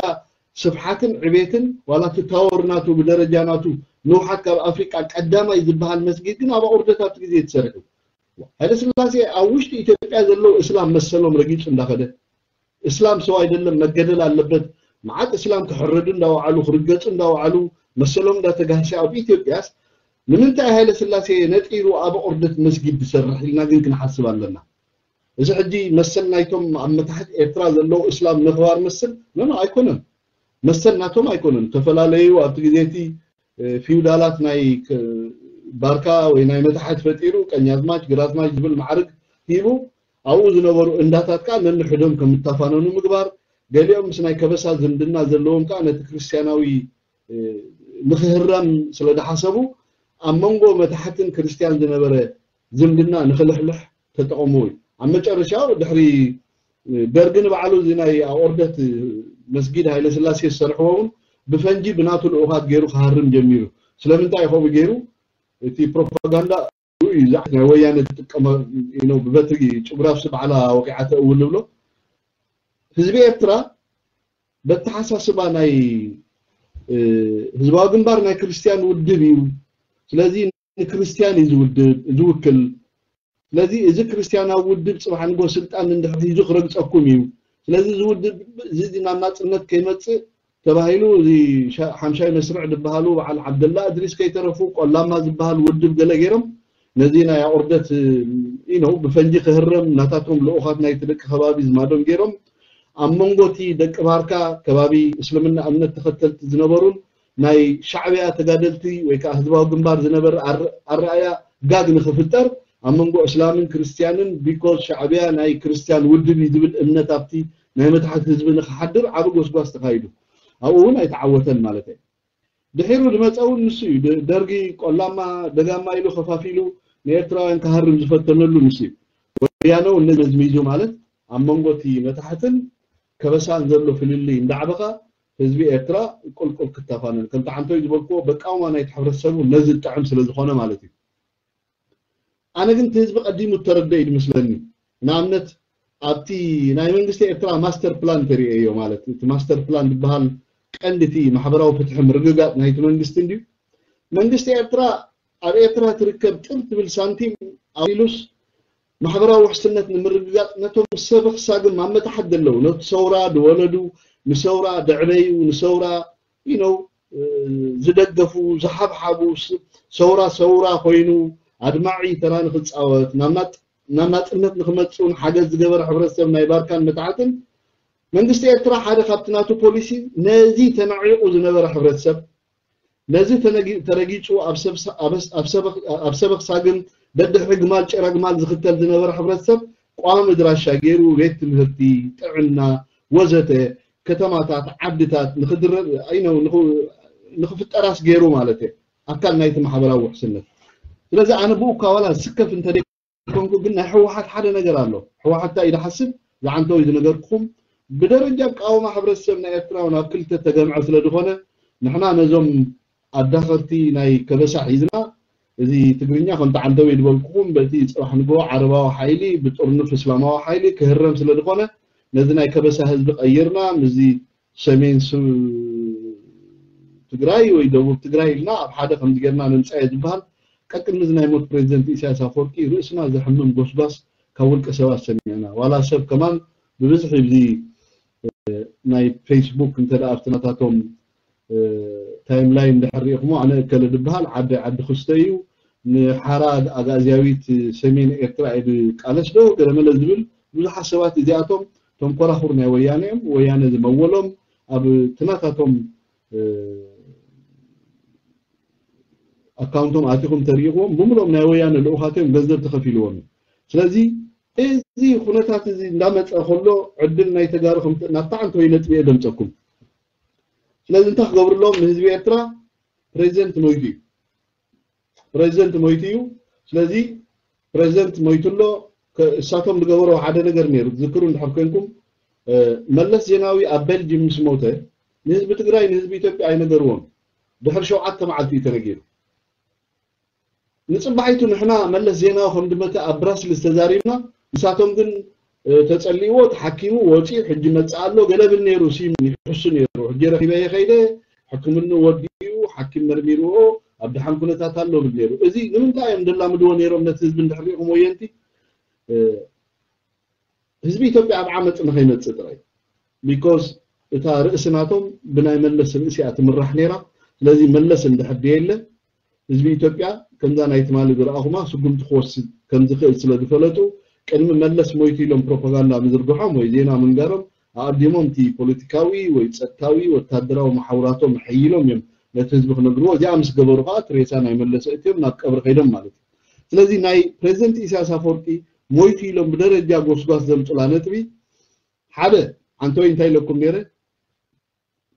ስፍሓትን ዕቤትን ዋላ እቲ ታወር ናቱ ብደረጃ ናቱ ንውሓት ካብ ኣፍሪቃ ቀዳማይ ዝበሃል መስጊድ ግን ኣብ ኣቑርደት ኣብቲ ግዜ ተሰሪሑ። ሃይለስላሴ ኣብ ውሽጢ ኢትዮጵያ ዘለዉ እስላም መሰሎም ረጊጹ እንዳኸደ፣ እስላም ሰው ኣይደለም መገደል ኣለበት፣ መዓት እስላም ክሕረዱ እንዳወዓሉ፣ ክርገጹ እንዳወዓሉ፣ መሰሎም እንዳተጋህሰ ኣብ ኢትዮጵያስ ንምንታይ ሃይለስላሴ ነጢሩ ኣብ ኣቑርደት መስጊድ ዝሰርሕ ኢልና ግን ክንሓስብ ኣለና። እዚ ሕጂ መሰል ናይቶም ኣብ መታሕት ኤርትራ ዘለዉ እስላም ነኽባር መስል? ኖ፣ ኖ፣ ኣይኮነን። መሰል ናቶም ኣይኮነን። ተፈላለዩ ኣብቲ ግዜ እቲ፣ እ፣ ፊውዳላት ናይ ክ-፣ ባርካ ወይ ናይ መታሕት ፈጢሩ ቀኛዝማች፣ ግራዝማች ዝብል ማዕርግ ሂቡ፣ ኣብኡ ዝነበሩ እንዳታት ከኣ ነንሕዶም ከም እተፋነኑ ምግባር፣ ገሊኦም ምስ ናይ ከበሳ ዝምድና ዘለዎም ከኣ ነቲ ክርስትያናዊ፣ እ፣ ንኽህረም ስለ ዝሓሰቡ፣ ኣብ መንጎ መታሕትን ክርስትያን ዝነበረ ዝምድና ንኽልሕልሕ ተጠቐምዎ እዩ። ኣብ መጨረሻ ድሕሪ ደርጊ ንባዕሉ እዚ ናይ ኣቑርደት መስጊድ ሃይለስላሴ ዝሰርሕዎ እውን ብፈንጂ ብናቱ ልኡኻት ገይሩ ክሃርም ጀሚሩ። ስለምንታይ እዩ ከምኡ ገይሩ? እቲ ፕሮፓጋንዳ እዩ፣ ዛ-፣ ናይ ወያነ ዝጥቀመ፣ you know፣ ብበትሪ ጭጉራፍሲ ባዕላ ወቂዓ ተእውል ንብሎ። ህዝቢ ኤርትራ በተሓሳስባ ናይ ህዝባዊ ግንባር ናይ ክርስትያን ውድብ እዩ። ስለዚ ንክርስትያን እዩ ዝውድብ ዝውክል። ስለዚ እዚ ክርስትያናዊ ውድብ ጽባሕ ንጎ ስልጣን እንድሕር ሒዙ ክረግጸኩም እዩ። ስለዚ እዚ ውድብ እዚ ናብ ናጽነት ከይመጽእ ተባሂሉ እዚ ሓምሻይ መስርዕ ዝበሃሉ በዓል ዓብደላ እድሪስ ከይተረፉ ቆላማ ዝበሃል ውድብ ገለ ገይሮም ነዚ ናይ ኣቑርደት ኢነው ብፈንጂ ክህረም ናታቶም ልኡኻት ናይቲ ደቂ ከባቢ ዝማዶም ገይሮም ኣብ መንጎ እቲ ደቂ ባርካ ከባቢ እስልምና እምነት ተኸተልቲ ዝነበሩን ናይ ሻዕብያ ተጋደልቲ ወይ ከዓ ህዝባዊ ግንባር ዝነበረ ኣረኣያ ጋግ ንክፍጠር ኣብ መንጎ እስላምን ክርስትያንን because ሻዕብያ ናይ ክርስትያን ውድብ እዩ ዝብል እምነት ኣብቲ ናይ መታሕት ህዝቢ ንክሓድር ዓብ ጎስጓስ ተካይዱ። ኣብኡ እውን ኣይተዓወተን ማለት እዩ። ድሒሩ ዝመፀ እውን ንሱ እዩ። ደርጊ ቆላማ ደጋማ ኢሉ ከፋፊሉ ንኤርትራውያን ክሃርም ዝፈተነሉ ንሱ እዩ። ወያነ እውን ነዚ መዝሚዙ ማለት ኣብ መንጎ እቲ መታሕትን ከበሳን ዘሎ ፍልልይ እንዳዕበኻ ህዝቢ ኤርትራ ቁልቁል ክተፋነን ከምቲ ዓንቶይ ዝበልክዎ በቃውማ ናይቲ ሕብረተሰቡ ነዚ ዝጥዕም ስለ ዝኾነ ማለት እዩ። ኣነ ግን እቲ ህዝቢ ቀዲሙ እተረደ እዩ ዝመስለኒ። ንኣብነት ኣብቲ ናይ መንግስቲ ኤርትራ ማስተር ፕላን ተርእየዮ ማለት እቲ ማስተር ፕላን ዝበሃል ቀንዲ እቲ ማሕበራዊ ፍትሒ ምርግጋፅ ናይቲ መንግስቲ እንድዩ። መንግስቲ ኤርትራ ኣብ ኤርትራ ትርከብ ጥር ትብል ሳንቲም ኣውኢሉስ ማሕበራዊ ውሕስነት ንምርግጋፅ ነቶም ሰበኽ ሳግም ኣብ መታሕት ዘለዉ ነቲ ሰውራ ዝወለዱ ንሰውራ ዘዕበዩ ንሰውራ you know ዝደገፉ ዝሓብሓቡ ሰውራ ሰውራ ኮይኑ ኣድማዒ ተራ ንክፃወት ናብ ናፅነት ንክመፅኡን ሓገዝ ዝገበረ ሕብረተሰብ ናይ ባርካን መታሕትን መንግስቲ ኤርትራ ሓደ ካብቲ ናቱ ፖሊሲ ነዚ ተናዒቑ ዝነበረ ሕብረተሰብ ነዚ ተረጊፁ ኣብ ሰበኽ ሳግም ደድሕሪ ግማል ጭራ ግማል ዝኽተል ዝነበረ ሕብረተሰብ ቋሚ ድራሻ ገይሩ ቤት ትምህርቲ፣ ጥዕና ወዘተ ከተማታት፣ ዓድታት ንኽፍጠራስ ገይሩ ማለት እየ ኣካል ናይቲ ማሕበራዊ ውሕስነት። ስለዚ ኣነ ብኡ እኳ ዋላ ዝስከፍ እንተ ኮንኩ ግን ናይ ህወሓት ሓደ ነገር ኣሎ። ህወሓት እንታይ እዩ ዝሓስብ? ዝዓንተው እዩ ዝነገርኩኹም። ብደረጃ ኣቃውማ ሕብረተሰብ ናይ ኤርትራ እውን ኣብ ክልተ ተገምዐ ስለ ዝኾነ ንሕና ነዞም ኣዳኸርቲ ናይ ከበሳ ሒዝና እዚ ትግርኛ ከምቲ ዓንተው እዩ ዝበልኩኹም በቲ ፅባሕ ንግሆ ዓረባዊ ሓይሊ ብጥርኑፍ እስላማዊ ሓይሊ ክህረም ስለ ዝኾነ ነዚ ናይ ከበሳ ህዝቢ ቀይርና ምስዚ ሰሜን ትግራይ ወይ ደቡብ ትግራይ ኢልና ኣብ ሓደ ከምዚ ጌርና ንምፃዮ ዝበሃል ቀቅድሚ እዚ ናይ ሞት ፕሬዚደንት ኢሳያስ ኣፈወርቂ ርእስና ዘሕምም ጎስጓስ ካብ ውልቀ ሰባት ሰሚዕና ዋላ ሰብ ከማን ብብዝሒ እዚ ናይ ፌስቡክ እንተ ኣብቲ ናታቶም ታይም ላይን እንድሕር ሪኢኹሞ ኣነ እከለ ዝበሃል ዓዲ ዓዲ ክስተ እዩ ንሓራ ኣጋእዝያዊት ሰሜን ኤርትራ እየ ዝቃለስ ዶ ገለመለ ዝብል ብዙሓት ሰባት እዚኣቶም እቶም ኮራኹር ናይ ወያነ እዮም። ወያነ ዝመወሎም ኣብ ትናታቶም ኣካውንቶም ኣቲኹም ተሪኢኹዎም ብምሎም ናይ ወያነ ልኡኻት እዮም ገንዘብ ተኸፊልዎም እዩ። ስለዚ እዚ ኩነታት እዚ እንዳመፀ ከሎ ዕድል ናይ ተጋሩ ናብታ ዓንተወይ ነጥቢ እየ ደምፀኩም። ስለዚ እንታይ ክገብርሎም ንህዝቢ ኤርትራ ፕሬዚደንት ሞይቱ እዩ። ፕሬዚደንት ሞይቱ እዩ። ስለዚ ፕሬዚደንት ሞይቱ ኣሎ። እሳቶም ዝገበሮ ሓደ ነገር ነይሩ ትዝክሩ እንድሕር ኮንኩም መለስ ዜናዊ ኣብ ቤልጅም ምስ ሞተ ንህዝቢ ትግራይ ንህዝቢ ኢትዮጵያ ኣይነገርዎም። ድሕሪ ሸውዓተ መዓልቲ እዩ ተነጊሩ። ንፅባሒቱ ንሕና መለስ ዜናዊ ከም ድመተ ኣብ ብራስልስ ተዛሪብና ንሳቶም ግን ተፀሊእዎ ተሓኪሙ ወፂኡ ሕጂ መፅእ ኣሎ ገለ ብል ነይሩ ሲም ይሕሱ ነይሩ ሕጂ ረኪበ የኸይደ ሕክምንኡ ወዲኡ ሓኪም መርሚርዎ ኣብ ደሓን ኩነታት ኣሎ ብል ነይሩ እዚ ንምንታይ እዮም ደላምድዎ ነይሮም ነቲ ህዝቢ እንድሕር ሪኢኹም ወየንቲ ህዝቢ ኢትዮጵያ ኣብ ዓመፅ ንኸይመፅእ ጥራይ because እታ ርእሲ ናቶም ብናይ መለስ ርእሲ እያ ትምራሕ ነይራ ስለዚ መለስ እንድሕር ደየለ ህዝቢ ኢትዮጵያ ከምዛ ናይ ትማሊ ዝረኣኹማ ስጉምቲ ክወስድ ከም ዝኽእል ስለ ዝፈለጡ ቅድሚ መለስ ሞይቱ ኢሎም ፕሮፓጋንዳ ምዝርግሖም ወይ ዜና ምንጋሮም ኣቐዲሞም እቲ ፖለቲካዊ ወይ ፀጥታዊ ወታደራዊ መሓውራቶም ኣሐይሎም እዮም ነቲ ህዝቢ ክነግርዎ እዚኣ ምስ ገበሩ ከዓ እቲ ሬሳ ናይ መለስ ኣእትዮም ናብ ቀብሪ ከይዶም ማለት እዩ ስለዚ ናይ ፕሬዚደንት ኢሳያስ ኣፈወርቂ ሞይቱ ኢሎም ብደረጃ ጎስጓስ ዘምፁላ ነጥቢ ሓደ ዓንተወይ እንታይ ኢለኩም ነይረ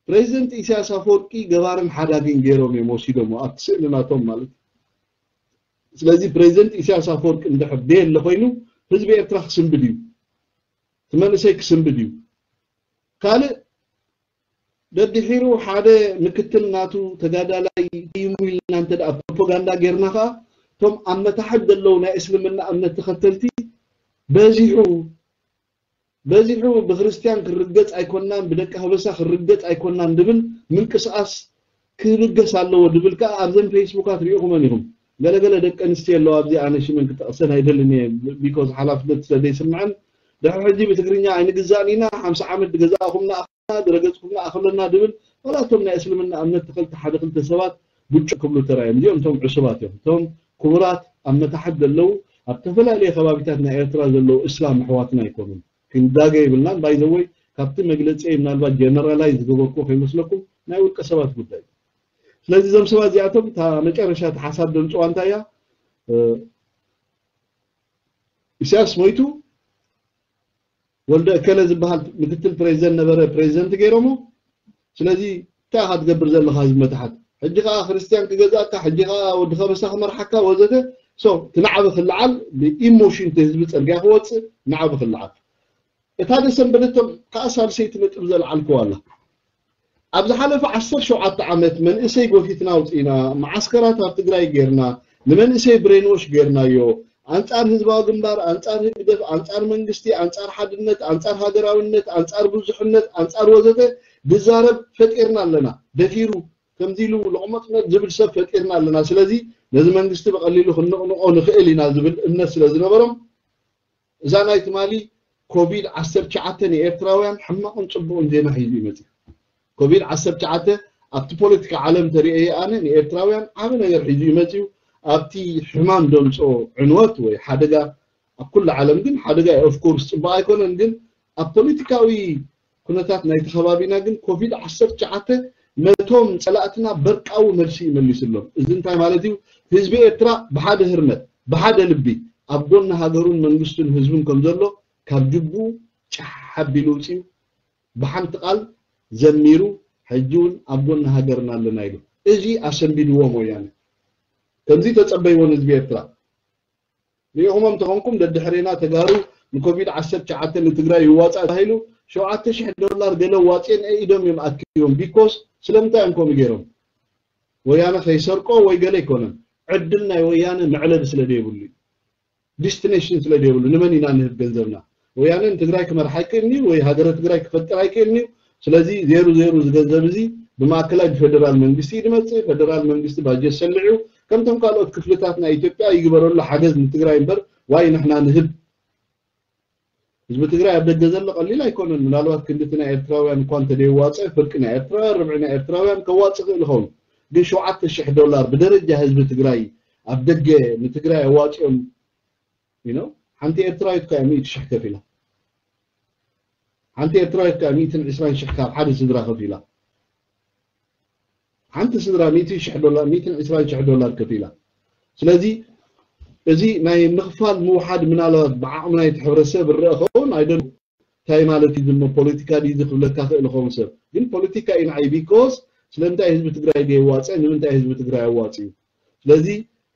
ፕሬዚደንት ኢሳያስ ኣፈወርቂ ገባርን ሓዳግን ገይሮም እዮም ወሲዶሞ ኣብቲ ስእሊ ናቶም ማለት እዩ ስለዚ ፕሬዚደንት ኢሳያስ ኣፈወርቂ እንድሕር ደየለ ኮይኑ ህዝቢ ኤርትራ ክስንብድ እዩ እቲ መንእሰይ ክስንብድ እዩ ካልእ ደድሒሩ ሓደ ምክትል ናቱ ተጋዳላይ ይሙ ኢልና እንተ ፕሮፓጋንዳ ጌርና ከዓ እቶም ኣብ መታሕት ዘለዉ ናይ እስልምና እምነት ተኸተልቲ በዚሑ በዚሑ ብክርስትያን ክርገጽ ኣይኮናን ብደቂ ሀበሳ ክርገጽ ኣይኮናን ዝብል ምንቅስቃስ ክብገስ ኣለዎ ድብል ከኣ ኣብዘን ፌስቡካት ሪኢኹመን ኢኹም። ገለገለ ደቂ ኣንስትዮ ኣለዋ፣ ኣብዚ ኣነ ሽመን ክጠቕሰን ኣይደልን እየ፣ ቢኮዝ ሓላፍነት ስለ ዘይስምዐን። ድሕሪ ሕጂ ብትግርኛ ኣይንግዛእን ኢና፣ ሓምሳ ዓመት ዝገዛእኹምና ኣኽልና፣ ዝረገጽኩምና ኣኽለና ድብል፣ ዋላ እቶም ናይ እስልምና እምነት ተኸልቲ ሓደ ክልተ ሰባት ብጭ ክብሉ ተራእዮም። እዚኦም እቶም ዕሱባት እዮም። እቶም ክቡራት ኣብ መታሕት ዘለዉ፣ ኣብ ዝተፈላለየ ከባቢታት ናይ ኤርትራ ዘለዉ እስላም ኣሕዋትና ኣይኮኑን። ክንዳገ ይብልናን። ባይ ዘ ወይ፣ ካብቲ መግለጺ ምናልባት ጀነራላይዝ ዝገበርኩ ከይመስለኩም፣ ናይ ውልቀ ሰባት ጉዳይ። ስለዚ እዞም ሰባት እዚኣቶም እታ መጨረሻ እቲ ሓሳብ ዘምጽዋ እንታይ እያ? እ፣ ኢሳያስ ሞይቱ፣ ወልደ እከለ ዝበሃል ምክትል ፕሬዚደንት ነበረ፣ ፕሬዚደንት ገይሮሞ። ስለዚ እንታይ ኢኻ ትገብር ዘለኻ ህዝቢ መታሕት? ሕጂ ኸዓ ክርስትያን ክገዛእካ፣ ሕጂ ኸዓ ወዲ ከበሳ ክመርሓካ ወዘተ። ሶ፣ እቲ ናዕቢ ክለዓል፣ ብኢሞሽን እቲ ህዝቢ ጽርግያ ክወጽእ፣ ናዕቢ ክለዓል። እታ ደሰንበደቶም ከኣ ሳልሰይቲ ነጥብ ዘልዓልክዋ ኣላ። ኣብ ዝሓለፈ ዓሰርተ ሸውዓተ ዓመት መንእሰይ ጎቲትና ኣውጺእና፣ መዓስከራት ኣብ ትግራይ ጌርና፣ ንመንእሰይ ብሬንዎሽ ጌርናዮ፣ ኣንጻር ህዝባዊ ግንባር፣ ኣንጻር ህግደፍ፣ ኣንጻር መንግስቲ፣ ኣንጻር ሓድነት፣ ኣንጻር ሃገራውነት፣ ኣንጻር ብዙሕነት፣ ኣንጻር ወዘተ ዝዛረብ ፈጢርና ኣለና። ደፊሩ ከምዚ ኢሉ ሎቕመጽመጽ ዝብል ሰብ ፈጢርና ኣለና። ስለዚ ነዚ መንግስቲ ብቐሊሉ ክንንቕንቖ ንኽእል ኢና ዝብል እምነት ስለ ዝነበሮም፣ እዛ ናይ ትማሊ ኮቪድ ዓሰርተ ትሽዓተ ንኤርትራውያን ሕማቕን ጽቡቕን ዜና ሒዙ እዩ መጺኡ። ኮቪድ ዓሰርተ ትሽዓተ ኣብቲ ፖለቲካ ዓለም ተሪኤዮ ኣነ ንኤርትራውያን ዓቢ ነገር ሒዙ እዩ መጺኡ። ኣብቲ ሕማም ደምጾ ዕንወት ወይ ሓደጋ ኣብ ኩሉ ዓለም ግን ሓደጋ እዩ። ኦፍኮርስ ጽቡቕ ኣይኮነን፣ ግን ኣብ ፖለቲካዊ ኩነታት ናይቲ ከባቢና ግን ኮቪድ ዓሰርተ ትሽዓተ ነቶም ጸላእትና በርቃዊ መልሲ እዩ መሊስሎም። እዚ እንታይ ማለት እዩ? ህዝቢ ኤርትራ ብሓደ ህርመት፣ ብሓደ ልቢ ኣብ ጎኒ ሃገሩን መንግስቱን ህዝቡን ከም ዘሎ ካብ ጅቡ ጫሕ ኣቢሉ ውፅዩ ብሓንቲ ቃል ዘሚሩ፣ ሕጂ እውን ኣብ ጎኒ ሃገርና ኣለና ኢሉ። እዚ ኣሰንቢድዎም ወያነ። ከምዚ ተጸበይዎን ህዝቢ ኤርትራ። ሪኢኹሞም ተኾንኩም ደድሕሬና ተጋሩ ንኮቪድ ዓሰርተ ትሽዓተ ንትግራይ ይዋጻእ ተባሂሉ ሸውዓተ ሽሕ ዶላር ገለ ዋጽኤን ኢዶም እዮም ኣኪቦም። ቢኮስ ስለምንታይ እዮም ከምኡ ገይሮም? ወያነ ከይሰርቆ ወይ ገለ ኣይኮነን። ዕድል ናይ ወያነ መዕለቢ ስለ ዘይብሉ እዩ። ዲስቲኔሽን ስለ ዘይብሉ ንመን ኢና ንህብ ገንዘብና? ወያነ ንትግራይ ክመርሕ ኣይክእልን እዩ ወይ ሃገረ ትግራይ ክፈጥር ኣይክእልን እዩ። ስለዚ ዜሩ ዜሩ እዚ ገንዘብ እዚ ብማእከላይ ብፌደራል መንግስቲ እዩ ዝመጽእ። ፌደራል መንግስቲ ባጀት ሰሊዑ ከምቶም ካልኦት ክፍልታት ናይ ኢትዮጵያ ይግበረሉ ሓገዝ ንትግራይ እምበር ዋይ ንሕና ንህብ? ህዝቢ ትግራይ ኣብ ደገ ዘሎ ቀሊል ኣይኮነን። ምናልባት ክንድቲ ናይ ኤርትራውያን እኳ እንተደይዋፀ ፍርቂ ናይ ኤርትራውያን ርብዒ ናይ ኤርትራውያን ከዋፅእ ክእል ይኸውን። ግን ሸውዓተ ሽሕ ዶላር ብደረጃ ህዝቢ ትግራይ ኣብ ደገ ንትግራይ ኣዋፂኦም you know ሓንቲ ኤርትራዊት ከ ሚእቲ ሽሕ ከፊላ ሓንቲ ኤርትራዊት ከ ሚእትን ዕስራን ሽሕ ካብ ሓደ ስድራ ከፊላ ሓንቲ ስድራ ሚእቲ ሽሕ ዶላር ሚእትን ዕስራን ሽሕ ዶላር ከፊላ ስለዚ እዚ ናይ ምኽፋል ምውሓድ ምናልባት ብዓቕሚ ናይቲ ሕብረተሰብ ዝረአ ኸውን ኣይደሉ እንታይ ማለት እዩ ዝሞ ፖለቲካ ድዩ ዝኽብለካ ክእል ኸውን ሰብ ግን ፖለቲካ እዩ ንዓይ ቢኮስ ስለምንታይ ህዝቢ ትግራይ ገይዋፀ ንምንታይ ህዝቢ ትግራይ ኣዋፅዩ ስለዚ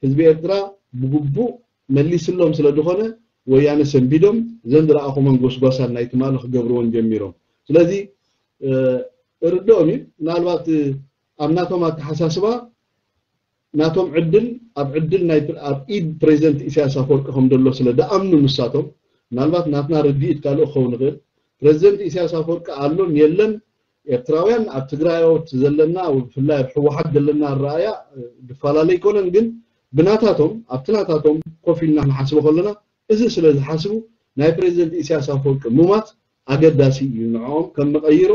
ህዝቢ ኤርትራ ብግቡእ መሊስሎም ስለ ዝኾነ ወያነ ሰንቢዶም ዘን ዝረኣኹመን ጎስጓሳት ናይ ትማሊ ክገብርዎን ጀሚሮም ስለዚ እርድኦም እዩ ምናልባት ኣብ ናቶም ኣተሓሳስባ ናቶም ዕድል ኣብ ዕድል ናይ ኣብ ኢድ ፕሬዚደንት ኢሳያስ ኣፈወርቂ ከም ዘሎ ስለ ደኣምኑ ንሳቶም ምናልባት ናትና ርድኢት ካልኦ ክኸውን ይኽእል ፕሬዚደንት ኢሳያስ ኣፈወርቂ ኣሎን የለን ኤርትራውያን ኣብ ትግራዮት ዘለና ብፍላይ ኣብ ህወሓት ዘለና ኣረኣያ ዝፈላለ ኣይኮነን ግን ብናታቶም ኣብቲ ናታቶም ኮፍ ኢልና ክንሓስቦ ከለና እዚ ስለ ዝሓስቡ ናይ ፕሬዚደንት ኢሳያስ ኣፈወርቂ ምማት ኣገዳሲ እዩ ንዕኦም ከም መቐይሮ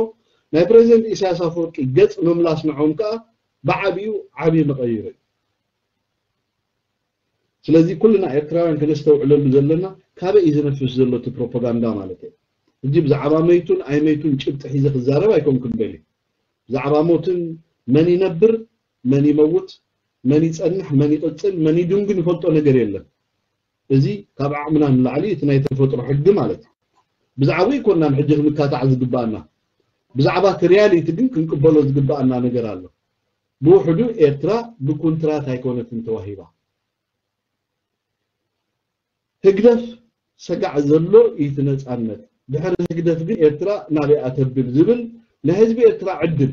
ናይ ፕሬዚደንት ኢሳያስ ኣፈወርቂ ገጽ ምምላስ ንዕኦም ከኣ ብዓቢኡ ዓቢ መቐይሮ እዩ ስለዚ ኩልና ኤርትራውያን ከነስተውዕለሉ ዘለና ካበይ እዩ ዝነፍስ ዘሎ እቲ ፕሮፓጋንዳ ማለት እዩ ሕጂ ብዛዕባ መይቱን ኣይመይቱን ጭብጢ ሒዘ ክዛረብ ኣይኮንኩን ደሊ ብዛዕባ ሞትን መን ይነብር መን ይመውት መን ይጸንሕ መን ይቕጽል መን ይድንጉ ንፈልጦ ነገር የለን እዚ ካብ ዓቕምና ንላዕሊ እቲ ናይ ተፈጥሮ ሕጊ ማለት እዩ ብዛዕባ ይኮናን ሕጂ ክንካታዕ ዝግባኣና ብዛዕባ እቲ ሪያሊቲ ግን ክንቅበሎ ዝግባኣና ነገር ኣሎ ብውሕዱ ኤርትራ ብኩንትራት ኣይኮነትን ተዋሂባ ህግደፍ ሰጋዕ ዘሎ ኢቲ ነጻነት ድሕሪ ህግደፍ ግን ኤርትራ ናበይ ኣተብል ዝብል ናይ ህዝቢ ኤርትራ ዕድል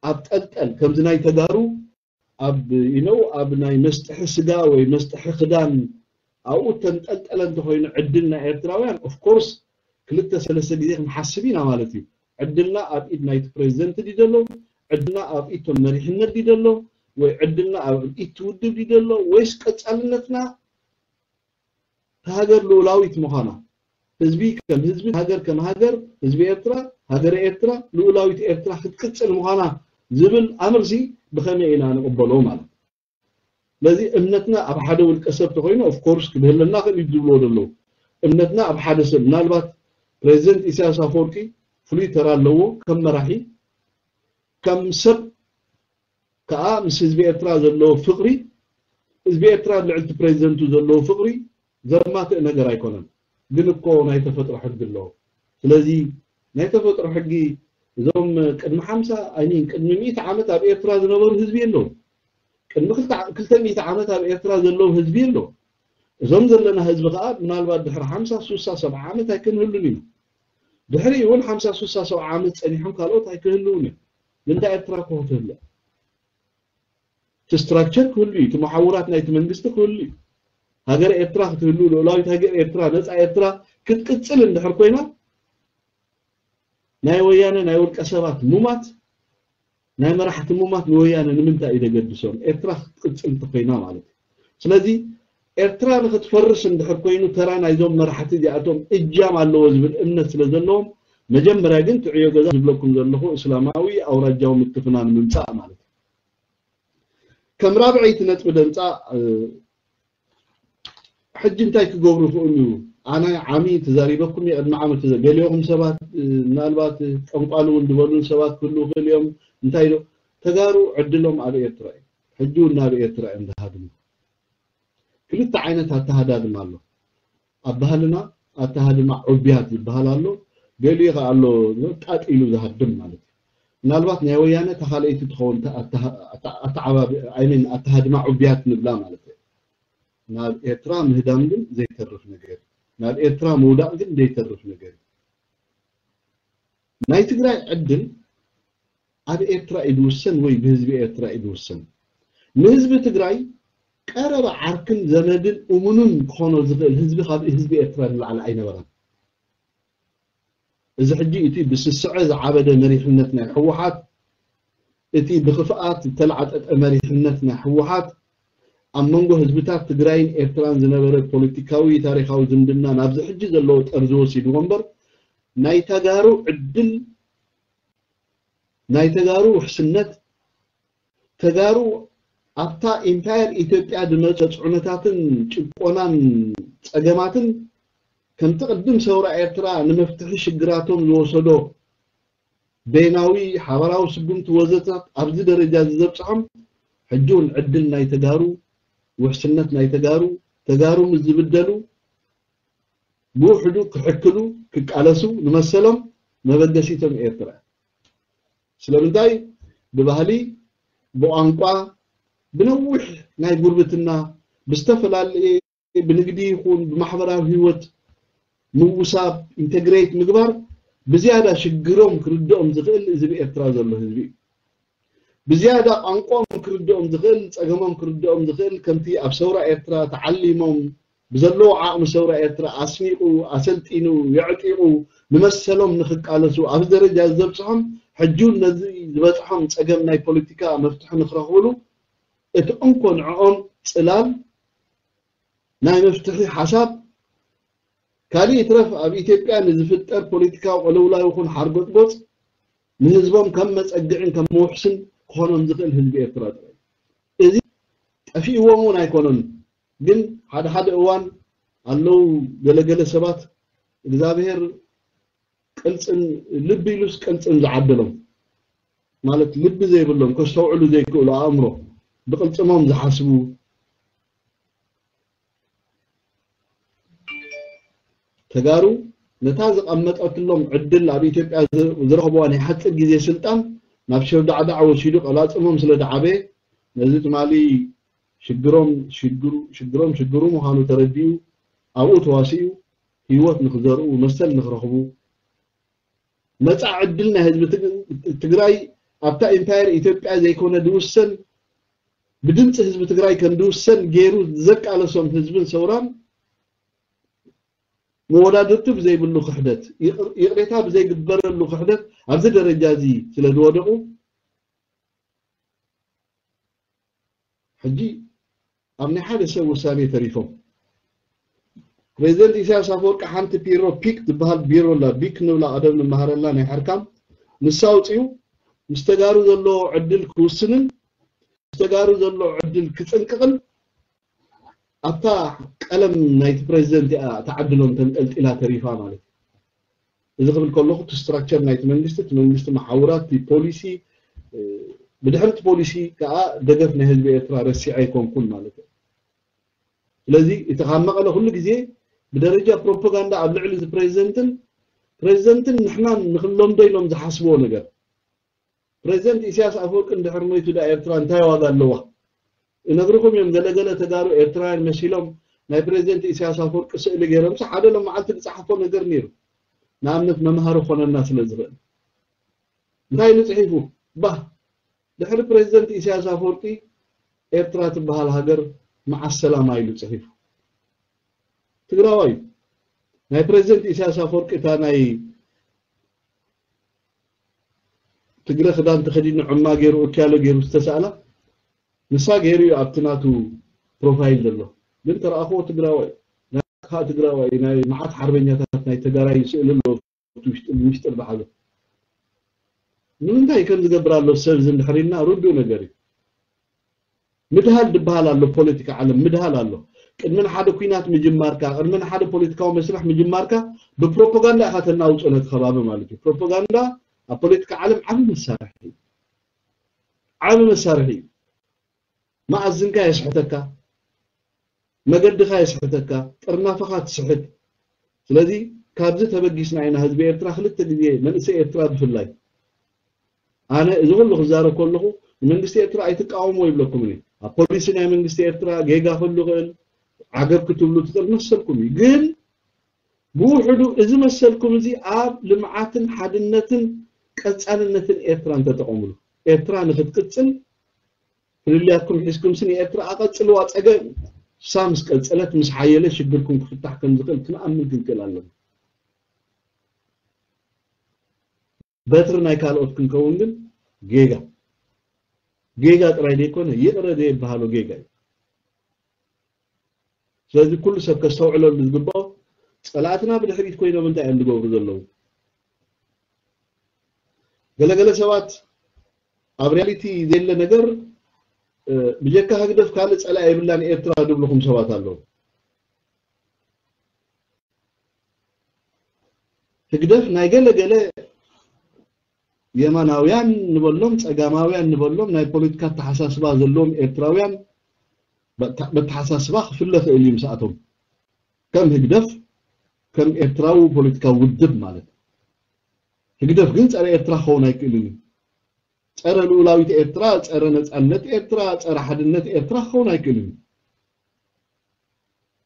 ኣብ ጠልጠል ከምዚ ናይ ተጋሩ ኣብ you know ኣብ ናይ መስጥሒ ስጋ ወይ መስጥሒ ክዳን ኣብኡ ተንጠልጠለ እንተኮይኑ ዕድል ናይ ኤርትራውያን of course ክልተ ሰለስተ ግዜ ክንሓስብ ኢና ማለት እዩ ዕድልና ኣብ ኢድ ናይቲ ፕሬዚደንት ድዩ ዘሎ ዕድልና ኣብ ኢድ እቶም መሪሕነት ድዩ ዘሎ ወይ ዕድልና ኣብ ኢድ እቲ ውድብ ድዩ ዘሎ ወይስ ቀጻልነትና እታ ሃገር ልኡላዊት ምዃና ህዝቢ ከም ህዝቢ ሃገር ከም ሃገር ህዝቢ ኤርትራ ሃገረ ኤርትራ ልኡላዊት ኤርትራ ክትቅጽል ምዃና ዝብል ኣምርሲ ብኸመይ ኢና ንቕበሎ ማለት ስለዚ እምነትና ኣብ ሓደ ውልቀ ሰብ ተኮይኑ of course ክብህለና ክእል ዝብልዎ ዘለዉ እምነትና ኣብ ሓደ ሰብ ምናልባት ፕሬዚደንት ኢሳያስ ኣፈወርቂ ፍሉይ ተራ ኣለዎ ከም መራሒ ከም ሰብ ከዓ ምስ ህዝቢ ኤርትራ ዘለዎ ፍቅሪ ህዝቢ ኤርትራ ልዕልቲ ፕሬዚደንቱ ዘለዎ ፍቅሪ ዘማትእ ነገር ኣይኮነን ግን እኮ ናይ ተፈጥሮ ሕጊ ኣለዎ ስለዚ ናይ ተፈጥሮ ሕጊ እዞም ቅድሚ ሓምሳ ኣይሚን ቅድሚ ሚእቲ ዓመት ኣብ ኤርትራ ዝነበሩ ህዝቢ የለዉ ቅድሚ ክልተ ሚእቲ ዓመት ኣብ ኤርትራ ዘለዉ ህዝቢ የለዉ እዞም ዘለና ህዝቢ ከዓ ምናልባት ድሕሪ ሓምሳ ሱሳ ሰብዓ ዓመት ኣይክንህሉን ኢና ድሕሪ እውን ሓምሳ ሱሳ ሰብዓ ዓመት ፀኒሖም ካልኦት ኣይክህልውን እዮም ግን እንታይ ኤርትራ እኮ ክትህለ እቲ ስትራክቸር ክህሉ እዩ እቲ መሓውራት ናይቲ መንግስቲ ክህሉ እዩ ሃገር ኤርትራ ክትህሉ ልኡላዊት ሃገር ኤርትራ ነፃ ኤርትራ ክትቅፅል እንድሕር ኮይና ናይ ወያነ ናይ ውልቀ ሰባት ሙማት ናይ መራሕቲ ሙማት ንወያነ ንምንታይ እዩ ዘገድሶም ኤርትራ ክትቅፅል እንተኮይና ማለት እዩ ስለዚ ኤርትራ ንክትፈርስ እንድሕር ኮይኑ ተራ ናይዞም መራሕቲ እዚኣቶም እጃም ኣለዎ ዝብል እምነት ስለ ዘለዎም መጀመርያ ግን ትዕዮ ገዛ ዝብለኩም ዘለኹ እስላማዊ ኣውራጃዊ ምትፍናን ምምፃእ ማለት እዩ ከም ራብዐይቲ ነጥቢ ደምፃ ሕጂ እንታይ ክገብሩ ይኽእሉ ኣነ ዓሚ ተዛሪበኩም እየ ቅድሚ ዓመት ገሊኦኹም ሰባት ምናልባት ጠንቋሉ እውን ዝበሉን ሰባት ክህልው ይኽእል እዮም እንታይ ዶ ተጋሩ ዕድሎም ኣብ ኤርትራ እዩ ሕጂ እውን ናብ ኤርትራ እዮም ዝሃድሙ ክልተ ዓይነት ኣተሃዳድማ ኣሎ ኣብ ባህልና ኣተሃድማ ዑብያት ይበሃል ኣሎ ገሊኡ ከ ኣሎ ጣጥ ኢሉ ዝሃድም ማለት እዩ ምናልባት ናይ ወያነ ተኻለይቲ ትኸውን ኣተዓባቢ ኣይሚን ኣተሃድማ ዑብያት ንብላ ማለት እዩ ናብ ኤርትራ ምህዳም ግን ዘይተርፍ ነገር ናብ ኤርትራ ምውዳቕ ግን ዘይተርፍ ነገር ናይ ትግራይ ዕድል ኣብ ኤርትራ እዩ ዝውሰን ወይ ብህዝቢ ኤርትራ እዩ ዝውሰን ንህዝቢ ትግራይ ቀረባ ዓርክን ዘመድን እሙኑን ክኾኖ ዝኽእል ህዝቢ ካብ ህዝቢ ኤርትራ ንላዕሊ ኣይነበረን እዚ ሕጂ እቲ ብስስዐ ዝዓበደ መሪሕነት ናይ ህወሓት እቲ ብኽፍኣት ዝተላዕጠጠ መሪሕነት ናይ ህወሓት ኣብ መንጎ ህዝብታት ትግራይን ኤርትራን ዝነበረ ፖለቲካዊ ታሪኻዊ ዝምድና ናብዚ ሕጂ ዘለዎ ጠርዚ ወሲድዎ እምበር ናይ ተጋሩ ዕድል ናይ ተጋሩ ውሕስነት ተጋሩ ኣብታ ኢንታየር ኢትዮጵያ ዝመፀ ፅዕነታትን ጭቆናን ፀገማትን ከምቲ ቅድም ሰውራ ኤርትራ ንመፍትሒ ሽግራቶም ዝወሰዶ በይናዊ ሓበራዊ ስጉምቲ ወዘተታት ኣብዚ ደረጃ እዚ ዘብፅሖም ሕጂ እውን ዕድል ናይ ተጋሩ ውሕስነት ናይ ተጋሩ ተጋሩ ምስ ዝብደሉ ብውሕዱ ክሕክሉ ክቃለሱ ንመሰሎም መበገሲቶም ኤርትራ ስለምንታይ ብባህሊ ብቋንቋ ብነዊሕ ናይ ጉርብትና ብዝተፈላለየ ብንግዲ ይኹን ብማሕበራዊ ህይወት ምውሳብ ኢንተግሬት ምግባር ብዝያዳ ሽግሮም ክርድኦም ዝኽእል እዚ ብኤርትራ ዘሎ ህዝቢ እዩ ብዝያዳ ቋንቋኦም ክርድኦም ዝኽእል ጸገሞም ክርድኦም ዝኽእል ከምቲ ኣብ ሰውራ ኤርትራ ተዓሊሞም ብዘለዎ ዓቕሚ ሰውራ ኤርትራ ኣስኒቑ ኣሰልጢኑ የዕጢቑ ንመሰሎም ንኽቃለሱ ኣብዚ ደረጃ ዘብፅሖም ሕጂ እውን ነዚ ዝበፅሖም ፀገም ናይ ፖለቲካ መፍትሒ ንክረኽብሉ እቲ እንኮ ንዕኦም ፅላል ናይ መፍትሒ ሓሳብ ካልእ ይትረፍ ኣብ ኢትዮጵያ ንዝፍጠር ፖለቲካዊ ቅልውላው ይኹን ሓርጎፅጎፅ ንህዝቦም ከም መፀግዕን ከም መውሕስን ክኾኖም ዝኽእል ህዝቢ ኤርትራ ጥራይ እዚ ጠፊእዎም እውን ኣይኮነን ግን ሓደ ሓደ እዋን ኣለዉ ገለገለ ሰባት እግዚኣብሔር ቅልፅም ልቢ ኢሉስ ቅልፅም ዝዓደሎም ማለት ልቢ ዘይብሎም ከስተውዕሉ ዘይክእሉ ኣእምሮ ብቅልፅሞም ዝሓስቡ ተጋሩ ነታ ዝቐመጠትሎም ዕድል ኣብ ኢትዮጵያ ዝረኽብዋ ናይ ሓፂር ግዜ ስልጣን ናብ ሸውዳዕዳዕ ወሲዱ ቀላፅሞም ስለ ዝዓበየ ነዚ ትማሊ ሽግሮም ሽግሩ ሽግሮም ሽግሩ ምዃኑ ተረዲኡ ኣብኡ ተዋሲኡ ህይወት ንክዘርኡ መሰል ንክረኽቡ መፃ ዕድል ናይ ህዝቢ ትግራይ ኣብታ ኢምፓየር ኢትዮጵያ ዘይኮነ ዝውሰን ብድምፂ ህዝቢ ትግራይ ከም ዝውሰን ገይሩ ዘቃለሶም ህዝብን ሰውራን መወዳድርቲ ብዘይብሉ ክሕደት ይቕሬታ ብዘይግበረሉ ክሕደት ኣብዚ ደረጃ እዚ ስለ ዝወደቑ ሕጂ ኣብ ናይ ሓደ ሰብ ውሳኔ ተሪፎም። ፕሬዚደንት ኢሳያስ ኣፈወርቂ ሓንቲ ፒሮ ፒክ ትበሃል ቢሮ ኣላ፣ ቢክ ንብላ ቀደም ንመሃረላ ናይ ሕርካም፣ ንሳ ኣውፂኡ ምስ ተጋሩ ዘለዎ ዕድል ክውስንን ምስ ተጋሩ ዘሎ ዕድል ክፅንቅቕን ኣብታ ቀለም ናይቲ ፕሬዚደንት እያ ተዓድሎም ተንጠልጢላ ተሪፋ ማለት እዩ። እዚ ክብል ከለኹ እቲ ስትራክቸር ናይቲ መንግስቲ እቲ መንግስቲ መሓውራት እቲ ፖሊሲ ብድሕሪ እቲ ፖሊሲ ከዓ ደገፍ ናይ ህዝቢ ኤርትራ ረሲዐ ኣይኮንኩን ማለት እዩ። ስለዚ እቲ ካብ መቐለ ኩሉ ግዜ ብደረጃ ፕሮፓጋንዳ ኣብ ልዕሊ እዚ ፕሬዚደንትን ፕሬዚደንትን ንሕናን ንክንለምዶ ኢሎም ዝሓስብዎ ነገር ፕሬዚደንት ኢሳያስ ኣፈወርቂ እንድሕር ሞይቱ ዳ ኤርትራ እንታይ ዋጋ ኣለዋ? እነግርኹም እዮም ገለገለ ተጋሩ ኤርትራውያን መሲሎም ናይ ፕሬዚደንት ኢሳያስ ኣፈወርቂ ስእሊ ገይሮምስ ሓደ ሎም መዓልቲ ዝፀሓፎ ነገር ነይሩ። ንኣብነት መምሃሪ ክኾነና ስለ ዝኽእል እንታይ ኢሉ ፅሒፉ? ባህ ድሕሪ ፕሬዚደንት ኢሳያስ ኣፈወርቂ ኤርትራ ትበሃል ሃገር መዓስ ሰላማ ኢሉ ፅሒፉ። ትግራዋይ እዩ። ናይ ፕሬዚደንት ኢሳያስ ኣፈወርቂ እታ ናይ ትግረ ክዳን ተኸዲኑ ዕማ ገይሩ እክያሎ ገይሩ ዝተሳእላ ንሳ ገይሩ እዩ ኣብቲ ናቱ ፕሮፋይል ዘሎ። ግን ተረኣኽዎ ትግራዋይ እዩ። ናይ ከዓ ትግራዋይ ናይ መዓት ሓርበኛታት ናይ ተጋራይ ስእሊ ኣሎ። እቲ ውሽጢ ሚስጥር ዝሓዘ ንምንታይ ከም ዝገብር ኣሎ ሰብ እዚ እንድሕር ኢልና ርዱእ ነገር እዩ። ምድሃል ዝበሃል ኣሎ፣ ፖለቲካ ዓለም ምድሃል ኣሎ። ቅድሚ ንሓደ ኩናት ምጅማርካ ቅድሚ ንሓደ ፖለቲካዊ መስርሕ ምጅማርካ ብፕሮፓጋንዳ ኢኻ ተናውፆ ነቲ ከባቢ ማለት እዩ። ፕሮፓጋንዳ ኣብ ፖለቲካ ዓለም ዓቢ መሳርሒ እዩ። ዓቢ መሳርሒ እዩ። መኣዝንካ የስሕተካ፣ መገድኻ የስሕተካ፣ ጥርናፈኻ ትስሕት። ስለዚ ካብዚ ተበጊስና ኢና ህዝቢ ኤርትራ ክልተ ግዜ መንእሰይ ኤርትራ ብፍላይ ኣነ እዚ ኩሉ ክዛረብ ከለኹ ንመንግስቲ ኤርትራ ኣይትቃወምዎ ይብለኩምን እየ። ኣብ ፖሊሲ ናይ መንግስቲ ኤርትራ ጌጋ ክህሉ ይኽእል፣ ዓገብ ክትብሉ ትኽእል መሰልኩም እዩ። ግን ብውሕዱ እዚ መሰልኩም እዚ ኣብ ልምዓትን ሓድነትን ቀጻልነትን ኤርትራ እንተጠቐምሉ ኤርትራ ንክትቅጽል ፍልልያትኩም ሒዝኩምሲ ንኤርትራ ኣቐጽልዋ። ጸገም እሳ ምስ ቀጸለት ምስ ሓየለ ሽግርኩም ክፍታሕ ከም ዝኽእል ክንኣምን ክንክእል ኣለና። በትሪ ናይ ካልኦት ክንከውን ግን ጌጋ ጌጋ ጥራይ ዘይኮነ ይቕረ ዘይበሃሎ ጌጋ እዩ። ስለዚ ኩሉ ሰብ ከስተውዕለሉ ዝግብኦ ጸላእትና ብድሕሪት ኮይኖም እንታይ እዮም ዝገብሩ ዘለዉ? ገለገለ ሰባት ኣብ ሪያሊቲ ዘለ ነገር ብጀካ ህግደፍ ካልእ ጸላኢ የብላን ኤርትራ ዝብልኹም ሰባት ኣለዉ። ህግደፍ ናይ ገለገለ የማናውያን ንበሎም ጸጋማውያን ንበሎም ናይ ፖለቲካ ኣተሓሳስባ ዘለዎም ኤርትራውያን በተሓሳስባ ክፍለ ክእል እዩ ምስኣቶም ከም ህግደፍ ከም ኤርትራዊ ፖለቲካዊ ውድብ ማለት ህግደፍ ግን ጸረ ኤርትራ ክኸውን ኣይክእልን እዩ። ጸረ ልኡላዊት ኤርትራ፣ ጸረ ነጻነት ኤርትራ፣ ጸረ ሓድነት ኤርትራ ክኸውን ኣይክእልን እዩ።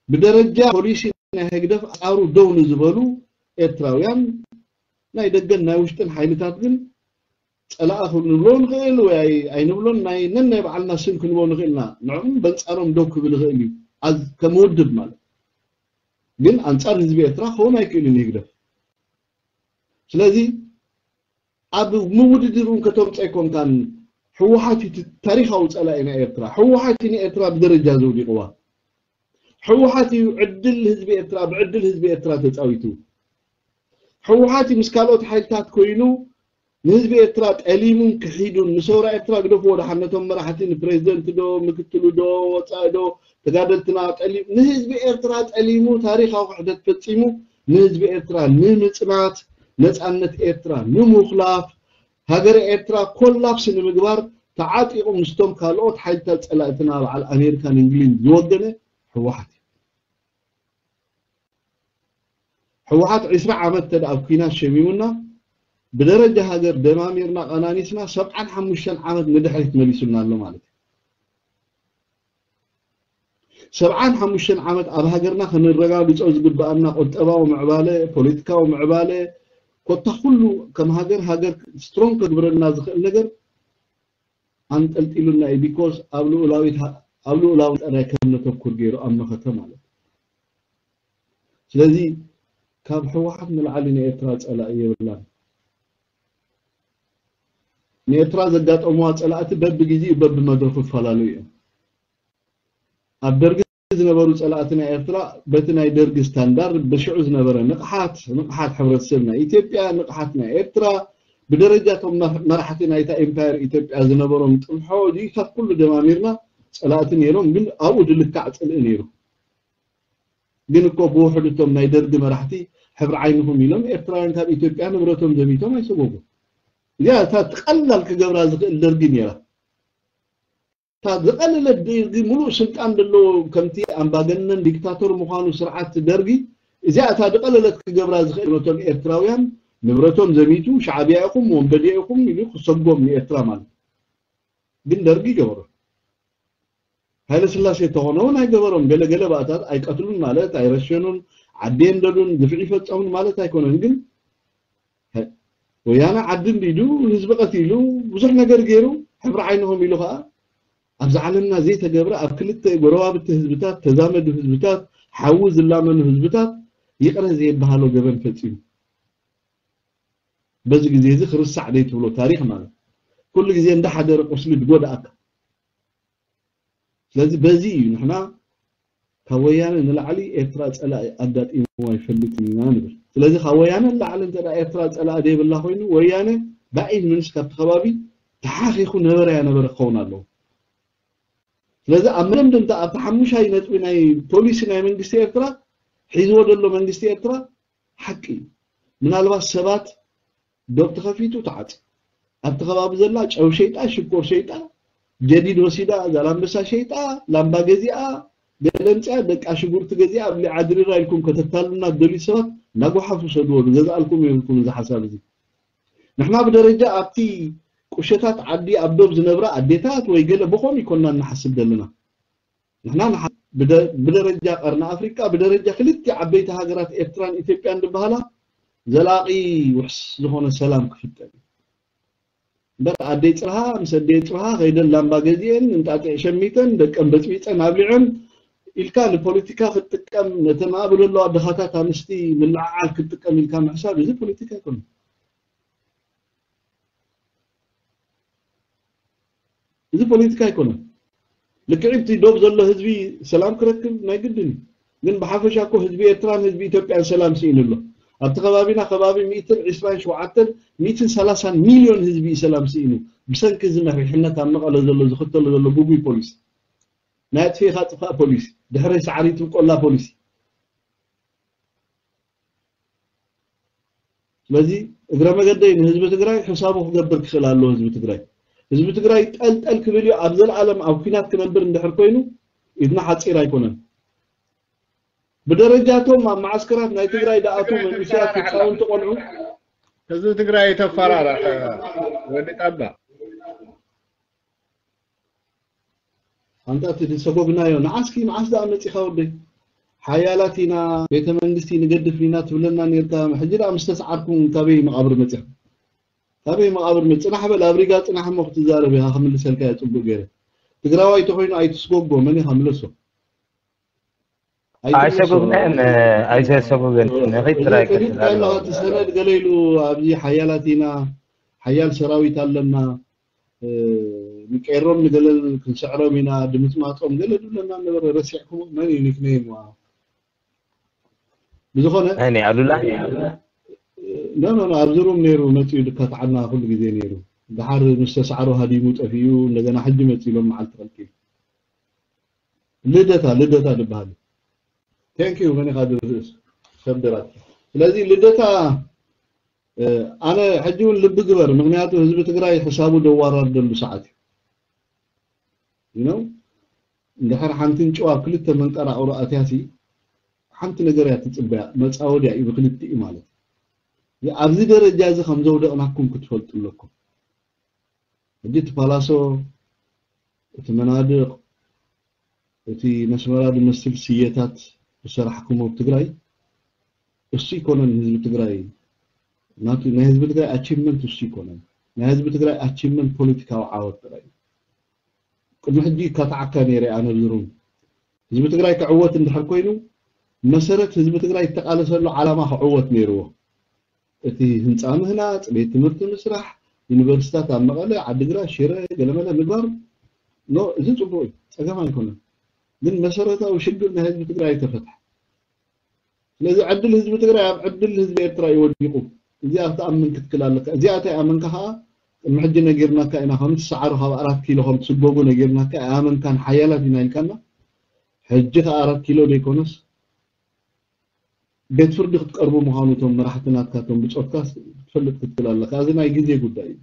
ብደረጃ ፖሊሲ ናይ ህግደፍ ኣሩ ደው ንዝበሉ ኤርትራውያን ናይ ደገን ናይ ውሽጥን ሓይልታት ግን ጸላኢ ክንብሎ ንኽእል ወይ ኣይንብሎን ናይ ነናይ ባዕልና ስም ክንቦ ንኽእልና ንዕም በንጻሮም ደው ክብል ይኽእል እዩ ከም ውድብ ማለት ግን ኣንጻር ህዝቢ ኤርትራ ክኸውን ኣይክእልን ህግደፍ ስለዚ ኣብ ምውድድር እውን ከተምፀ ኣይኮንካን ህወሓት እዩ ታሪካዊ ፀላኢ ናይ ኤርትራ ህወሓት እዩ ንኤርትራ ብደረጃ ዘውዲቕዋ ህወሓት እዩ ዕድል ህዝቢ ኤርትራ ብዕድል ህዝቢ ኤርትራ ተፃዊቱ ህወሓት እዩ ምስ ካልኦት ሓይልታት ኮይኑ ንህዝቢ ኤርትራ ጠሊሙን ክሒዱን ንሰውራ ኤርትራ ግደፍዎ ደሓን ነቶም መራሕቲ ንፕሬዚደንት ዶ ምክትሉ ዶ ወፃኢ ዶ ተጋደልትና ጠሊሙ ንህዝቢ ኤርትራ ጠሊሙ ታሪካዊ ክሕደት ፈፂሙ ንህዝቢ ኤርትራ ንምፅናት ነፃነት ኤርትራ ንምኹላፍ ሃገረ ኤርትራ ኮላፕስ ንምግባር ተዓጢቑ ምስቶም ካልኦት ሓይልታት ፀላእትና በዓል ኣሜሪካን እንግሊዝ ዝወገነ ህወሓት እዩ። ህወሓት ዕስራ ዓመት ተደ ኣብ ኩናት ሸሚሙና ብደረጃ ሃገር ደማሚርና ቀናኒስና ሰብዓን ሓሙሽተን ዓመት ንድሕሪት መሊሱና ኣሎ ማለት እዩ። ሰብዓን ሓሙሽተን ዓመት ኣብ ሃገርና ክንረጋግጾ ዝግብኣና ቁጠባዊ ምዕባለ፣ ፖለቲካዊ ምዕባለ፣ ኮታ ኩሉ ከም ሃገር ሃገር ስትሮንግ ከግብረና ዝኽእል ነገር ኣንጠልጢሉና እዩ። ቢኮዝ ኣብ ልኡላዊት ኣብ ልኡላዊ ጥራይ ከም ነተኩር ገይሩ ኣብ መኸተ ማለት እዩ። ስለዚ ካብ ህወሓት ንላዕሊ ንኤርትራ ጸላኢ የብላን። ንኤርትራ ዘጋጠምዋ ጸላእቲ በብግዜኡ በብመድረኹ ይፈላለዩ እዮም። ኣብ ደርጊ ዝነበሩ ጸላእቲ ናይ ኤርትራ በቲ ናይ ደርጊ ስታንዳርድ ብሽዑ ዝነበረ ንቕሓት ንቕሓት ሕብረተሰብ ናይ ኢትዮጵያ ንቕሓት ናይ ኤርትራ ብደረጃ እቶም መራሕቲ ናይታ ኤምፓየር ኢትዮጵያ ዝነበሮም ጥምሖ እዚታት ኩሉ ደማሚርና ጸላእቲ ነይሮም። ግን ኣብኡ ድልካዕ ጽልኢ ነይሩ። ግን እኮ ብውሕዱ እቶም ናይ ደርጊ መራሕቲ ሕብሪ ዓይንኹም ኢሎም ኤርትራውያን ካብ ኢትዮጵያ ንብረቶም ዘሚቶም ኣይሰጎጉ። እዚኣ እታ ቀላል ክገብራ ዝኽእል ደርጊ ነይራ። እታ ዝቐለለት ደርጊ ሙሉእ ስልጣን ዘለዎ ከምቲ ኣምባገነን ዲክታቶር ምዃኑ ስርዓት ደርጊ እዚኣ እታ ዝቐለለት ክገብራ ዝኽእል ነቶም ኤርትራውያን ንብረቶም ዘሚቱ ሻዕብያ ኢኹም ወንበዴ ኢኹም ኢሉ ክሰጎም ንኤርትራ ማለት ግን ደርጊ ገበሮ። ሃይለ ስላሴ ተኾነ እውን ኣይገበሮም። ገለ ገለ ባእታት ኣይቀትሉን ማለት ኣይረሸኑን ዓዲ የንደዱን ግፍዒ ይፈጸሙን ማለት ኣይኮነን። ግን ወያነ ዓዲ እንዲዱ ህዝቢ ቀቲሉ ብዙሕ ነገር ገይሩ ሕብሪ ዓይንኹም ኢሉ ከዓ ኣብዚ ዓለምና ዘይተገብረ ኣብ ክልተ ጎረባብቲ ህዝብታት ተዛመዱ ህዝብታት ሓዊ ዝላመኑ ህዝብታት ይቕረ ዘይበሃሎ ገበን ፈጺሙ። በዚ ግዜ እዚ ክርስዕ ዘይትብሎ ታሪኽ ማለት ኩሉ ግዜ እንዳሓደረ ቁስሊ ዝጎድኣካ ስለዚ በዚ እዩ ንሕና ካብ ወያነ ንላዕሊ ኤርትራ ጸላኢ ኣጋጢምዋ ይፈልጥ ኢና ንብል። ስለዚ ካብ ወያነ ንላዕሊ እንተ ኤርትራ ጸላኢ ዘይብላ ኮይኑ ወያነ ብዓይኒ ምንስ ካብቲ ከባቢ ተሓኺኹ ነበረ ያነበረ ክኸውን ኣለዎ። ስለዚ ኣብ መደምደምታ ኣብቲ ሓሙሻይ ነጥቢ ናይ ፖሊሲ ናይ መንግስቲ ኤርትራ ሒዝዎ ዘሎ መንግስቲ ኤርትራ ሓቂ እዩ። ምናልባት ሰባት ዶብ ተኸፊቱ ተዓጽ ኣብቲ ከባቢ ዘላ ጨው ሸይጣ ሽኮር ሸይጣ ጀዲድ ወሲዳ ዛላምበሳ ሸይጣ ላምባ ገዚኣ ገለምፅያ ደቃ ሽጉርቲ ገዚኣ ኣብ ሊዓድሪራ ኢልኩም ከተታሉና ዝደልዩ ሰባት እናጓሓፉ ሰድዎ ዝገዝኣልኩም የብልኩም እዚ ሓሳብ እዚ ንሕና ብደረጃ ኣብቲ ቁሸታት ዓዲ ኣብ ዶብ ዝነብራ ኣዴታት ወይ ገለ ብኾም ይኮና እናሓስብ ዘለና ንሕና ብደረጃ ቀርኒ ኣፍሪቃ ብደረጃ ክልተ ዓበይቲ ሃገራት ኤርትራን ኢትዮጵያን ዝበሃላ ዘላቂ ውሕስ ዝኾነ ሰላም ክፍጠር እምበር ኣደይ ፅርሃ ምስ ኣደይ ፅርሃ ከይደን ላምባ ገዚአን እንጣጢዕ ሸሚተን ደቀን በፅቢፀን ኣብሊዐን ኢልካ ንፖለቲካ ክትጥቀም ነተን ማእብል ኣለዋ ድኻታት ኣንስቲ ምልዓዓል ክትጥቀም ኢልካ ምሕሳብ እዚ ፖለቲካ ኣይኮነን። እዚ ፖለቲካ ኣይኮነን። ልክዕ እቲ ዶብ ዘሎ ህዝቢ ሰላም ክረክብ ናይ ግድን እዩ። ግን ብሓፈሻ እኮ ህዝቢ ኤርትራን ህዝቢ ኢትዮጵያን ሰላም ስኢኑ ኣሎ። ኣብቲ ከባቢና ከባቢ ሚእትን ዕስራን ሸውዓተን ሚእትን ሰላሳን ሚልዮን ህዝቢ እዩ ሰላም ስኢኑ ብሰንኪ እዚ መሪሕነት ኣብ መቐለ ዘሎ ዝኽተሎ ዘሎ ግጉይ ፖሊሲ ናይ ኣጥፊእኻ ጥፋእ ፖሊሲ ድሕረይ ሰዓሪ ትብቆላ ፖሊሲ ስለዚ እግረ መገደይ ንህዝቢ ትግራይ ሕሳቡ ክገብር ክኽእል ኣለዎ ህዝቢ ትግራይ ህዝቢ ትግራይ ጠልጠል ክብል እዩ ኣብ ዘለኣለም ኣብ ኲናት ክነብር እንድሕር ኮይኑ ኢድና ሓፂር ኣይኮነን ብደረጃቶም ኣብ መዓስከራት ናይ ትግራይ ደኣቱ መንእሰያት ህፃውንቲ ቆልዑ ህዝቢ ትግራይ ተፈራርሕ ወዲ ጣባ ኣንታ እቲ ዝሰጎግናዮ ንዓስኪ መዓስ ደኣ መጺኻ ወደይ ሓያላት ኢና ቤተ መንግስቲ ንገድፍ ኢና ትብለና ነርካ ሕጂ ደኣ ምስ ተሰዓርኩም ካበይ መቓብር መጺኻ ካበይ መቓብር መ ጽናሕ በል ኣብ ሪጋ ጽናሕ እሞ ክትዛረብ ኢኻ ክምልሰልካ እየ ጽቡቅ ገይረ ትግራዋይ ተኮይኑ ኣይትስጎጎ መን ኢኻ ምለሶ ኣይሰጎግናን ኣይሰጎግን ንኺድ ጥራይ ቀጽል ኣለዎ ሰነድ ገለ ኢሉ ኣብዚ ሓያላት ኢና ሓያል ሰራዊት ኣለና ንቀይሮም ንገለል ክንስዕሮም ኢና ድምፅማፆም ገለ ዝብለና ነበረ ረሲዕኩሞ መን እዩ ኒክነይም ብዝኾነ ናይ ኣሉላ ኖ ኖ ኣብዚ ሩም ነይሩ መፂኡ ድካትዓና ኩሉ ግዜ ነይሩ ድሓር ምስ ተሳዕሮ ሃዲሙ ጠፊኡ እንደገና ሕጂ መፂ ኢሎም መዓልቲ ቀልቂሉ ልደታ ልደታ ዝበሃል thank you መን ኢኻ ድርእስ ሰብ ድራት ስለዚ ልደታ ኣነ ሕጂ እውን ልቢ ግበር ምክንያቱ ህዝቢ ትግራይ ሕሳቡ ደዋራርደሉ ሰዓት እዩ you know እንድሕር ሓንቲ እንጭዋ ኣብ ክልተ መንቀራቅሮ ኣትያሲ ሓንቲ ነገር እያ ትፅበያ መፃወድያ እዩ ብክልቲኡ ማለት እዩ ኣብዚ ደረጃ እዚ ከም ዘውደቅናኩም ክትፈልጡ ኣለኩም ሕጂ እቲ ፓላሶ እቲ መናድቅ እቲ ነስመራ ዝመስል ስየታት ዝሰራሕኩም ኣብ ትግራይ እሱ ይኮነን ህዝቢ ትግራይ ናይ ህዝቢ ትግራይ achievement እሱ ይኮነን ናይ ህዝቢ ትግራይ achievement ፖለቲካዊ ዓወት ጥራይ እዩ ቅድሚ ሕጂ ይካትዓካ ነይረ ኣነ ኣብዚ ሩም ህዝቢ ትግራይ ክዕወት እንድሕር ኮይኑ መሰረት ህዝቢ ትግራይ ዝተቃለሰሉ ዓላማ ክዕወት ነይርዎ እቲ ህንፃ ምህናፅ ቤት ትምህርቲ ምስራሕ ዩኒቨርሲታት ኣብ መቐለ ዓዲግራት ሽረ ገለመለ ምግባር ኖ እዚ ፅቡቅ እዩ ፀገም ኣይኮነን ግን መሰረታዊ ሽግር ናይ ህዝቢ ትግራይ ኣይተፈትሐ። ስለዚ ዕድል ህዝቢ ትግራይ ኣብ ዕድል ህዝቢ ኤርትራ እዩ ወዲቑ። እዚኣ ክትኣምን ክትክል ኣለካ። እዚኣ ተይኣመንካ ከዓ ቅድሚ ሕጂ ነጊርናካ ኢና፣ ከም ትሰዓሩ ካብ ኣራት ኪሎ ከም ትስጎጉ ነጊርናካ፣ ኣይኣመንካን፣ ሓያላት ኢና ኢልካና። ሕጂ ከዓ ኣራት ኪሎ ዘይኮነስ ቤት ፍርዲ ክትቀርቡ ምዃኑ እቶም መራሕቲ ናትካ እቶም ብጾትካ ክትፈልጥ ክትክል ኣለካ። እዚ ናይ ግዜ ጉዳይ እዩ።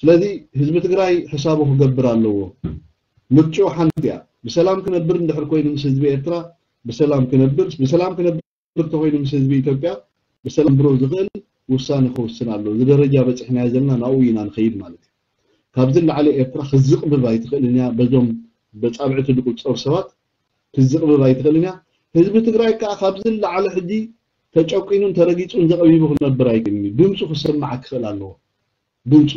ስለዚ ህዝቢ ትግራይ ሕሳቡ ክገብር ኣለዎ። ምርጭኡ ሓንቲ እያ። ብሰላም ክነብር እንድሕር ኮይኑ ምስ ህዝቢ ኤርትራ ብሰላም ክነብር፣ ብሰላም ክነብር እንተኮይኑ ምስ ህዝቢ ኢትዮጵያ ብሰላም ብሮ ዝኽእል ውሳነ ክውስን ኣሎ። እዚ ደረጃ በፂሕናዮ ዘለና ናብኡ ኢና ንኸይድ ማለት እዩ። ካብዚ ንላዕሊ ኤርትራ ክዝቕብብ ኣይትኽእልን እያ። በዞም በፃብዕቲ ዝቁፀሩ ሰባት ክዝቕብብ ኣይትኽእልን እያ። ህዝቢ ትግራይ ከዓ ካብዚ ንላዕሊ ሕጂ ተጨቂኑን ተረጊፁን ዘቐቢቡ ክነብር ኣይክእልን እዩ። ድምፁ ክሰማዕ ክኽእል ኣለዎ። ድምፁ።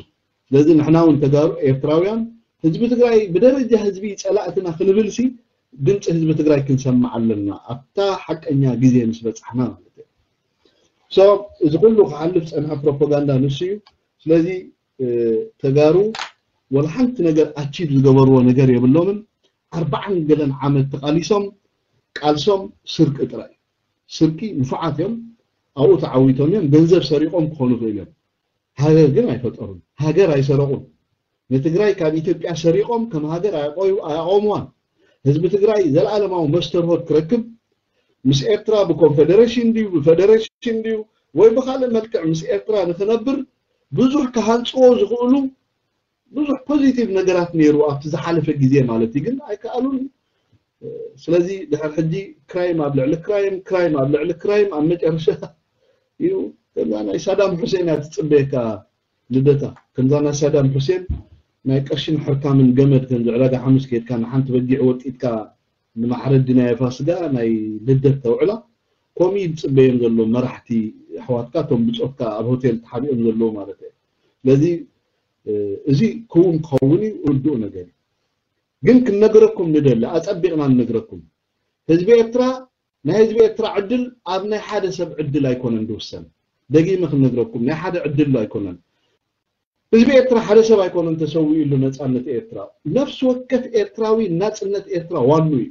ስለዚ ንሕና እውን ተጋሩ ኤርትራውያን ህዝቢ ትግራይ ብደረጃ ህዝቢ ጸላእትና ክንብል ሲ ድምፂ ህዝቢ ትግራይ ክንሰማዕ ኣለና። ኣብታ ሓቀኛ ግዜ ምስ በፃሕና ማለት እዩ። So እዚ ኩሉ ክሓልፍ ፀንሐ ፕሮፓጋንዳ ንሱ እዩ። ስለዚ እ፣ ተጋሩ ወላ ሓንቲ ነገር ኣቺቭ ዝገበርዎ ነገር የብሎምን። ኣርባዓን ገለን ዓመት ተቃሊሶም ቃልሶም ስርቂ ጥራይ። ስርቂ ንፉዓት እዮም። ኣብኡ ተዓዊቶም እዮም። ገንዘብ ሰሪቆም ክኾኑ ይኽእሉ እዮም። ሃገር ግን ኣይፈጠሩን። ሃገር ኣይሰረቁን። ንትግራይ ካብ ኢትዮጵያ ሰሪቆም ከም ሃገር ኣያቆዩ-፣ ኣያቆምዋን። ህዝቢ ትግራይ ዘለኣለማዊ መስተርሆት ክረክብ ምስ ኤርትራ ብኮንፌደሬሽን ድዩ ብፌደሬሽን ድዩ ወይ ብካልእ መልክዕ ምስ ኤርትራ ንክነብር ብዙሕ ክሃንፅዎ ዝኽእሉ ብዙሕ ፖዚቲቭ ነገራት ነይሩ ኣብቲ ዝሓለፈ ግዜ ማለት እዩ፣ ግን ኣይከኣሉን። ስለዚ ድሕር ሕጂ ክራይም ኣብ ልዕሊ ክራይም፣ ክራይም ኣብ ልዕሊ ክራይም፣ ኣብ መጨረሻ እዩ ከምዛ ናይ ሳዳም ሑሴን እያ ትጽበየካ ልደታ። ከምዛ ናይ ሳዳም ሑሴን ናይ ቀሽን ሕርካምን ገመድ ከምዚ ዕዳጋ ሓሙስ ከይድካ ንሓንቲ በጊዕ ወጢጥካ ንማሕረዲ ናይ ፋስጋ ናይ ልደት ተውዕላ ከምኡ እዩ ዝጽበዮም ዘሎ መራሕቲ ኣሕዋትካ እቶም ብጾትካ ኣብ ሆቴል ተሓቢኦም ዘለዉ ማለት እዩ። ስለዚ እዚ ክውን ክኸውን እዩ ርዱእ ነገር እዩ። ግን ክንነግረኩም ንደሊ ኣጸቢቕና ንነግረኩም ህዝቢ ኤርትራ ናይ ህዝቢ ኤርትራ ዕድል ኣብ ናይ ሓደ ሰብ ዕድል ኣይኮነን ዝውሰን። ደጊመ ክንነግረኩም ናይ ሓደ ዕድል ኣይኮነን። ህዝቢ ኤርትራ ሓደ ሰብ ኣይኮነን ተሰዊኡ ኢሉ ነጻነት ኤርትራ። ነፍሲ ወከፍ ኤርትራዊ ናጽነት ኤርትራ ዋኑ እዩ።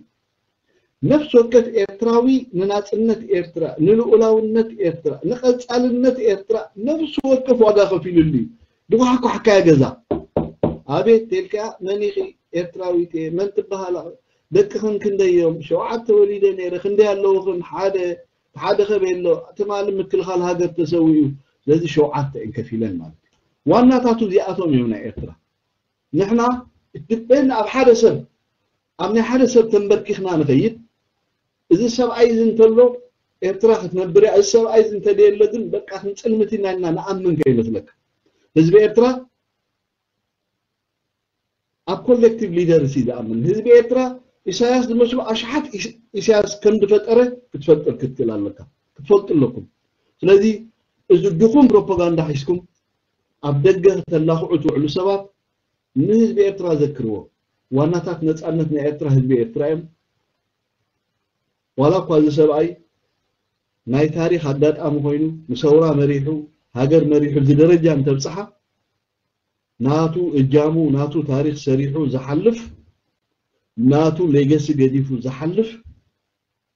ነፍሲ ወከፍ ኤርትራዊ ንናጽነት ኤርትራ፣ ንልኡላውነት ኤርትራ፣ ንቐጻልነት ኤርትራ ነፍሲ ወከፍ ዋጋ ከፊሉሉ እዩ። ድኳሕኳሕካያ ገዛ ኣቤት ተልካ መን ኢኺ ኤርትራዊት እየ መን ትበሃላ ደቅኽን ክንደይ እዮም ሸውዓተ ወሊደ ነይረ ክንደይ ኣለውኽን ሓደ ሓደ ከበይ ኣሎ ትማሊ ምክልኻል ሃገር ተሰዊኡ ስለዚ ሸውዓተ እየን ከፊለን ማለት እዩ ዋናታቱ እዚኣቶም እዮም ናይ ኤርትራ ንሕና እትበን ኣብ ሓደ ሰብ ኣብ ናይ ሓደ ሰብ ተንበርኪኽና ንኸይድ እዚ ሰብኣይ እዚ እንተሎ ኤርትራ ክትነብር እያ እዚ ሰብኣይ እዚ እንተደየለ ግን በቃ ክንፅልምት ኢና ኢና ንኣምን ከይመስለካ ህዝቢ ኤርትራ ኣብ ኮሌክቲቭ ሊደርስ እዩ ዝኣምን ህዝቢ ኤርትራ ኢሳያስ ዝመስሉ ኣሽሓት ኢሳያስ ከም ዝፈጠረ ክትፈልጥ ክትክእል ኣለካ ክትፈልጡ ኣለኩም ስለዚ እዚ ድኹም ፕሮፓጋንዳ ሒዝኩም ኣብ ደገ ተላኽዑ ትውዕሉ ሰባት ንህዝቢ ኤርትራ ዘክርዎ ዋናታት ነጻነት ናይ ኤርትራ ህዝቢ ኤርትራ እዮም ዋላ እኳ እዚ ሰብኣይ ናይ ታሪኽ ኣጋጣሚ ኮይኑ ንሰውራ መሪሑ ሃገር መሪሑ እዚ ደረጃ እንተብጽሓ ናቱ እጃሙ ናቱ ታሪኽ ሰሪሑ ዝሓልፍ ናቱ ሌገሲ ገዲፉ ዝሓልፍ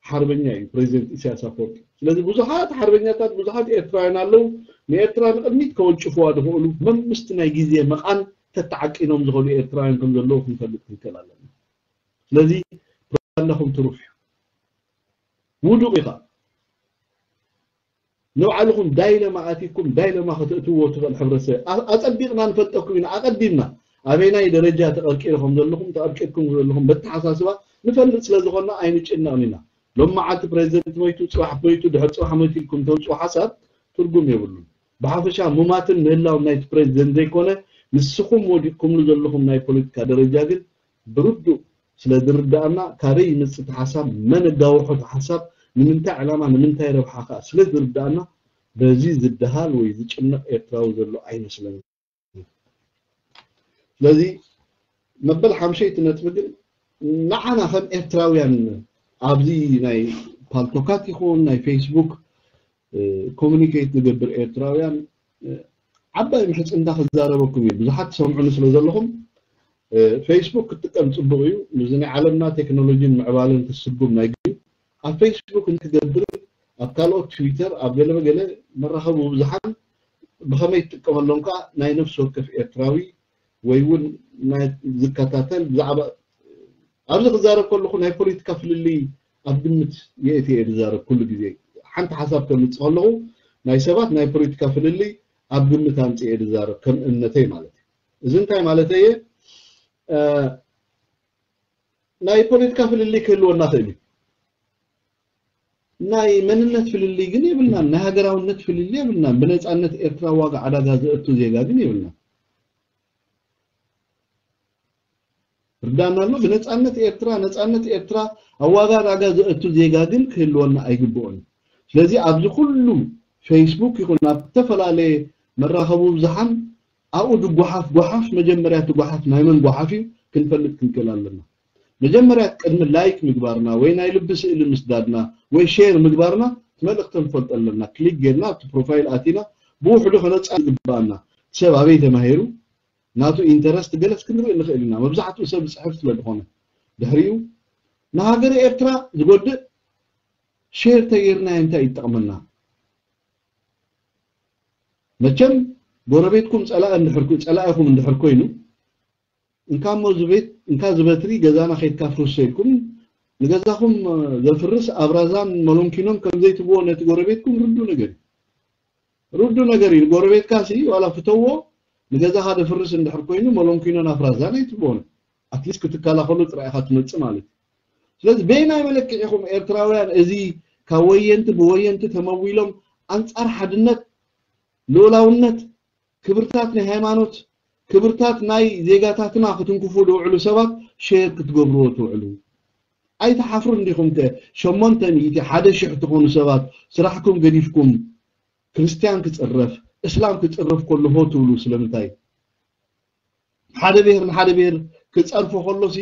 ሓርበኛ እዩ ፕሬዚደንት ኢሳያስ ኣፈወርቂ ስለዚ ብዙሓት ሓርበኛታት ብዙሓት ኤርትራውያን ኣለዉ ንኤርትራ ንቅድሚት ከወንጭፍዋ ዝኽእሉ መምስቲ ናይ ግዜ መቓን ተተዓቂኖም ዝኽእሉ ኤርትራውያን ከም ዘለዉ ክንፈልጥ ክንክእል ኣለና ስለዚ ፕሮፓጋንዳኹም ትሩፍ እዩ ውዱቕ ኢኻ ንባዕልኹም ዳይለማ ኣቲኩም ዳይለማ ከተእትዎ ትኽእል ሕብረተሰብ ኣጸቢቕና ንፈልጠኩም ኢና ኣቐዲምና ኣበይናይ ደረጃ ተቐርቂሩ ከም ዘለኹም ተቐርቂርኩም ዘለኹም በተሓሳስባ ንፈልጥ ስለ ዝኾንና ኣይንጭነቕን ኢና ሎም መዓልቲ ፕሬዚደንት ሞይቱ ፅባሕ ሞይቱ ድሕር ፅባሕ ሞይቱ ኢልኩም ተውፅኡ ሓሳብ ትርጉም የብሉን ብሓፈሻ ሙማትን ምህላው ናይቲ ፕሬዚደንት ዘይኮነ ንስኹም ወዲቕኩምሉ ዘለኹም ናይ ፖለቲካ ደረጃ ግን ብርዱእ ስለ ዝርዳኣና ካበይ ይመጽእ እቲ ሓሳብ መን ኣጋውሖ እቲ ሓሳብ ንምንታይ ዕላማ ንምንታይ ረብሓ ከኣ ስለ ዝርዳኣና በዚ ዝደሃል ወይ ዝጭነቕ ኤርትራዊ ዘሎ ኣይመስለኒ ስለዚ መበል ሓምሸይቲ ነጥቢ ግን ንዓና ከም ኤርትራውያን ኣብዚ ናይ ፓልቶካት ይኹን ናይ ፌስቡክ ኮሚኒኬት ንገብር ኤርትራውያን ዓባይ ምሕፅንታ ክዛረበኩም እዩ ብዙሓት ትሰምዑኒ ስለ ዘለኹም ፌስቡክ ክትጥቀም ፅቡቅ እዩ። ምስዚ ናይ ዓለምና ቴክኖሎጂን ምዕባለን ክትስጉም ናይ ግድን። ኣብ ፌስቡክ እንትገብር ኣብ ካልኦት ትዊተር ኣብ ገለ ገለ መራኸቢ ብዙሓን ብኸመይ ትጥቀመሎም ከዓ ናይ ነፍሲ ወከፍ ኤርትራዊ ወይ እውን ናይ ዝከታተል ብዛዕባ ኣብዚ ክዛረብ ከለኹ ናይ ፖለቲካ ፍልልይ ኣብ ግምት የእቲ እየ ዝዛረብ ኩሉ ግዜ ሓንቲ ሓሳብ ከምፅእ ከለኹ ናይ ሰባት ናይ ፖለቲካ ፍልልይ ኣብ ግምት ኣምፅእ እየ ዝዛረብ ከም እምነተይ ማለት እዩ። እዚ እንታይ ማለተይ እየ? ናይ ፖለቲካ ፍልልይ ክህልወና ክእል እዩ። ናይ መንነት ፍልልይ ግን የብልናን። ናይ ሃገራውነት ፍልልይ የብልናን። ብነፃነት ኤርትራ ዋጋ ዕዳጋ ዘእቱ ዜጋ ግን የብልናን። ርዳና ኣሎ። ብነፃነት ኤርትራ ነፃነት ኤርትራ ኣብ ዋጋ ዕዳጋ ዘእቱ ዜጋ ግን ክህልወና ኣይግብኦን። ስለዚ ኣብዚ ኩሉ ፌስቡክ ይኹን ኣብ ዝተፈላለየ መራኸቢ ብዙሓን ኣብኡ ዝጓሓፍ ጓሓፍ መጀመርያ እቲ ጓሓፍ ናይ መን ጓሓፍ እዩ ክንፈልጥ ክንክእል ኣለና። መጀመርያ ቅድሚ ላይክ ምግባርና ወይ ናይ ልቢ ስእሊ ምስዳድና ወይ ሼር ምግባርና እቲ መልእኽቲ ንፈልጦ ኣለና። ክሊክ ጌርና ኣብቲ ፕሮፋይል ኣቲና ብውሕዱ ከነፃ ዝግባኣና ሰብ ኣበይ ተማሂሩ ናቱ ኢንተረስት ገለስ ክንርኢ ንኽእል ኢና። መብዛሕትኡ ሰብ ዝፅሕፍ ስለ ዝኾነ ድሕሪኡ ንሃገረ ኤርትራ ዝጎድእ ሼር ተጌርናዮ እንታይ ይጠቕመና? መቸም ጎረቤትኩም ፀላኢ እንድሕር ኮ- ፀላኢኹም እንድሕር ኮይኑ እንካ እሞ ዝቤት እንካ ዝበትሪ ገዛና ከይድካ ፍርሶ ኢልኩም ንገዛኹም ዘፍርስ ኣብራዛን መሎንኪኖን ከምዘይትብዎ ነቲ ጎረቤትኩም ርዱ ነገር እዩ። ርዱ ነገር እዩ። ንጎረቤትካ ሲ ዋላ ፍተዎ ንገዛኻ ደፍርስ እንድሕር ኮይኑ መሎንኪኖን ኣፍራዛን ኣይትብዎን። ኣትሊስት ክትከላኸሉ ጥራይ ኢኻ ትመጽእ ማለት እዩ። ስለዚ በየናይ መለክዒ ኢኹም ኤርትራውያን እዚ ካብ ወየንቲ ብወየንቲ ተመዊሎም ኣንጻር ሓድነት ልኡላውነት ክብርታት ናይ ሃይማኖት ክብርታት ናይ ዜጋታትና ክትንክፉ ዝውዕሉ ሰባት ሼር ክትገብርዎ ትውዕሉ? ኣይትሓፍሩን ዲኹም ከ? ሸሞንተ ሚእቲ ሓደ ሽሕ ትኾኑ ሰባት ስራሕኩም ገዲፍኩም ክርስትያን ክፅረፍ እስላም ክፅረፍ ከሎ ሆ ትብሉ ስለምንታይ? ሓደ ብሄር ንሓደ ብሄር ክፀርፎ ከሎሲ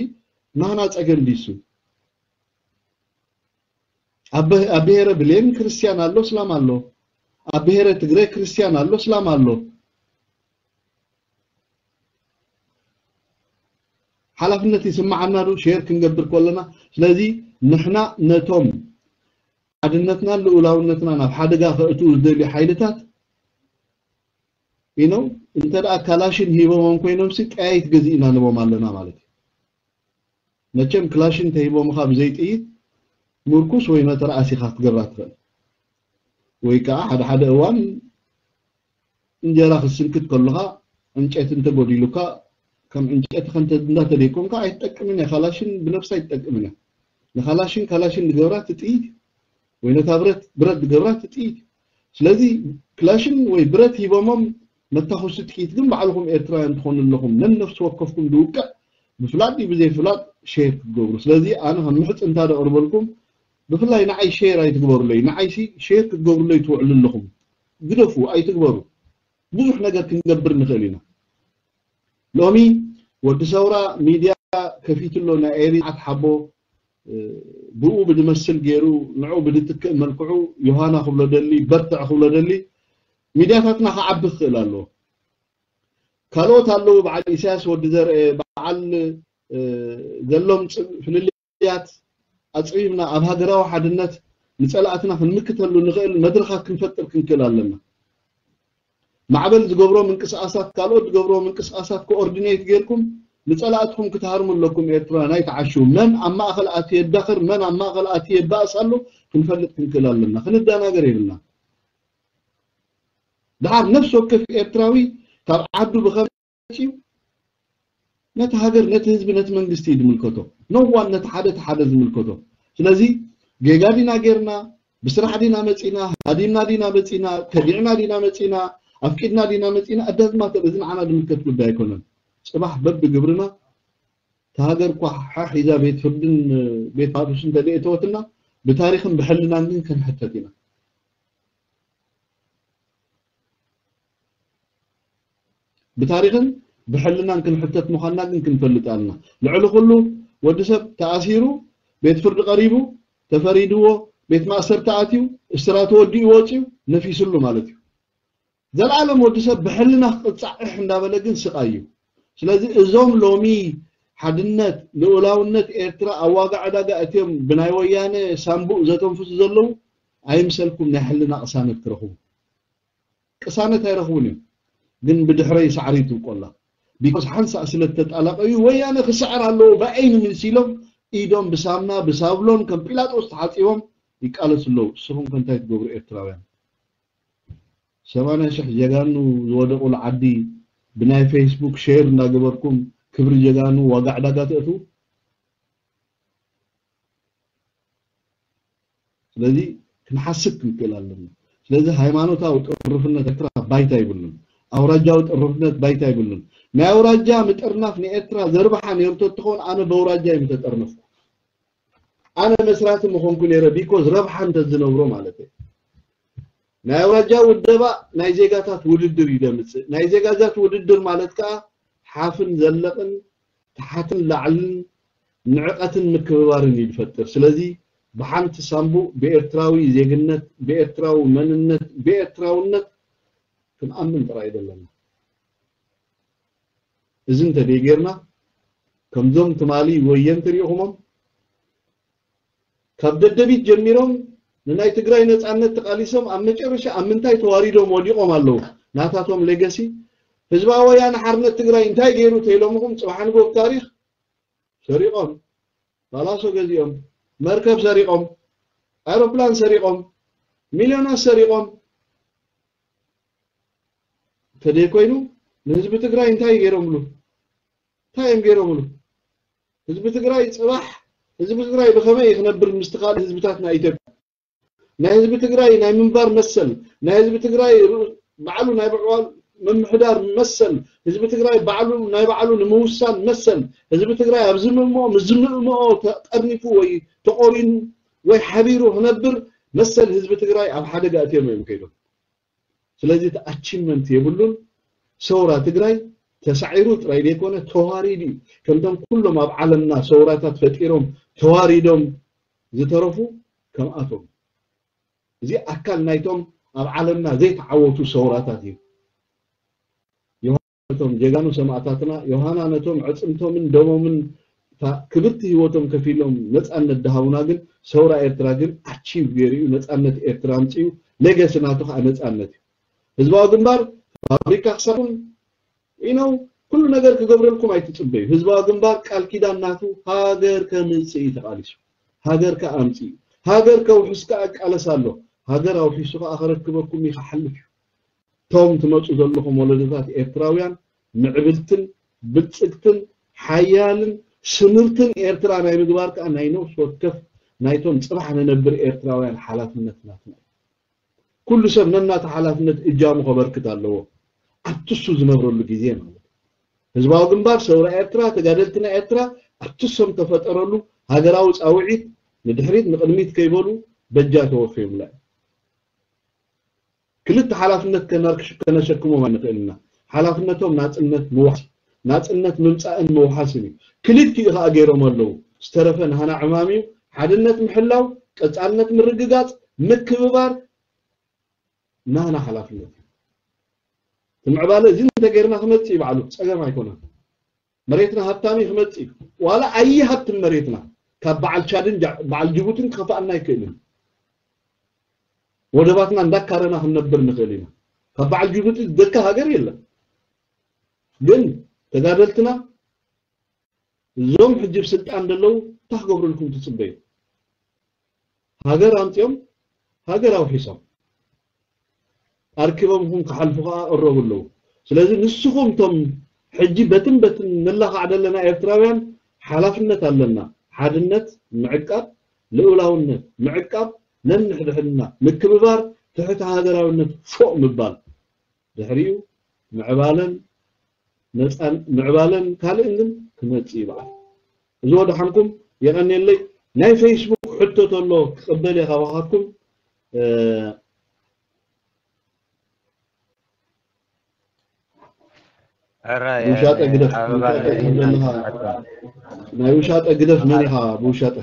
ናህና ፀገም ዲሱ? ኣብ ብሄረ ብሌን ክርስትያን ኣሎ እስላም ኣሎ። ኣብ ብሄረ ትግረ ክርስትያን ኣሎ እስላም ኣሎ። ሓላፍነት ይስምዓና ዶ ሼር ክንገብር ከለና? ስለዚ ንሕና ነቶም ሓድነትናን ልኡላውነትና ናብ ሓደጋ ከእትዉ ዝደልዩ ሓይልታት ኢኖ እንተ ደኣ ካላሽን ሂቦሞም ኮይኖምሲ ጠያይት ገዚእና ንቦም ኣለና ማለት እዩ። መቸም ክላሽን ተሂቦምኻ ብዘይ ጥይት ምርኩስ ወይ መተርኣስ ኢኻ ክትገብራ ትኽእል። ወይ ከዓ ሓደ ሓደ እዋን እንጀራ ክትስንክት ከለኻ ዕንጨይቲ እንተጎዲሉካ ከም ዕንጨይቲ ከንተ እንዳተደይኮንካ ኣይትጠቅምን እያ። ካላሽን ብነብሳ ኣይትጠቅምን እያ። ንካላሽን ካላሽን ዝገብራ እቲ ጥይት ወይ ነታ ብረት ብረት ዝገብራ እቲ ጥይት። ስለዚ ክላሽን ወይ ብረት ሂቦሞም መታኮሲ ጥይት ግን ባዕልኹም ኤርትራውያን ትኾኑ ኣለኹም። ነን ነፍሲ ወከፍኩም ዝውቅዕ ብፍላጥ ድዩ ብዘይ ፍላጥ ሼር ክትገብሩ። ስለዚ ኣነ ከም ምሕጽንታ ዘቕርበልኩም ብፍላይ ንዓይ ሼር ኣይትግበሩለይ። ንዓይሲ ሼር ክትገብሩለይ ትውዕሉ ኣለኹም። ግደፉ፣ ኣይትግበሩ። ብዙሕ ነገር ክንገብር ንኽእል ኢና። ሎሚ ወዲ ሰውራ ሚድያ ከፊቱ ኣሎ ናይ ኤሪ ዓት ሓቦ ብኡ ብድመስል ገይሩ ንዑ ብድትክእ መልክዑ ዮሃና ክብሎ ደሊ በርትዕ ክብሎ ደሊ ሚድያታትና ክዓቢ ክኽእል ኣለዎ። ካልኦት ኣለዉ በዓል ኢሳያስ ወዲ ዘርአ በዓል ዘሎም ፍልልያት ኣፅቢብና ኣብ ሃገራዊ ሓድነት ንፀላእትና ክንምክተሉ ንኽእል መድረኻት ክንፈጥር ክንክእል ኣለና። ማዕበል ዝገብሮ ምንቅስቃሳት ካልኦት ዝገብሮ ምንቅስቃሳት ኮኦርዲኔት ጌርኩም ንፀላእትኹም ክትሃርሙ ኣለኩም። ኤርትራውያን ኣይትዓሽው። መን ኣብ ማእኸል ኣትዩ የዳኽር መን ኣብ ማእኸል ኣትዩ የባእስ ኣሎ ክንፈልጥ ክንክእል ኣለና። ክንደናገር የብልና። ድሓር ነፍሲ ወከፍ ኤርትራዊ ካብ ዓዱ ብኸመይ መፂኡ ነቲ ሃገር ነቲ ህዝቢ ነቲ መንግስቲ እዩ ዝምልከቶ። ነዋን ነቲ ሓደ እቲ ሓደ ዝምልከቶ። ስለዚ ጌጋ ዲና ጌርና ብስራሕ ዲና መፂና ሃዲምና ዲና መፂና ከዲዕና ዲና መፂና ኣፍቂድና ዲና መፂና ኣዳዝማተር እዚ ንዓና ዝምልከት ጉዳይ ኣይኮነን። ፅባሕ በብግብርና እታ ሃገር እኳ ሓሕ ኢዛ ቤት ፍርድን ቤት ፋዱስ እንተደየተወትና ብታሪክን ብሕልናን ግን ክንሕተት ኢና። ብታሪክን ብሕልናን ክንሕተት ምዃንና ግን ክንፈልጥ ኣለና። ልዕሊ ኩሉ ወዲ ሰብ ተኣሲሩ ቤት ፍርዲ ቀሪቡ ተፈሪድዎ ቤት ማእሰርቲ ኣትዩ እስራቱ ወዲኡ ወፅዩ ነፊስሉ ማለት እዩ። ዘልኣለም ወዲ ሰብ ብሕልና ክቕፃዕ እሕ እንዳበለ ግን ስቓይ እዩ። ስለዚ እዞም ሎሚ ሓድነት፣ ልኡላውነት ኤርትራ ኣብ ዋጋ ዕዳጋ እትዮም ብናይ ወያነ ሳንቡእ ዘተንፍሱ ዘለዉ ኣይምሰልኩም ናይ ሕልና ቅሳነት ክረኽቡ። ቅሳነት ኣይረኽቡን እዮም። ግን ብድሕረይ ሳዕሪ ይትውቆላ። ቢኮዝ ሓንሳእ ስለ ተጣላቀዩ ወያነ ክስዕር ኣለዎ ብኣይ ንምልስ ኢሎም ኢዶም ብሳምና ብሳብሎን ከም ጲላጦስ ተሓጺቦም ይቃለሱ ኣለዉ። ንስኹም ከ እንታይ ትገብሩ ኤርትራውያን? ሰማንያ ሽሕ ጀጋኑ ዝወደቑሉ ዓዲ ብናይ ፌስቡክ ሼር እንዳገበርኩም ክብሪ ጀጋኑ ዋጋ ዕዳጋ ተእትዉ። ስለዚ ክንሓስብ ክንክእል ኣለና። ስለዚ ሃይማኖታዊ ጥርፍነት ኤርትራ ባይታ ይብሉን፣ ኣውራጃዊ ጥርፍነት ባይታ ይብሉን። ናይ ኣውራጃ ምጥርናፍ ንኤርትራ ዘርብሓ ነይሩ ተትኾን ኣነ በውራጃ እዩ ምተጠርነፍኩ። ኣነ መስራቲ ምኾንኩ ነይረ ቢኮዝ ረብሓ እንተዝነብሮ ማለት እዩ። ናይ ኣውራጃ ውደባ ናይ ዜጋታት ውድድር እዩ ደምፅእ። ናይ ዜጋታት ውድድር ማለት ከዓ ሓፍን ዘለቕን፣ ታሓትን ላዕልን፣ ንዕቐትን ምክብባርን እዩ ዝፈጥር። ስለዚ ብሓንቲ ሳንቡእ ብኤርትራዊ ዜግነት፣ ብኤርትራዊ መንነት፣ ብኤርትራውነት ክንኣምን ጥራይ እዩ ዘለና። እዚ እንተደይ ጌርና ከምዞም ትማሊ ወየንቲ ሪኢኹሞም ካብ ደደቢት ጀሚሮም ንናይ ትግራይ ነፃነት ተቃሊሶም ኣብ መጨረሻ ኣብ ምንታይ ተዋሪዶም ወዲቆም ኣለዉ። ናታቶም ሌገሲ ህዝባዊ ወያነ ሓርነት ትግራይ እንታይ ገይሩ ተይሎምኹም ፅባሕ ንጎ ታሪኽ ሰሪቆም፣ ባላሶ ገዚኦም፣ መርከብ ሰሪቆም፣ ኣይሮፕላን ሰሪቆም፣ ሚሊዮናት ሰሪቆም ተደይ ኮይኑ ንህዝቢ ትግራይ እንታይ ገይሮምሉ? እንታይ እዮም ገይሮምሉ? ህዝቢ ትግራይ ፅባሕ ህዝቢ ትግራይ ብኸመይ እዩ ክነብር ምስቲ ካልእ ህዝብታት ናይ ኢትዮጵያ? ናይ ህዝቢ ትግራይ ናይ ምንባር መሰል፣ ናይ ህዝቢ ትግራይ ርኡ- ባዕሉ ናይ ባዕሉ ምምሕዳር መሰል፣ ህዝቢ ትግራይ ባዕሉ ናይ ባዕሉ ንምውሳን መሰል፣ ህዝቢ ትግራይ ኣብ ዝምእምኦ ምስ ዝምእምኦ ተጠርኒፉ ወይ ተቆሪኑ ወይ ሓቢሩ ክነብር መሰል ህዝቢ ትግራይ ኣብ ሓደጋ እትዮም እዮም ከይዶም። ስለዚ እቲ ኣቺቭመንት የብሉን። ሰውራ ትግራይ ተሳዒሩ ጥራይ ዘይኮነ ተዋሪዱ እዩ። ከምቶም ኩሎም ኣብ ዓለምና ሰውራታት ፈጢሮም ተዋሪዶም ዝተረፉ ከምኣቶም። እዚ ኣካል ናይቶም ኣብ ዓለምና ዘይተዓወቱ ሰውራታት እዩ። ዮሃና ነቶም ጀጋኑ ሰማእታትና፣ ዮሃና ነቶም ዕፅምቶምን ደሞምን እታ ክብርቲ ህይወቶም ከፊሎም ነፃነት ድሃቡና ግን ሰውራ ኤርትራ ግን ኣቺቭ ገይሩ እዩ ነፃነት ኤርትራ ኣምፅኡ። ሌገሲ ናቱ ከዓ ነፃነት እዩ። ህዝባዊ ግንባር ፋብሪካ ክሰርኩም ኢነው ኩሉ ነገር ክገብረልኩም ኣይትፅበዩ። ህዝባዊ ግንባር ቃል ኪዳን ናቱ ሃገር ከምፅእ እዩ ተቃሊሱ። ሃገር ከዓ ኣምፅኡ። ሃገር ከውሕስ ከዓ እቃለስ ኣሎ። ሃገር ኣውሒሱ ከዓ ከረክበኩም እዩ ክሓልፍ እዩ። እቶም ትመፁ ዘለኹም ወለዶታት ኤርትራውያን ምዕብልትን ብልፅግትን ሓያልን ስምርትን ኤርትራ ናይ ምግባር ከዓ ናይ ነፍሲ ወከፍ ናይቶም ፅባሕ ንነብር ኤርትራውያን ሓላፍነት ናትና እዩ። ኩሉ ሰብ ነናተ ሓላፍነት እጃሙ ከበርክት ኣለዎ። ኣብቲ እሱ ዝነብረሉ ግዜ ማለት እዩ። ህዝባዊ ግንባር ሰውራ ኤርትራ ተጋደልትና ኤርትራ ኣብቲ እሶም ተፈጠረሉ ሃገራዊ ፃውዒት ንድሕሪት ንቅድሚት ከይበሉ በጃ ተወፈዮምላ እዩ። ክልተ ሓላፍነት ከነርክሽ- ከነሸክሞም ኣይንኽእል ኢና። ሓላፍነቶም ናፅነት ምውሓስ፣ ናፅነት ምምፃእን ምውሓስን እዩ። ክልቲኡ ከዓ ገይሮም ኣለዉ። ዝተረፈ ናህና ዕማም እዩ። ሓድነት ምሕላው፣ ቀፃልነት ምርግጋፅ፣ ምክብባር ናህና ሓላፍነት እዩ። እቲ ምዕባለ እዚ እንተገይርና ክመፅእ እዩ ባዕሉ፣ ፀገም ኣይኮነን። መሬትና ሃብታም እዩ ክመፅእ እዩ። ዋላ ኣይሃብትን መሬትና ካብ በዓል ቻድን ጃ- በዓል ጅቡትን ክኸፍኣና ኣይክእልን። ወደባትና እንዳካረና ክንነብር ንኽእል ኢና። ካብ በዓል ጅቡቲ ዝደካ ሃገር የለን። ግን ተጋደልትና እዞም ሕጂ ብስልጣን ዘለዉ እንታይ ክገብሩልኩም ትፅበዩ? ሃገር ኣምፅኦም ሃገር ኣውሒሶም ኣርኪቦምኹም ክሓልፉ ከዓ ቀረቡ ኣለዉ። ስለዚ ንስኹም እቶም ሕጂ በትን በትን ንላኻዕ ዘለና ኤርትራውያን ሓላፍነት ኣለና። ሓድነት ምዕቃብ፣ ልኡላውነት ምዕቃብ፣ ነንሕድሕድና ምክብባር፣ ትሕቲ ሃገራውነት ፎእ ምባል። ድሕሪኡ ምዕባለን ነፃን ምዕባለን ካልእን ግን ክመፅእ ይበዓል። እዚ ወደሓንኩም የቐንየለይ። ናይ ፌስቡክ ሕቶ ተሎ ክቕበል እየ ካባኻትኩም። ውሻጠ ግደፍ ናይ ውሻጠ ግደፍ መን ኢኻ ብውሻጠ